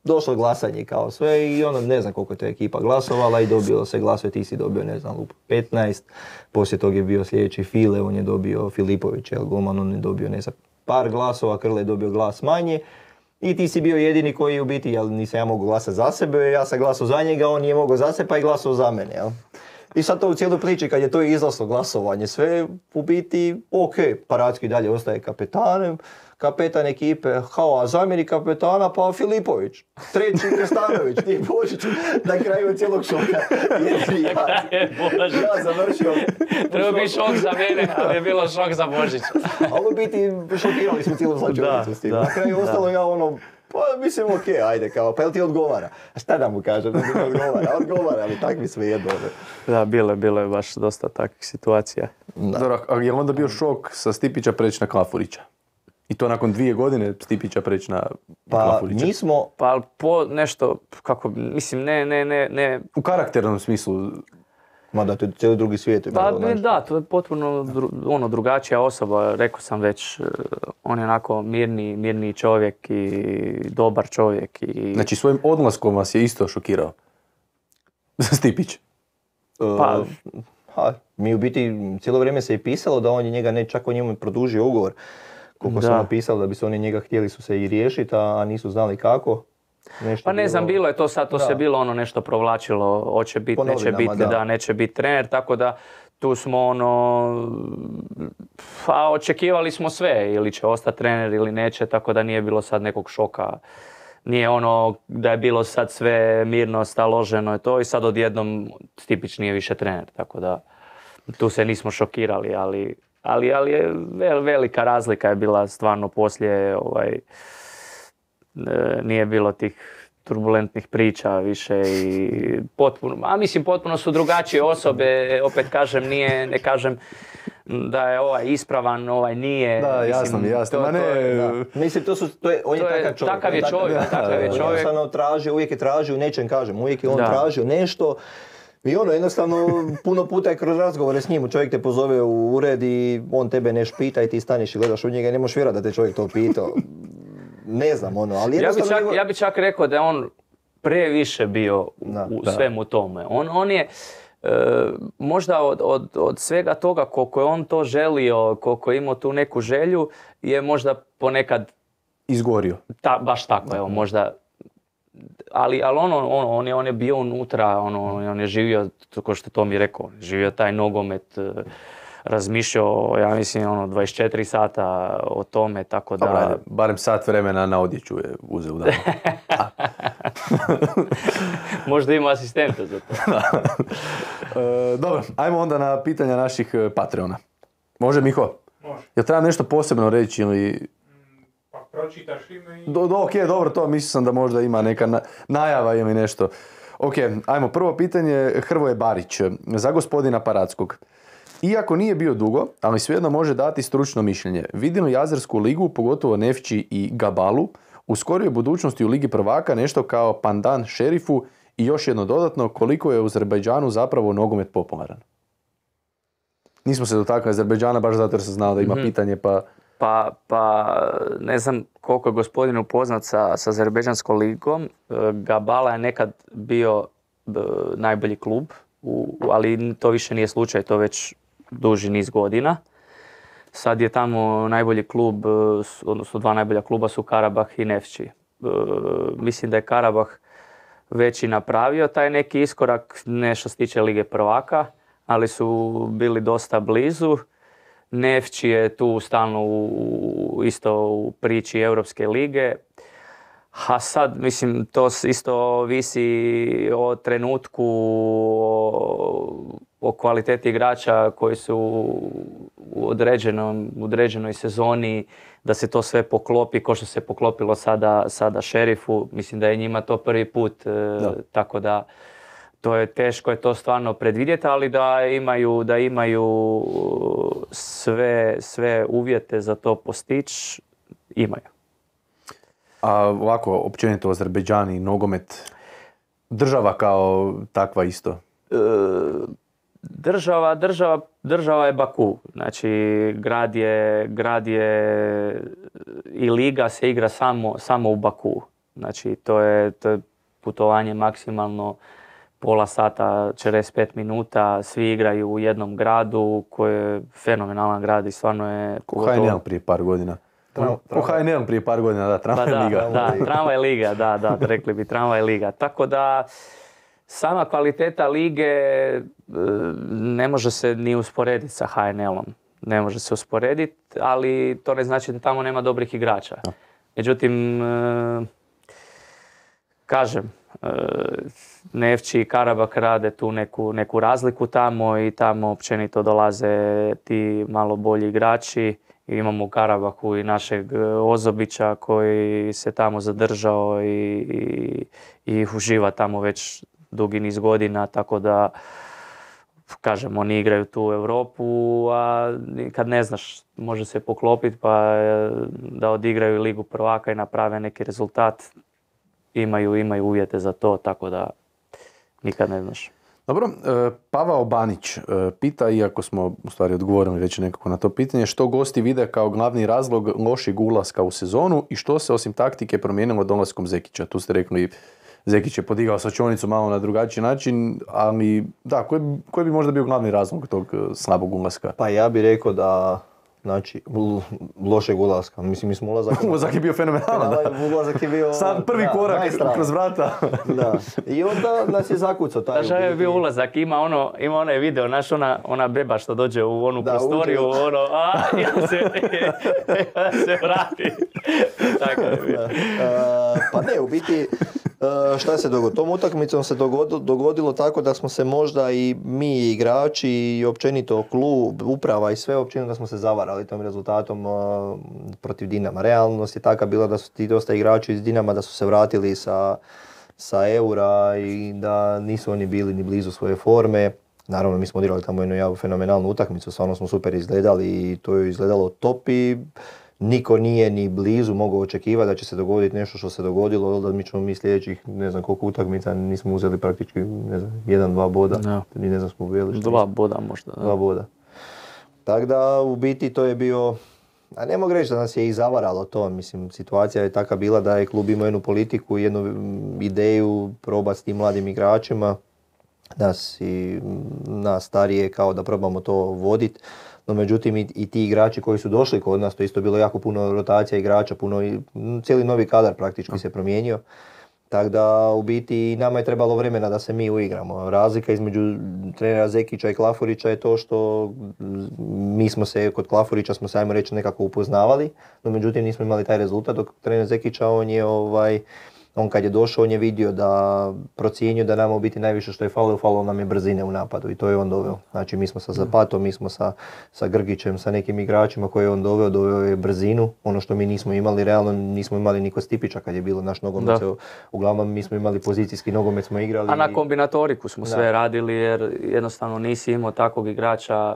došlo je glasanje kao sve i ono, ne znam koliko je to ekipa glasovala i dobilo se glasove, ti si dobio, ne znam, lup petnaest, poslije tog je bio sljedeći File, on je dobio Filipović, jel, golman, on je dobio, ne znam, par glasova, Krle je dobio glas manje. I ti si bio jedini koji u biti, jel, nisam ja mogu glasati za sebe, ja sam glasao za njega, on nije mogao za sebe pa je glasao za mene, jel? I sad to u cijeloj priči, kad je to izlaslo glasovanje, sve u biti, ok, Paracki dalje ostaje kapetanem, kapetan ekipe, kao, a zamjenik kapetana, pa Filipović, treći Krstanović, ti Božić, na kraju cijelog šoka, jedini ja, Bože. ja završio. Treba bi šok za mene, ali je bilo šok za Božić. Ali u biti šokirali smo cijelu slačionicu Da, s tim. da, Na kraju da. ostalo ja ono, pa mislim ok, ajde kao, pa jel ti odgovara? A šta da mu kažem, da mi ne odgovara? Odgovara, ali tak mi sve jedno. ne. Da, bilo je, bilo je baš dosta takvih situacija. Dobro, a je li onda bio šok sa Stipića preći na Klafurića? I to nakon dvije godine Stipića preći na Pa Klafurića? mi smo, Pa ali po nešto, kako, mislim, ne, ne, ne, ne, U karakternom smislu, mada to je cijeli drugi svijet. je pa bilo, ne, znaš. da, to je potpuno dru, ono, drugačija osoba, rekao sam već, eh, on je onako mirni, mirni čovjek i dobar čovjek i... znači svojim odlaskom vas je isto šokirao. Stipić. Pa- Uh, ha, mi u biti cijelo vrijeme se je pisalo da on je njega, ne, čak on njemu produžio ugovor. Koliko se Da. ono pisalo da bi se oni njega htjeli su se i riješiti, a nisu znali kako. Nešto Pa ne znam, bilo je to sad, to Da. se bilo ono nešto provlačilo, hoće biti, Po neće novinama, biti, da. da. neće biti trener, tako da tu smo ono, pa očekivali smo sve, ili će ostati trener ili neće, tako da nije bilo sad nekog šoka. Nije ono da je bilo sad sve mirno, staloženo i to i sad odjednom Stipić nije više trener, tako da tu se nismo šokirali, ali, ali, ali je vel, velika razlika je bila stvarno poslije, ovaj, e, nije bilo tih turbulentnih priča više i potpuno, a mislim potpuno su drugačije osobe, opet kažem, nije, ne kažem da je ovaj ispravan, ovaj nije. Da, mislim, jasno mi, jasno. to- Ma ne, to je- Da. Mislim, to su, to je, on je, To je- takav čovjek. takav je on je čovjek, takav- takav je on čovjek. jednostavno traži, uvijek je tražio, u nečem kažem, uvijek je on Da. tražio nešto. I ono, jednostavno, puno puta je kroz razgovore s njim, čovjek te pozove u ured i on tebe nešto pita i ti staneš i gledaš u njega i ne možeš vjerovati da te čovjek to pitao. Ne znam, ono, ali Ja bi, jednostavno... čak, njegov- ja bi čak rekao da je on previše bio u, Da. u Da. svemu tome. On, on je e, možda od, od, od svega toga koliko je on to želio, koliko je imao tu neku želju, je možda ponekad izgorio. ta, baš tako, evo, možda. Ali, ali ono, ono, on, je, on je bio unutra, ono, on je živio, kao što to mi je rekao, on je živio taj nogomet, e, razmišljao, ja mislim, ono, dvadeset četiri sata o tome, tako da... Dobro, ajde, barem sat vremena na odjeću je uzeo u danu. Možda ima asistenta za to. E, dobro, ajmo onda na pitanja naših e, Patreona. Može, Miho? Može. Jel treba nešto posebno reći ili... Pa pročitaš ime i... Do, do, ok, dobro, to mislio sam da možda ima neka na- najava ili nešto. Ok, ajmo, prvo pitanje, Hrvoje Barić, za gospodina Paradskog. Iako nije bio dugo, ali svejedno može dati stručno mišljenje. Vidim li Azersku ligu, pogotovo Nefči i Gabalu, u skorijoj budućnosti u Ligi prvaka nešto kao pandan Šerifu i još jedno dodatno, koliko je u Azerbajdžanu zapravo nogomet popularan? Nismo se dotakli Azerbajdžana baš zato jer sam znao da ima pitanje, pa... Pa, pa ne znam koliko je gospodin upoznat sa, sa Azerbejdžanskom ligom. E, Gabala je nekad bio e, najbolji klub, u, ali to više nije slučaj, to već duži niz godina. Sad je tamo najbolji klub, e, s- odnosno dva najbolja kluba su Karabah i Nefči. E, mislim da je Karabah već i napravio taj neki iskorak, ne što se tiče Lige prvaka, ali su bili dosta blizu. Nefči je tu stalno u, isto u priči Europske lige. A sad, mislim, to s- isto visi o trenutku, o, o kvaliteti igrača koji su u određenom, u određenoj sezoni, da se to sve poklopi, kao što se poklopilo sada, sada Šerifu. Mislim da je njima to prvi put, e, tako da to je teško je to stvarno predvidjeti, ali da imaju, da imaju sve, sve uvjete za to postići, imaju. A ovako, općenito Azerbejdžan i nogomet, država kao takva isto. E, Država, država, država je Baku, znači grad je, grad je i liga se igra samo, samo u Baku. Znači to je, to je putovanje maksimalno pola sata, četrdeset pet minuta, svi igraju u jednom gradu koji je fenomenalan grad i stvarno je... Ko H N L prije par godina. Tram- Ko H N L prije par godina, da, Pa tramvaj da, liga. da, tramvaj liga, da, da, rekli bi tramvaj liga. Tako da sama kvaliteta lige e, ne može se ni usporediti sa H N L-om. Ne može se usporediti, ali to ne znači da tamo nema dobrih igrača. Međutim, e, kažem, e, Nefči i Karabak rade tu neku, neku razliku tamo i tamo općenito dolaze ti malo bolji igrači. Imamo u Karabahu i našeg e, Ozobića koji se tamo zadržao i, i, i uživa tamo već dugi niz godina, tako da kažem, oni igraju tu u Europu, a kad ne znaš, može se poklopiti pa e, da odigraju Ligu prvaka i naprave neki rezultat, imaju, imaju uvjete za to, tako da nikad ne znaš. Dobro, e, Pavao Banić e, pita, iako smo u stvari odgovorili već nekako na to pitanje, što gosti vide kao glavni razlog lošeg ulaska u sezonu i što se osim taktike promijenilo dolaskom Zekića. Tu ste rekli, Zekić je podigao slačionicu malo na drugačiji način, ali da, koji, bi- koji bi možda bio glavni razlog tog e, slabog ulaska? Pa ja bih rekao da, znači, l- lošeg ulaska. Mislim, mi smo ulazak... Ulazak je bio fenomenalan, da. Da, ulazak je bio... Sam prvi da, korak najstrašniji. kroz vrata. Da. I onda nas je zakucao taj... Znaš, je bio ulazak, ima ono, ima onaj video, znaš, ona, ona beba što dođe u onu Da, prostoriju, uđe. ono, a, ja se, ja se vrati. Tako je bio. E, pa ne, u biti, e, šta se dogodilo? Tom utakmicom se dogodilo, dogodilo tako da smo se možda i mi igrači i općenito klub, uprava i sve općenito da smo se zavarali tom rezultatom e, protiv Dinama. Realnost je taka bila da su ti dosta igrači iz Dinama da su se vratili sa sa Eura i da nisu oni bili ni blizu svoje forme. Naravno, mi smo odigrali tamo jednu jako fenomenalnu utakmicu, stvarno smo super izgledali i to je izgledalo top i niko nije ni blizu mogao očekivati da će se dogoditi nešto što se dogodilo, da mi ćemo mi sljedećih ne znam koliko utakmica nismo uzeli praktički ne znam, jedan, dva boda, Da. ni ne znam smo uvijeli. Dva boda možda. Da. Dva boda. Tako da u biti to je bio, a ne mogu reći da nas je i zavaralo to, mislim situacija je taka bila da je klub imao jednu politiku, jednu mm, ideju probati s tim mladim igračima, nas i nas starije kao da probamo to voditi. No međutim i, i ti igrači koji su došli kod nas, to je isto bilo jako puno rotacija igrača, puno i, m, cijeli novi kadar praktički se promijenio. Tako da u biti nama je trebalo vremena da se mi uigramo. Razlika između trenera Zekića i Klafurića je to što mi smo se, kod Klafurića smo se ajmo reći nekako upoznavali, no međutim nismo imali taj rezultat, dok trener Zekića on je ovaj, on kad je došao on je vidio da procijenio da nama u biti najviše što je falilo, falilo nam je brzine u napadu i to je on doveo. Znači mi smo sa Zapatom, mi smo sa, sa Grgićem, sa nekim igračima koje je on doveo, doveo je brzinu. Ono što mi nismo imali, realno nismo imali ni kod Stipića kad je bilo naš nogomet. Da. Uglavnom mi smo imali pozicijski nogomet smo igrali. A na kombinatoriku smo Da. sve radili jer jednostavno nisi imao takvog igrača.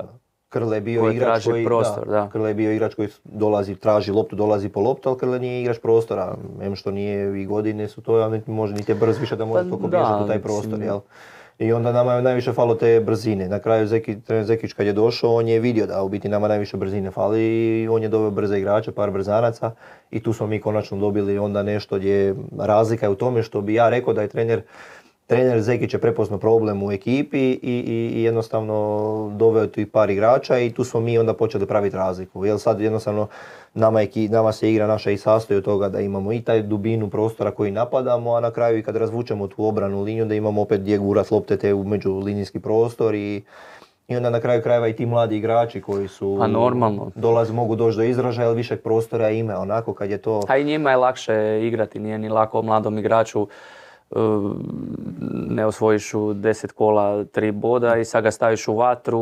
Krle je bio koji igrač traži koji, prostor, da, da. Krle je bio igrač koji dolazi, traži loptu, dolazi po loptu, ali Krle nije igrač prostora. Em što nije i godine su to, ali može niti je brz više da može Pa toliko da, bježati u taj mislim. prostor, jel? I onda nama je najviše falo te brzine. Na kraju Zeki, trener Zekić kad je došao, on je vidio da u biti nama najviše brzine fali i on je doveo brze igrače, par brzanaca i tu smo mi konačno dobili onda nešto gdje je razlika je u tome što bi ja rekao da je trener Trener Zekić je prepoznao problem u ekipi i, i, i jednostavno doveo tu i par igrača i tu smo mi onda počeli praviti razliku. Jer sad jednostavno nama, eki, nama se igra naša i sastoji od toga da imamo i taj dubinu prostora koji napadamo, a na kraju i kad razvučemo tu obranu liniju da imamo opet gdje gurat lopte te u međulinijski prostor i, i onda na kraju krajeva i ti mladi igrači koji su Pa normalno. dolaze, mogu doći do izražaja, ali višeg prostora ima onako kad je to... A i njima je lakše igrati, nije ni lako mladom igraču. Ne osvojiš u deset kola tri boda i sad ga staviš u vatru,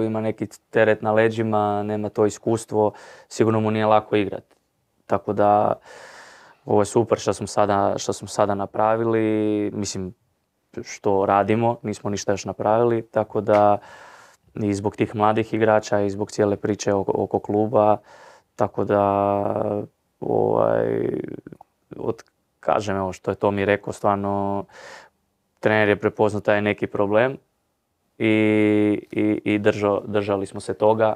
ima neki teret na leđima, nema to iskustvo, sigurno mu nije lako igrati. Tako da ovo je super što smo sada, što smo sada napravili, mislim što radimo, nismo ništa još napravili, tako da i zbog tih mladih igrača i zbog cijele priče oko, oko kluba, tako da ovaj, od kažem, evo što je to mi rekao, stvarno trener je prepoznao taj neki problem i, i, i držao, držali smo se toga,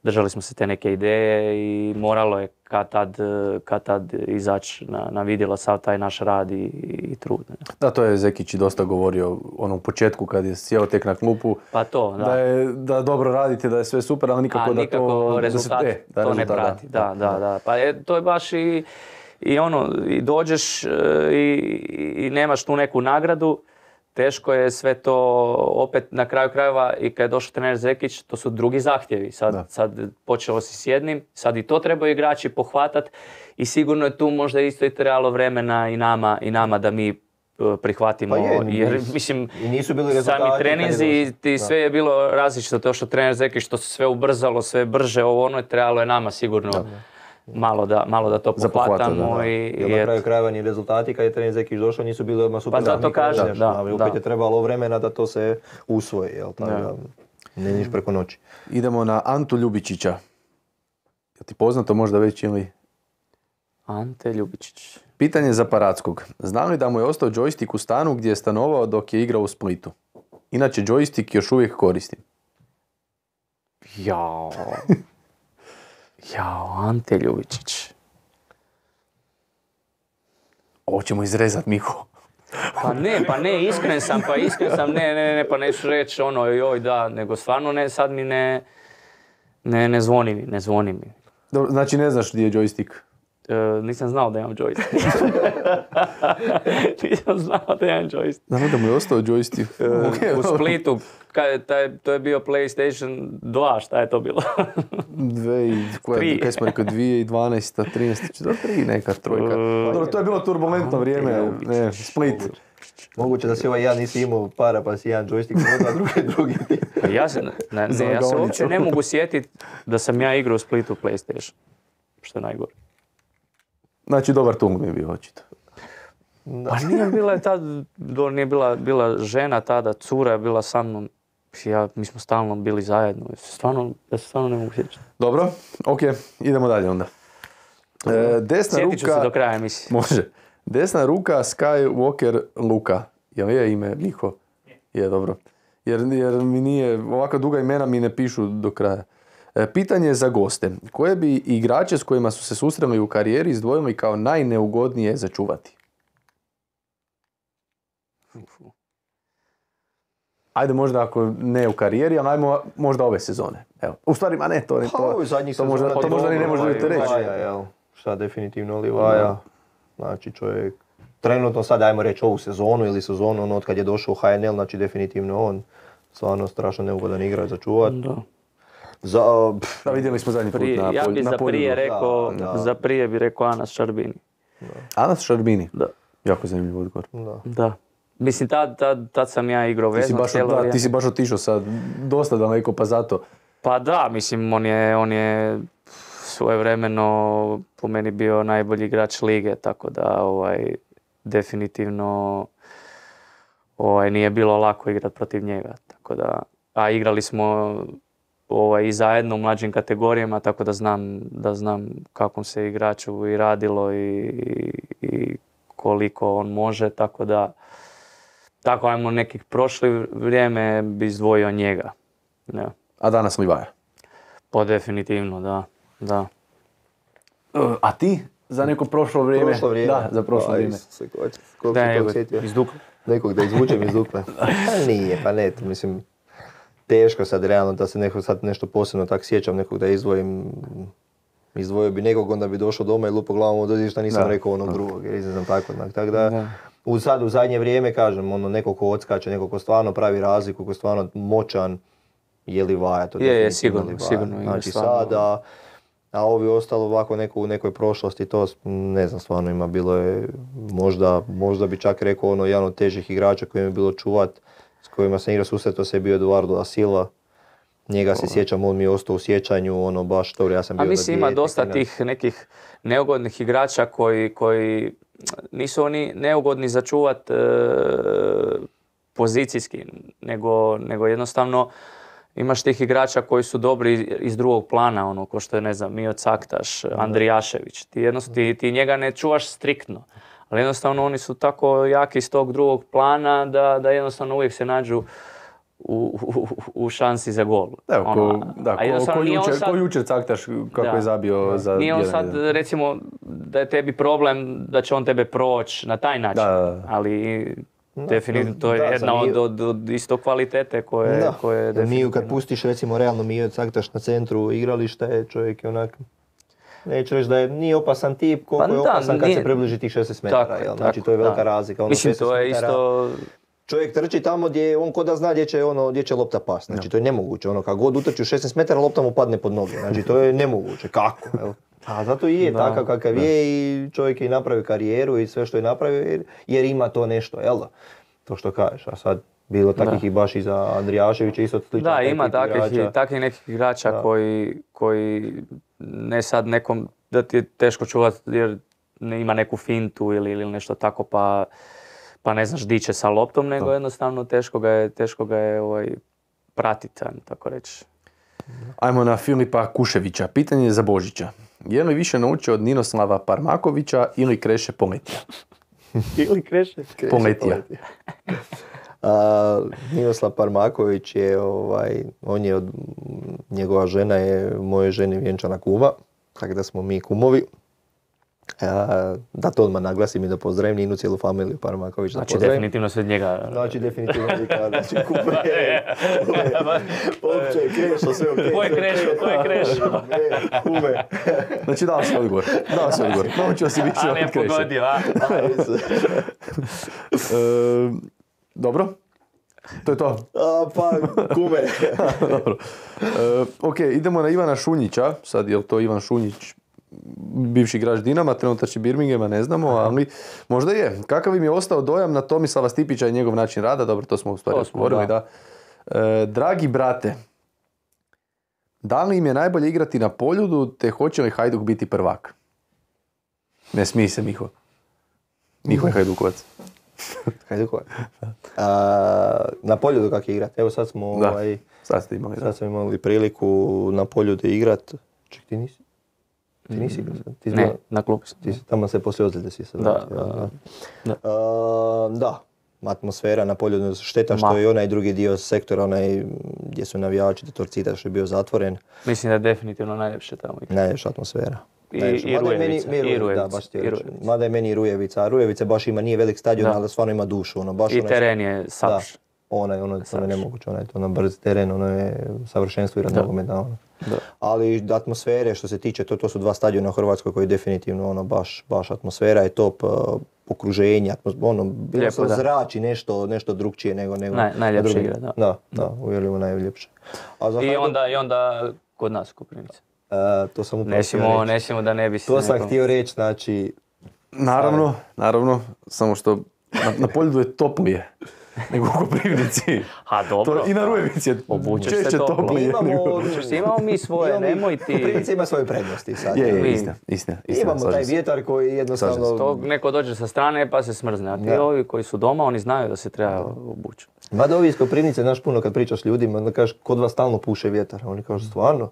držali smo se te neke ideje i moralo je kad tad, kad tad izaći na, na vidjelo sav taj naš rad i, i trud. Ne? Da, to je Zekić i dosta govorio ono u početku kad je sjeo tek na klupu. Pa to, da. Da, je, da dobro radite, da je sve super, ali nikako A da nikako to... rezultat, da se, e, da to rezultat, ne prati. Da, da, da. Pa je, to je baš i... I ono, i dođeš e, i, i nemaš tu neku nagradu, teško je sve to opet na kraju krajeva i kad je došao trener Zekić, to su drugi zahtjevi. Sad, sad počelo si s jednim, sad i to trebaju igrači pohvatat i sigurno je tu možda isto i trebalo vremena i nama, i nama da mi prihvatimo, Pa je, jer nisu, mislim i nisu bili rezultati sami kad je treninzi došao. i sve je bilo različito, to što trener Zekić što se sve ubrzalo, sve brže, ovo ono je trebalo je nama sigurno malo da, malo da to Za pohvata, pohvatamo da, da. i, Jer i na eto. kraju krajeva ni rezultati kad je trener Zekić došao nisu bili odmah super. Pa zato niko kažem, nešto, da, ali opet da. je trebalo vremena da to se usvoji, jel tako Da. da ne niš preko noći. Idemo na Antu Ljubičića. Je ti poznato možda već ili... Ante Ljubičić. Pitanje za Parackog. Znam li da mu je ostao džojstik u stanu gdje je stanovao dok je igrao u Splitu? Inače, džojstik još uvijek koristim. Jao. Jao, Ante Ljubičić. Ovo ćemo izrezat, Miho. Pa ne, pa ne, iskren sam, pa iskren sam, ne, ne, ne, pa neću reći ono, joj, da, nego stvarno ne, sad mi ne, ne, ne zvoni mi, ne zvoni mi. Dobro, znači ne znaš gdje je džojstik? E, nisam znao da imam joystick. nisam znao da imam joystick. Znam da mu je ostao džojstik. E, u Splitu, kaj, taj, to je bio PlayStation dva, šta je to bilo? Dve i, koja, Tri. kaj smo rekao, dvije i dvanaesta, trinaesta, do tri neka trojka. Dobro, to je bilo turbulentno vrijeme, ne, Split. Moguće da si ovaj ja nisi imao para pa si jedan joystick prodao, a drugi drugi ti. Pa ja se, ne, ne, Za ja se Gavnicu. uopće ne mogu sjetiti da sam ja igrao u Splitu PlayStation. Što je najgore. Znači, dobar tung mi je bio očito. Pa nije bila je tad, do, nije bila, bila žena tada, cura je bila sa mnom. Ja, mi smo stalno bili zajedno. Stvarno, ja se stvarno ne mogu sjećati. Dobro, ok, idemo dalje onda. E, desna Sjetit ću ruka... se do kraja emisije. Može. Desna ruka Skywalker Luka. Jel je ime Miho? Je, dobro. Jer, jer mi nije, ovako duga imena mi ne pišu do kraja. E, pitanje za goste. Koje bi igrače s kojima su se susreli u karijeri izdvojili kao najneugodnije za čuvati? Ajde možda ako ne u karijeri, ali ajmo možda ove sezone. Evo. U stvari, ma ne, to, to, Pa, ovo je zadnjih to, možda, sezona to možda ni ne dobro, možete ovaj, reći. Livaja, jel? Šta definitivno Livaja. Znači čovjek, trenutno sad ajmo reći ovu sezonu ili sezonu, ono od kad je došao u H N L, znači definitivno on. Stvarno strašno neugodan igrač za čuvat. Da. Za, pff, Da, vidjeli smo zadnji put Prije, na, ja polju, bi na za polju. prije rekao, Da, da. za prije bi rekao Anas Šarbini. Anas Šarbini. Da. Jako zanimljiv odgovor. da. Da. Mislim, tad, tad, tad sam ja igrao Ti si, vezno baš, cijelo da, vrijeme. ti si baš otišao sad dosta daleko, pa zato. Pa da, mislim, on je, on je svojevremeno po meni bio najbolji igrač lige, tako da ovaj, definitivno ovaj, nije bilo lako igrati protiv njega. Tako da, a igrali smo ovaj, i zajedno u mlađim kategorijama, tako da znam, da znam kakvom se igraču i radilo i, i, i koliko on može, tako da tako ajmo nekih prošli vrijeme bi izdvojio njega. Ja. A danas Livaja. Pa definitivno, da. da. A ti? Za neko prošlo vrijeme? Prošlo vrijeme. Da, za prošlo Pa, vrijeme. Isuse, ko- koliko Da, si evo, tog sjetio? iz Dukla. Nekog da izvučem iz Dukle. Pa nije, pa ne, to mislim, teško sad realno da se neko sad nešto posebno tak sjećam, nekog da izdvojim, izdvojio bi nekog, onda bi došao doma i lupo glavom od šta nisam Da. rekao onog drugog, jer ne znam tako, onak, tako da, Da. u sad u zadnje vrijeme kažem, ono, neko ko odskače, neko ko stvarno pravi razliku, ko je stvarno moćan, je Livaja, to Je, je, definitivno sigurno, Livaja. sigurno igra Znači stvarno. sada, a ovi ostalo ovako neko u nekoj prošlosti, to ne znam, stvarno ima, bilo je, možda, možda bi čak rekao ono, jedan od težih igrača koji mi je bilo čuvat, s kojima sam igrao susretao se je bio Eduardo da Silva. Njega se sjećam, on mi je ostao u sjećanju, ono baš dobro, ja sam bio A za mislim ima dijete, dosta klinac. tih nekih neugodnih igrača koji, koji nisu oni neugodni za čuvat e, pozicijski, nego, nego jednostavno imaš tih igrača koji su dobri iz, iz drugog plana, ono, ko što je, ne znam, Mio Caktaš, Andrijašević. Ti, jednostavno, ti, ti njega ne čuvaš striktno, ali jednostavno oni su tako jaki iz tog drugog plana da, da jednostavno uvijek se nađu u, u, u šansi za gol. Evo, ko, Ono, da, a ko, jednostavno ko, nije on jučer, sad- ko jučer Caktaš kako Da. je zabio za Nije on jedan sad, jedan. recimo, da je tebi problem da će on tebe proći na taj način, Da, da, da. ali Da, definitivno to je da, jedna za od, Miju- od, od isto kvalitete koje, Da, koje Miju kad definitivno- pustiš recimo realno Miju Caktaš na centru igrališta je čovjek je onak, neću reći da je nije opasan tip, koliko Pa je da, opasan kad nije- se približi tih šesnaest metara, Tako je, jel? Znači tako, to je velika da. razlika. Ono Mislim, šesnaest to je metara, isto... čovjek trči tamo gdje on ko da zna gdje će, ono, gdje će lopta past. Znači to je nemoguće. Ono, kad god utrči u šesnaest metara, lopta mu padne pod noge. Znači to je nemoguće. Kako? Jel? A zato i je Da, takav kakav da. je i čovjek je i napravio karijeru i sve što je napravio jer, jer ima to nešto, jel da? To što kažeš. A sad bilo takvih Da. i baš i za Andrijaševića isto slično. Da, taj ima tip takvih, igrača. i- takvih nekih igrača Da. koji, koji ne sad nekom, da ti je teško čuvati jer ne ima neku fintu ili, ili nešto tako pa, pa ne znaš di će sa loptom, nego Da. jednostavno teško ga je, teško ga je ovaj, pratiti, ajmo tako reći. Ajmo na Filipa Kuševića. Pitanje je za Božića. Je li više naučio od Ninoslava Parmakovića ili Kreše Poletija? Ili kreše? Poletija. A, Ninoslav Parmaković je, ovaj, on je od, njegova žena je moje žene vjenčana kuma, tako da smo mi kumovi. A, da to odmah naglasim i da pozdravim Ninu, cijelu familiju Parmaković. Da Znači pozdravim. definitivno se od njega... Znači, definitivno Vika, znači kume, opće, krešo, sve okej. Ko je krešo, ko je krešo? E, kume. Znači dao si odgovor. Dao si odgovor. Naučio si više A od ne Kreše. pogodio, a? E, dobro. To je to. A, pa, kume. Dobro. E, ok, idemo na Ivana Šunjića. Sad je li to Ivan Šunjić, bivši igrač Dinama, trenutačni Birminghama, ne znamo, ali možda je. Kakav im je ostao dojam na Tomislava Stipića i njegov način rada? Dobro, to smo u stvari To smo, govorili, da. da. E, dragi brate, da li im je najbolje igrati na Poljudu, te hoće li Hajduk biti prvak? Ne smij se, Miho. Nihoj Hajdukovac. Hajdukovac. A, na Poljudu kak je igrat? Evo sad smo, Da, ovaj, sad ste imali. Da. sad smo imali priliku na Poljudu igrat. Ček, ti nisi? Ti nisi igrao sad? Ti si Ne, bio- na klubu sam. Ti si, tamo se poslije ozljede si sad. Da, vratio, da, jel? da. A, da, atmosfera na Poljudu, šteta što Ma. je onaj drugi dio sektora, onaj gdje su navijači do Torcida što je bio zatvoren. Mislim da je definitivno najljepše tamo igrati. Najljepša atmosfera. I- Najljepša. i Mada je meni- Rujevica, mi i Rujevica, Rujevica, da, baš ti i reći. Rujevica. Mada je meni i Rujevica. A Rujevica baš ima, nije velik stadion, Da. ali stvarno ima dušu. Ono, baš I onaj- teren je Da, savršen. onaj, ono, to je Savršen. nemoguće, onaj, to ono brz teren, ono je savršenstvo igrati Da. nogometa, ono. Da. Ali atmosfere što se tiče, to, to su dva stadiona u Hrvatskoj koji definitivno ono baš, baš atmosfera je top, uh, okruženje, atmos, ono, bilo Lijepo, se da. zrači nešto, nešto drugčije nego, nego Naj- najljepše na drugim- igra, da. Da, da, uvjerljivo najljepše. A za I Hajduk, onda, I onda kod nas u Koprivnici. uh, to sam upravo Ne htio smijemo, reći. ne smijemo da ne bi se To sam nekom- htio reći, znači, Naravno, naravno, samo što na, na Poljudu je toplije nego u Koprivnici. Ha, dobro. To, I na Rujevici je Obučeš se češće toplo. toplije. Imamo- nego- Obučeš se, imamo mi svoje, imamo mi- nemoj ti... Koprivnica ima svoje prednosti sad. Je, je, Mi- istina, istina, istina. Imamo slažem taj se. vjetar koji jednostavno... Slažem se. To neko dođe sa strane pa se smrzne, a ti Da. ovi koji su doma, oni znaju da se treba obući. Mada ovi iz Koprivnice, znaš, puno kad pričaš s ljudima, onda kažeš, kod vas stalno puše vjetar. Oni kažu, stvarno?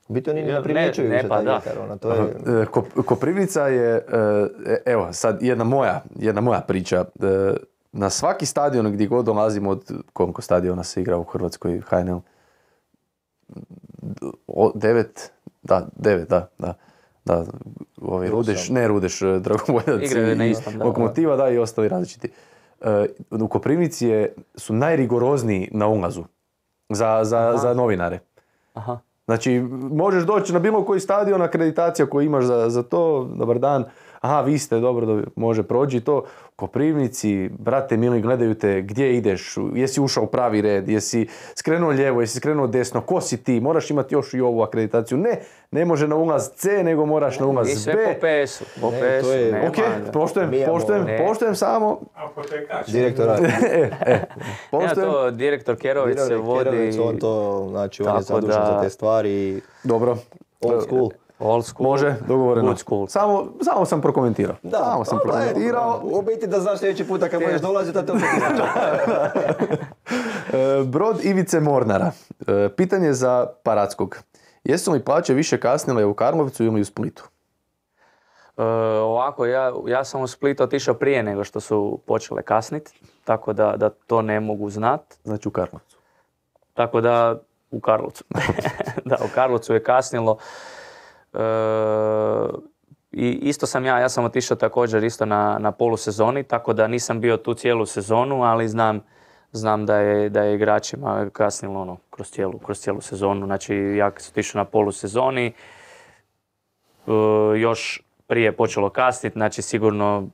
U biti oni Ja, ne ne, primjećuju ne, više pa taj da. vjetar. Ono, to je... E, Kop- Koprivnica je, e, evo sad jedna moja, jedna moja priča. E, Na svaki stadion gdje god dolazimo, od koliko stadiona se igra u Hrvatskoj, H N L? O, devet, da, devet, da, da. Da, ovi Rudeš, ne Rudeš, e, Dragovoljac Igraju na i istom, da. Lokomotiva, da, i ostali različiti. E, u Koprivnici je, su najrigorozniji na ulazu za, za, za novinare. Aha. Znači, možeš doći na bilo koji stadion, akreditacija koju imaš za, za to, dobar dan, aha, vi ste, dobro, dobro, može prođi to. U Koprivnici, brate mili, gledaju te, gdje ideš, jesi ušao u pravi red, jesi skrenuo lijevo, jesi skrenuo desno, ko si ti, moraš imati još i ovu akreditaciju. Ne, ne može na ulaz C, nego moraš na I ulaz sve B. po P S-u, po Ne, P S-u, to je- nema, Ok, da. poštujem, Mi imamo- poštujem, Ne. poštujem samo, Apotekač. Direktora. e, e, Nema poštujem, to, direktor Kerović se vodi... Kerović, on to, znači, on je Tako zadužen da- za te stvari. dobro. Old school. Old school. Može, dogovoreno. Good school. Samo, samo sam prokomentirao. samo sam dobro, prokomentirao. U biti da znaš sljedeći puta kad budeš dolaziti, da te opet izađe. E, Brod Ivice Mornara. E, Pitanje za Parackog. Jesu li plaće više kasnile u Karlovcu ili u Splitu? E, ovako, ja, ja sam u Split otišao prije nego što su počele kasnit, tako da, da to ne mogu znat. Znači u Karlovcu. Tako da u Karlovcu. Da, u Karlovcu je kasnilo. E, I isto sam ja, ja sam otišao također isto na, na polusezoni, tako da nisam bio tu cijelu sezonu, ali znam, znam da je, da je igračima kasnilo ono, kroz cijelu, kroz cijelu sezonu. Znači ja kad sam otišao na polusezoni, e, još prije počelo kasniti, znači sigurno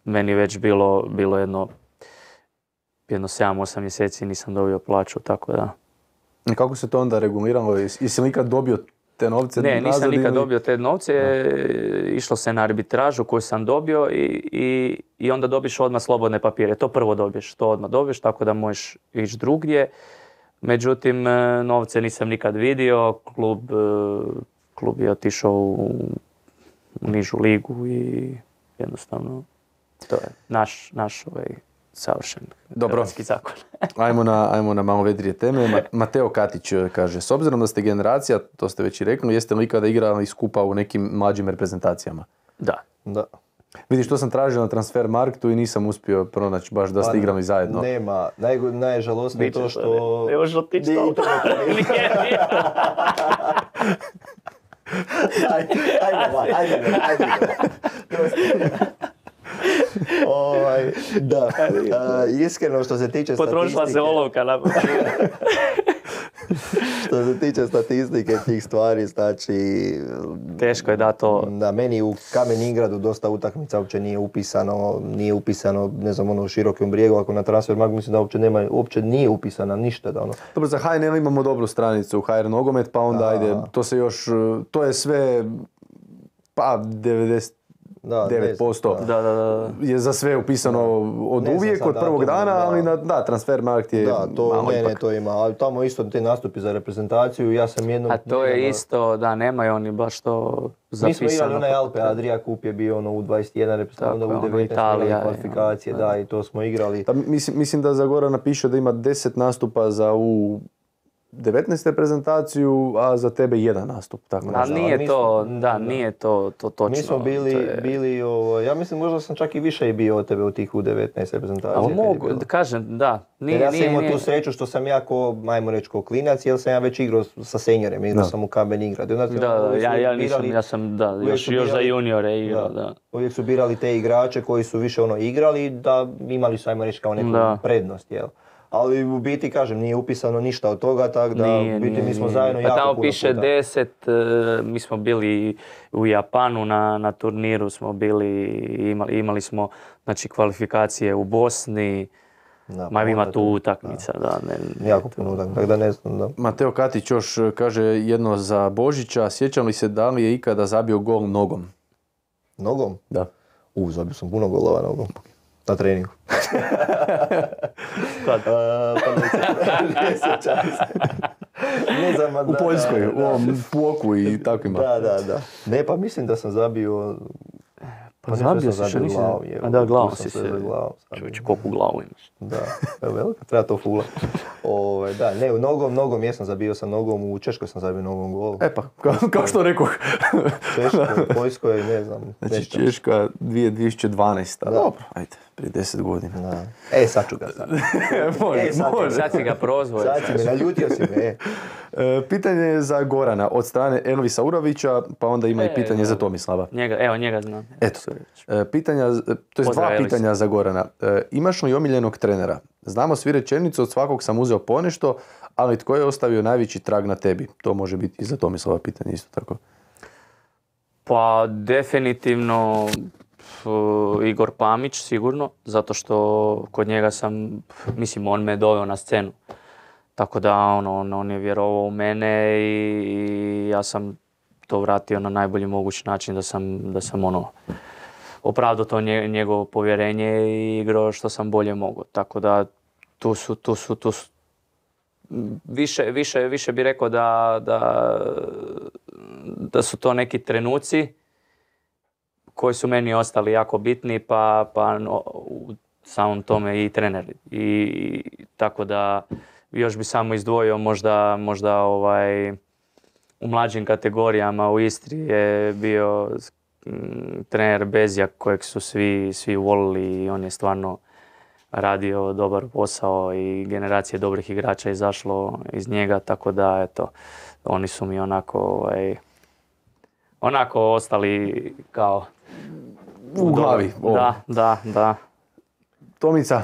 meni već bilo, bilo jedno, jedno sedam osam mjeseci nisam dobio plaću, tako da... I kako se to onda reguliralo? Jesi jesi li ikad dobio te novce? Ne, nisam nazad nikad ili- dobio te novce, išlo se na arbitražu koju sam dobio i, i, i onda dobiš odmah slobodne papire. To prvo dobiješ, to odmah dobiješ, tako da možeš ići drugdje. Međutim, e, novce nisam nikad vidio, klub, e, klub je otišao u, u nižu ligu i jednostavno to je naš, naš ovaj, savršen Dobro. hrvatski zakon. Ajmo na, ajmo na malo vedrije teme. Ma- Mateo Katić e, kaže, s obzirom da ste generacija, to ste već i rekli, jeste li ikada igrali skupa u nekim mlađim reprezentacijama? Da. Da. Vidiš, to sam tražio na transfer marketu i nisam uspio pronaći baš da ste Pa, igrali zajedno. Nema. Najgo- Najžalosnije je Biće to to, što... ne možeš otići Nije to. interneta. Nije, nije. Ajde, ajde, van, ajde, ajde. Ovaj, da, a, iskreno što se tiče Potrošila se statistike, olovka na što se tiče statistike tih stvari, znači, Teško je da to... da meni u Kamen Ingradu dosta utakmica uopće nije upisano, nije upisano, ne znam, ono u Širokom Brijegu, ako na Transfermarkt mislim da uopće nema, uopće nije upisana ništa, da ono. Dobro, za H N L imamo dobru stranicu, H R Nogomet, pa onda Da. ajde, to se još, to je sve, pa devedeset Da, devet posto deset, Da, da, da. je za sve upisano od Ne znam uvijek, sad od prvog datuma, dana, da. ali na, da, Transfermarkt je Da, to malo ne, ne, ipak. to ima, ali tamo isto te nastupi za reprezentaciju, ja sam jednom... A to je nedavno- isto, da, nemaju oni baš to Mi smo zapisano. igrali onaj kako Alpe treba. Adria Kup je bio ono u dvadeset jedan reprezentacija, onda Tako je, u ono devetnaest Italija, igrali je, kvalifikacije, ono, da, i to smo igrali. Da, mislim, mislim da za Gorana piše da ima deset nastupa za u devetnaest reprezentaciju, a za tebe jedan nastup. Tako A nešto. ali nije mi to, smo- da, da. nije to, to točno. Mi smo bili, To je- bili ovo, ja mislim možda sam čak i više i bio od tebe u tih u devetnaest reprezentacija. Ali kad je mogu, bilo. kažem, da. Nije, Jer ja sam nije, imao nije. tu sreću što sam ja ko, ajmo reći, ko klinac, jer sam ja već igrao sa seniorima, igrao Da. sam u Kamen Ingrad. I onda Da, da, uvijek su ja, ja birali- nisam, ja sam, da, uvijek još, su još za birali- juniore igrao, Da. da. Uvijek su birali te igrače koji su više ono igrali, da imali su, ajmo reći, kao neku Da. prednost, jel? Ali u biti, kažem, nije upisano ništa od toga, tako da Nije, u biti nije, mi smo nije. zajedno Pa jako tamo puno piše puta. deset, e, mi smo bili u Japanu na, na turniru, smo bili, imali, imali smo znači, kvalifikacije u Bosni, Da, ma ima onda tu utakmica, da. Ne, Jako puno utakmica, tako da ne znam, da. Mateo Katić još kaže jedno za Božića. Sjećam li se da li je ikada zabio gol nogom? Nogom? Da. U, zabio sam puno golova nogom. Na treningu. Kad? A, pa ne sjećam- ne sjećam se. Ne znam, ma U da, Poljskoj, da, u ovom Puoku i takvima. Da, da, da. Ne, pa mislim da sam zabio... Pa nešto zabio sam si, što zabio nisi... glavom, je, A da, glavom tu sam si se... za glavom zabio. Čovječe, koliko glavu imaš? Da, evo velika, treba to fula. Ove, da, ne, u nogom, nogom jesam zabio sam nogom, u Češkoj sam zabio nogom gol. E pa, kao, kao što rekoh. Češkoj, Poljskoj, ne znam. Znači nešto. Češka dvije tisuće dvanaesta. Da. Dobro, ajde, prije deset godina. Da. E, sad ću ga sad. može, E, sad- može. Sad si ga prozvao. Sad si me, naljutio si me, e. E, pitanje je za Gorana od strane Elvisa Urovića, pa onda ima i E, pitanje za dobro. Tomislava. Njega, evo, njega znam. Eto, Sureć. e, pitanja, to je Pozdrav, dva Elvis. pitanja za Gorana. E, imaš li omiljenog trenera? Znamo svi rečenicu, od svakog sam uzeo ponešto, ali tko je ostavio najveći trag na tebi? To može biti i za Tomislava pitanje isto tako. Pa definitivno uh, Igor Pamić sigurno, zato što kod njega sam, mislim on me doveo na scenu. Tako da ono, on, on je vjerovao u mene i, i ja sam to vratio na najbolji mogući način da sam, da sam ono, opravdao to nje, njegovo povjerenje i igrao što sam bolje mogao. Tako da tu su, tu su, tu su više, više, više bi rekao da, da, da su to neki trenuci koji su meni ostali jako bitni, pa, pa no, u samom tome i trener. I, i tako da još bi samo izdvojio možda, možda ovaj, u mlađim kategorijama u Istri je bio mm, trener Bezjak kojeg su svi, svi volili i on je stvarno radio dobar posao i generacije dobrih igrača izašlo iz njega, tako da eto, oni su mi onako, ovaj, onako ostali kao U glavi. ovo. Da, da, da. Tomica,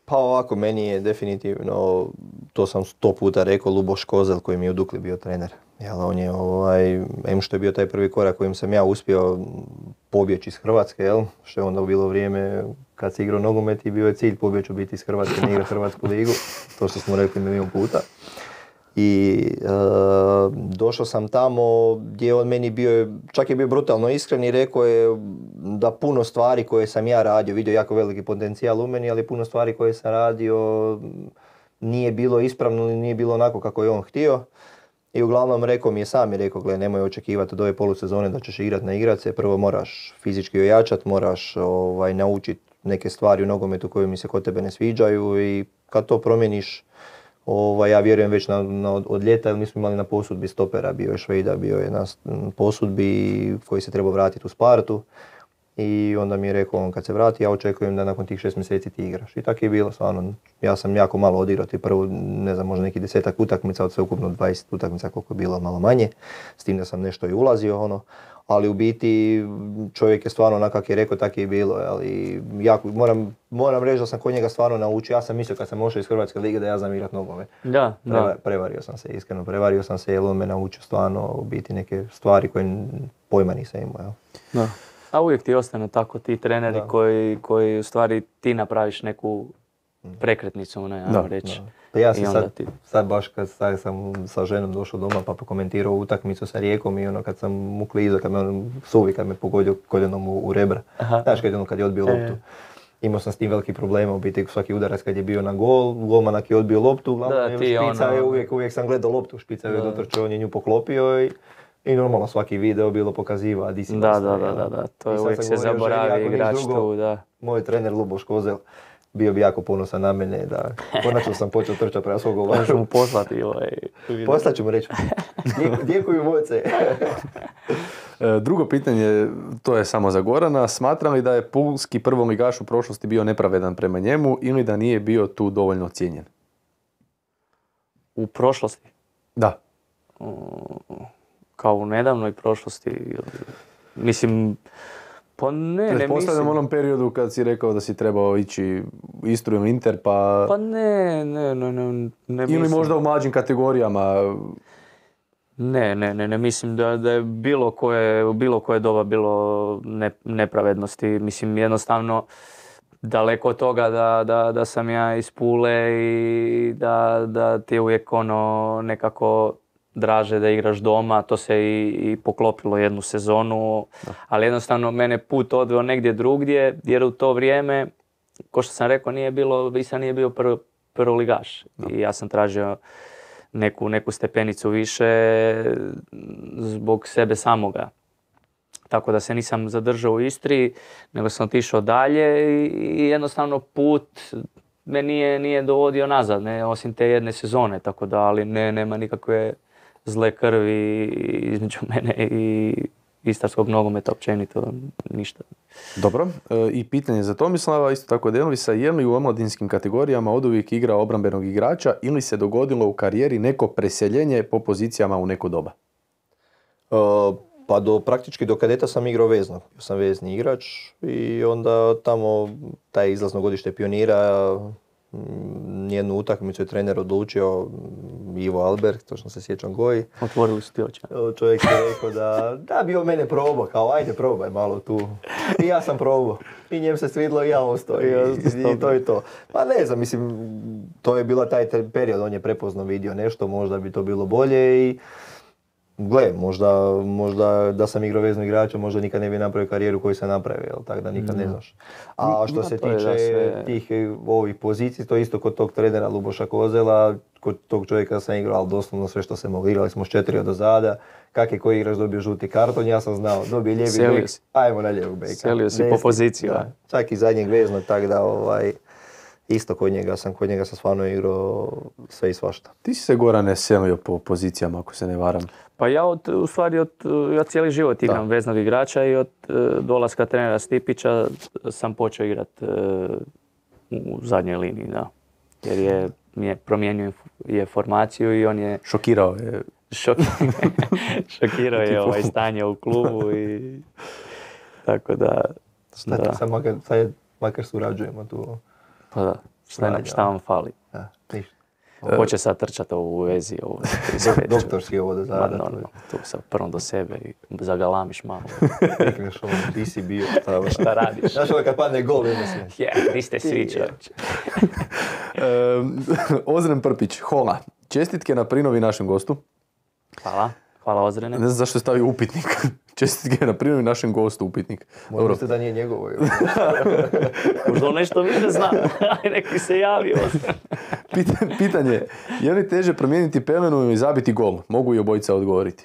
Pa ovako, meni je definitivno, to sam sto puta rekao, Luboš Kozel koji mi je u Dukli bio trener. Jel, on je, ovaj, em što je bio taj prvi korak kojim sam ja uspio pobjeći iz Hrvatske, jel? Što je onda bilo vrijeme kad se igrao nogomet i bio je cilj pobjeći u biti iz Hrvatske, ne igra Hrvatsku ligu, to što smo rekli milijon puta. I e, došao sam tamo gdje je on meni bio, čak je bio brutalno iskren i rekao je da puno stvari koje sam ja radio, vidio jako veliki potencijal u meni, ali puno stvari koje sam radio nije bilo ispravno ili nije bilo onako kako je on htio. I uglavnom rekao mi je, sam je rekao, gle, nemoj očekivati od ove polusezone da ćeš igrati na igrace, prvo moraš fizički ojačati, moraš ovaj, naučiti neke stvari u nogometu koje mi se kod tebe ne sviđaju i kad to promijeniš, Ovaj, ja vjerujem već na, na, od ljeta, jer mi smo imali na posudbi stopera, bio je Švejda, bio je na posudbi koji se trebao vratiti u Spartu. I onda mi je rekao on kad se vrati, ja očekujem da nakon tih šest mjeseci ti igraš. I tako je bilo, stvarno. Ja sam jako malo odigrao, ti prvo, ne znam, možda neki desetak utakmica, od sveukupno dvadeset utakmica koliko je bilo, malo manje. S tim da sam nešto i ulazio, ono. Ali u biti čovjek je stvarno onak kak je rekao, tako je bilo. Ali jako, moram, moram reći da sam kod njega stvarno naučio. Ja sam mislio kad sam ošao iz Hrvatske lige da ja znam igrat nogomet. Da, Preva, da. prevario sam se, iskreno prevario sam se jer on me naučio stvarno u biti neke stvari koje pojma nisam imao. Jel? Da. A uvijek ti ostane tako ti treneri Da. koji, koji u stvari ti napraviš neku prekretnicu, ne, Da, ajmo reći. da. Pa ja I sam onda sad, ti- sad baš kad sad sam sa ženom došao doma pa prokomentirao utakmicu sa Rijekom i ono kad sam mu klizo, kad me on suvi, kad me pogodio koljenom u, u rebra. Aha. Znaš kad je ono kad je odbio E. loptu. Imao sam s tim veliki problema, u biti svaki udarac kad je bio na gol, golmanak je odbio loptu, uglavnom Da, je ti špica ono- je uvijek, uvijek sam gledao loptu, špica je Da. dotrčao, on je nju poklopio i, i normalno svaki video bilo pokaziva di si Da, nastao, da, da, jel? da, da, to I je sad uvijek sam se govorio ženi, zaboravi ako niš igrač drugo, tu, da. Moj trener Luboš Kozel bio bi jako ponosan na mene da konačno sam počeo trčati prema svog Možeš govaru. mu poslati ovaj video. Poslat ću mu reći, "Djek- djekuju moce." E, Drugo pitanje, to je samo za Gorana. Smatram li da je pulski prvoligaš u prošlosti bio nepravedan prema njemu ili da nije bio tu dovoljno cijenjen? U prošlosti, Da. kao u nedavnoj prošlosti, ili- mislim, pa ne, ne Pretpostavljam mislim. u onom periodu kad si rekao da si trebao ići u Istru ili Inter, pa... Pa ne, ne, ne, ne, ne ili mislim. možda u mlađim kategorijama. Ne, ne, ne, ne mislim da, da je bilo koje, u bilo koje doba bilo ne, nepravednosti. Mislim, jednostavno daleko od toga da, da, da sam ja iz Pule i da, da ti je uvijek ono nekako draže da igraš doma. To se i, i poklopilo jednu sezonu, ali jednostavno mene put odveo negdje drugdje jer u to vrijeme, ko što sam rekao, nije bilo, Visa nije bio prv, prvoligaš i ja sam tražio neku, neku stepenicu više zbog sebe samoga. Tako da se nisam zadržao u Istri, nego sam otišao dalje i, i jednostavno put me nije, nije dovodio nazad, ne, osim te jedne sezone, tako da, ali ne, nema nikakve zle krvi između mene i istarskog nogometa općenito, ništa. Dobro. E, I pitanje za Tomislava, isto tako Denvisa, je li u omladinskim kategorijama oduvijek igrao obrambenog igrača ili se dogodilo u karijeri neko preseljenje po pozicijama u neko doba? Uh, pa do, praktički do kadeta sam igrao vezno. Bio sam vezni igrač i onda tamo taj izlazno godište pionira, mm, nijednu utakmicu je trener odlučio, mm, Ivo Albert, točno se sjećam Goji. Otvorili su ti oči. Čovjek je rekao da, da bi on mene probao, kao ajde probaj malo tu. I ja sam probao. I njem se svidlo i ja ostao. I, i, i to je to. Pa ne znam, mislim, to je bila taj te- period, on je prepoznao vidio nešto, možda bi to bilo bolje i gle, možda, možda da sam igrao veznog igrača, možda nikad ne bi napravio karijeru koju sam napravio, jel, tako da nikad ne znaš. A što Ma, se to je da tiče sve- tih eh, ovih pozicija, to je isto kod tog trenera Luboša Kozela, kod tog čovjeka sam igrao, ali doslovno sve što se moglo. Igrali smo s četiri od ozada, kak je koji igrač dobio žuti karton, ja sam znao, dobije lijevi Selio bek, si. ajmo na lijevog beka. Selio si po Desni, poziciji, da. a? Čak i zadnjeg veznog, tako da ovaj, isto kod njega sam, kod njega sam stvarno igrao sve i svašta. Ti si se, Gorane, selio po pozicijama, ako se ne varam. Pa ja od, u stvari od, ja cijeli život igram Da. veznog igrača i od e, dolaska trenera Stipića sam počeo igrat e, u zadnjoj liniji, da. Jer je, je promijenio je formaciju i on je Šokirao je. šok, šokirao je ovaj stanje u klubu i tako da, Šta da, sad makar, sad makar surađujemo tu. pa da, šta, nam- šta vam fali? Da, ništa. Hoće sad trčati u vezi, ovo, ispred ću. Doktorski ovo da Ma, zada. normalno, tu sa prvom do sebe i zagalamiš malo. Rekneš ovo, ti si bio. Šta, Šta radiš? Znaš ovo kad padne gol, jedno se. Je, di ste svi, čovječe. E, Ozren Prpić, Hola. Čestitke na prinovi našem gostu. Hvala, hvala Ozrene. Ne znam zašto je stavio upitnik. Čestitke na prinovi našem gostu, upitnik. Možda Dobro. mislite da nije njegovo. jel? Možda on nešto više zna. Aj, neki se javi. Pit- Pitanje, je li teže promijeniti pelenu ili zabiti gol? Mogu i obojica odgovoriti.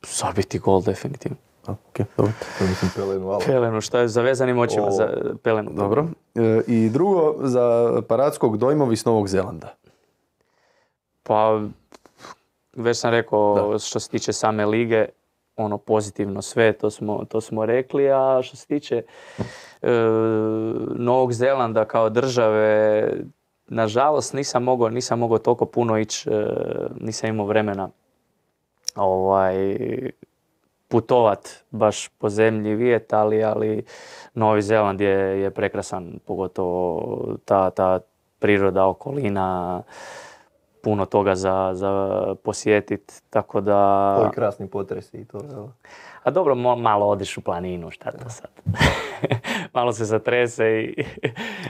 Zabiti gol, definitivno. A, ok, dobro. To mislim pelenu, ali. Pelenu, šta je zavezanim očima O. za pelenu? Dobro. E, I drugo, za Paradskog dojmovi s Novog Zelanda. Pa, već sam rekao Da. što se tiče same lige, ono pozitivno sve, to smo, to smo rekli, a što se tiče e, Novog Zelanda kao države, nažalost nisam mogao, nisam mogao toliko puno ići, e, nisam imao vremena ovaj, putovat baš po zemlji, vidjeti, ali, ali Novi Zeland je, je prekrasan, pogotovo ta, ta priroda, okolina, puno toga za, za posjetiti, tako da... Ovi krasni potresi i to. jel? A dobro, mo- malo odeš u planinu, šta to sad? Malo se zatrese i...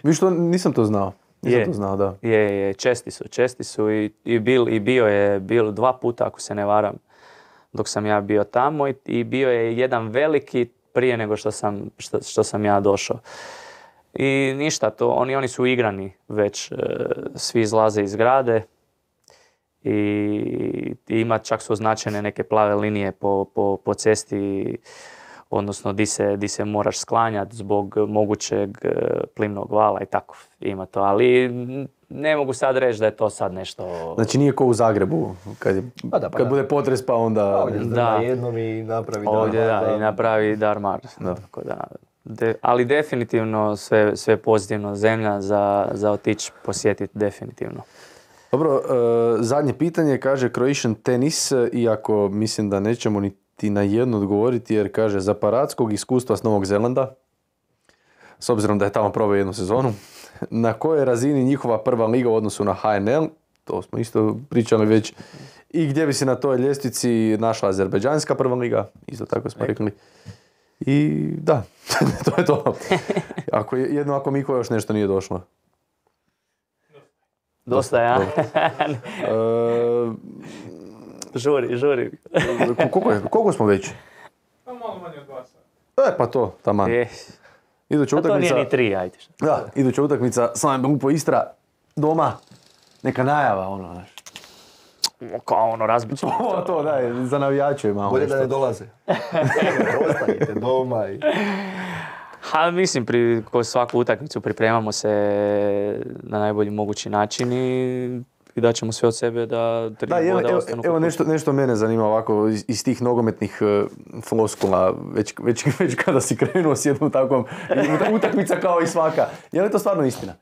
Vi što nisam to znao. Nisam Je. to znao, da. Je, je, česti su, česti su i, i, bil, i bio je bil dva puta, ako se ne varam, dok sam ja bio tamo i, i bio je jedan veliki prije nego što sam, što, što sam ja došao. I ništa, to, oni, oni su igrani već, e, svi izlaze iz grade i, i ima, čak su označene neke plave linije po, po, po cesti, odnosno di se, di se moraš sklanjati zbog mogućeg e, plimnog vala i tako, ima to, ali ne mogu sad reći da je to sad nešto... Znači nije ko u Zagrebu, kad, je, Pa da, pa kad da. bude potres pa onda... Ovdje Da. da. na jednom i napravi Ovdje da, darmar, i napravi darmar. Da. Tako da, de, ali definitivno sve, sve pozitivno, zemlja za, za otići posjetiti definitivno. Dobro, e, zadnje pitanje kaže Croatian Tennis, iako mislim da nećemo niti na jedno odgovoriti jer kaže za paradskog iskustva s Novog Zelanda, s obzirom da je tamo proveo jednu sezonu, na kojoj je razini njihova prva liga u odnosu na H N L, to smo isto pričali već, i gdje bi se na toj ljestvici našla azerbeđanska prva liga, isto tako smo rekli. I da, to je to. Ako, je- jedno ako Miko još nešto nije došlo. Dosta, ja? E, žuri, žuri. ko- koliko, je, koliko smo već? Pa malo manje od dva sata. E, pa to, taman. Je. Iduća A to nije utakmica, ni tri, ajde. šta. da, iduća utakmica, Slaven Grupo Istra, doma, neka najava, ono, znaš. Kao ono, razbit ćemo. Ovo to, daj, za navijače malo Bolje nešto. da ne dolaze. Ostanite doma i... Ha, mislim, pri, ko svaku utakmicu pripremamo se na najbolji mogući način i, i daćemo sve od sebe da tri Da, evo, boda evo, ostanu. evo kod nešto, nešto mene zanima ovako iz, iz tih nogometnih uh, floskula, već, već, već kada si krenuo s jednom takvom uta- utakmica kao i svaka. Je li to stvarno istina?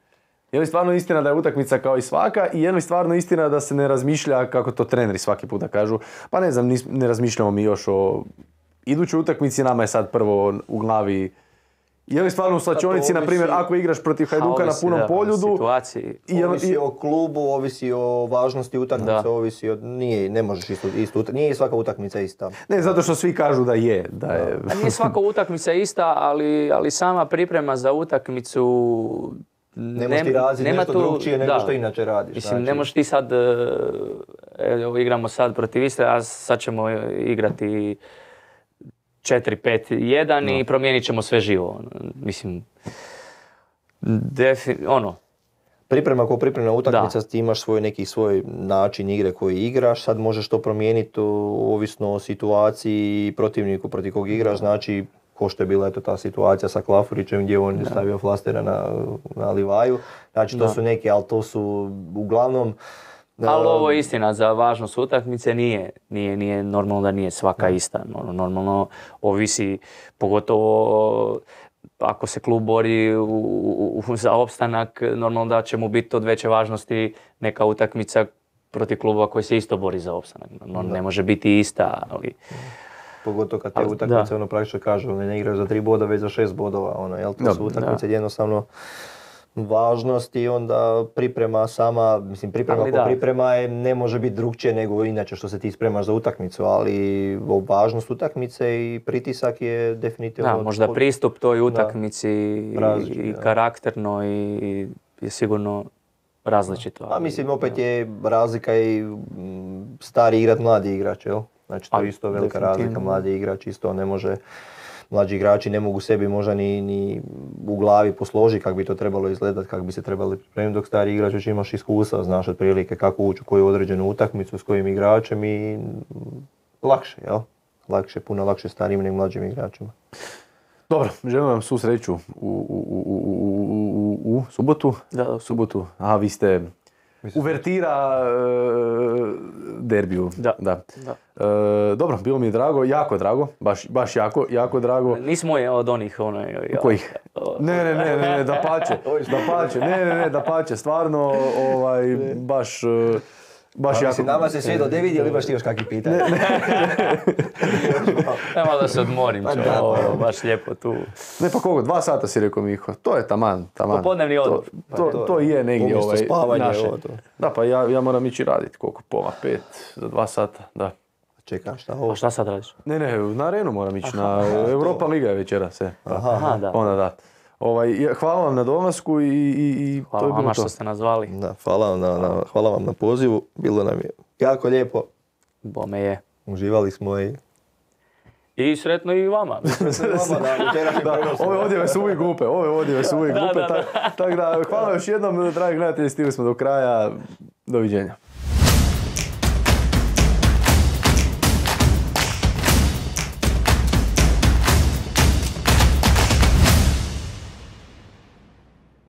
Je li stvarno istina da je utakmica kao i svaka i je li stvarno istina da se ne razmišlja kako to treneri svaki puta kažu? Pa ne znam, nis- ne razmišljamo mi još o idućoj utakmici, nama je sad prvo u glavi. Je li stvarno u slačionici, na primjer, ovisi- ako igraš protiv Ha, Hajduka na ovisi, punom da, o poljudu, situaciji. i je li- Ovisi o klubu, ovisi o važnosti utakmice, Da. ovisi o... Nije, ne možeš isto, isto utak- nije svaka utakmica ista. ne, zato što svi kažu da je, da je. A nije svaka utakmica ista, ali, ali sama priprema za utakmicu... Ne možeš ti raziti nema nešto tu- drugčije nego da. što inače radiš. Mislim, ne znači. možeš ti sad, e, evo igramo sad protiv Istre, a sad ćemo igrati četiri pet jedan i promijenit ćemo sve živo. Mislim, defi, ono, Priprema ko pripremna utakmica, ti imaš svoj neki svoj način igre koji igraš, sad možeš to promijeniti u- ovisno o situaciji i protivniku protiv kog igraš, znači ko što je bila eto ta situacija sa Klafurićem gdje on je stavio flastera na, na Livaju, znači to Da. su neki, ali to su uglavnom... ali uh, ovo je istina, za važnost utakmice nije, nije, nije normalno da nije svaka ista. Nor- Normalno ovisi, pogotovo ako se klub bori u, u- u- za opstanak, normalno da će mu biti od veće važnosti neka utakmica protiv kluba koji se isto bori za opstanak. Normalno ne može biti ista, ali... Pogotovo kad te Ali, utakmice, da. ono praktično kažu, oni ne igraju za tri boda, već za šest bodova, ono, jel, to Da, su utakmice jednostavno važnost i onda priprema sama, mislim priprema Ali ko da. priprema je, ne može biti drugčije nego inače što se ti spremaš za utakmicu, ali o važnost utakmice i pritisak je definitivno... Da, možda pristup toj utakmici Različit, i da. karakterno i je sigurno različito. A ali- mislim, opet je razlika i mm, stari igrat, mladi igrač, jel? Znači to A, je isto velika razlika, definitivno. mladi igrač isto ne može, mlađi igrači ne mogu sebi možda ni, ni u glavi posložiti kako bi to trebalo izgledati, kako bi se trebali pripremiti, dok stari igrač već imaš iskustva, znaš otprilike kako ući u koju određenu utakmicu s kojim igračem i mm, lakše, jel? Lakše, puno lakše starijim nego mlađim igračima. Dobro, želim vam svu sreću u, u, u, u, u, u, u subotu. Da, U subotu. Aha, vi ste uvertira e, derbiju. Da. da. Da. E, dobro, bilo mi je drago, jako drago, baš, baš jako, jako drago. Nismo je od onih ono... ja- Kojih? Ne, ne, ne, ne, ne, da pače, da pače, ne, ne, ne, da pače, stvarno, ovaj, baš, e, baš Pa, jako. mislim, nama se svijet vidi, ali imaš ti još kakvi pitanja? Nema da se odmorim, Pa čo, da, ovo, pa. baš lijepo tu. Ne, pa koliko, dva sata si rekao Miho, to je taman, taman. Popodnevni odmor. To, to, to je negdje Umjesto ovaj, spavanja, naše. ovo to. Da, pa ja, ja moram ići raditi, koliko, pola, pet, za dva sata, da. Čekam, šta ovo? A šta sad radiš? Ne, ne, na arenu moram ići, na Europa Liga je večeras, se. Aha, Aha, da. Onda da. Ovaj, hvala vam na dolasku i, i, i Hvala to je bilo vama to. što ste nas zvali. Da, hvala, vam na, na, hvala vam na pozivu, bilo nam je jako lijepo, Bome je. uživali smo i... I sretno i vama. Da, ove odjeve su uvijek glupe, ove odjeve su uvijek Da, glupe, da, da. tako tak da hvala još jednom, dragi gledatelji, stigli smo do kraja, doviđenja.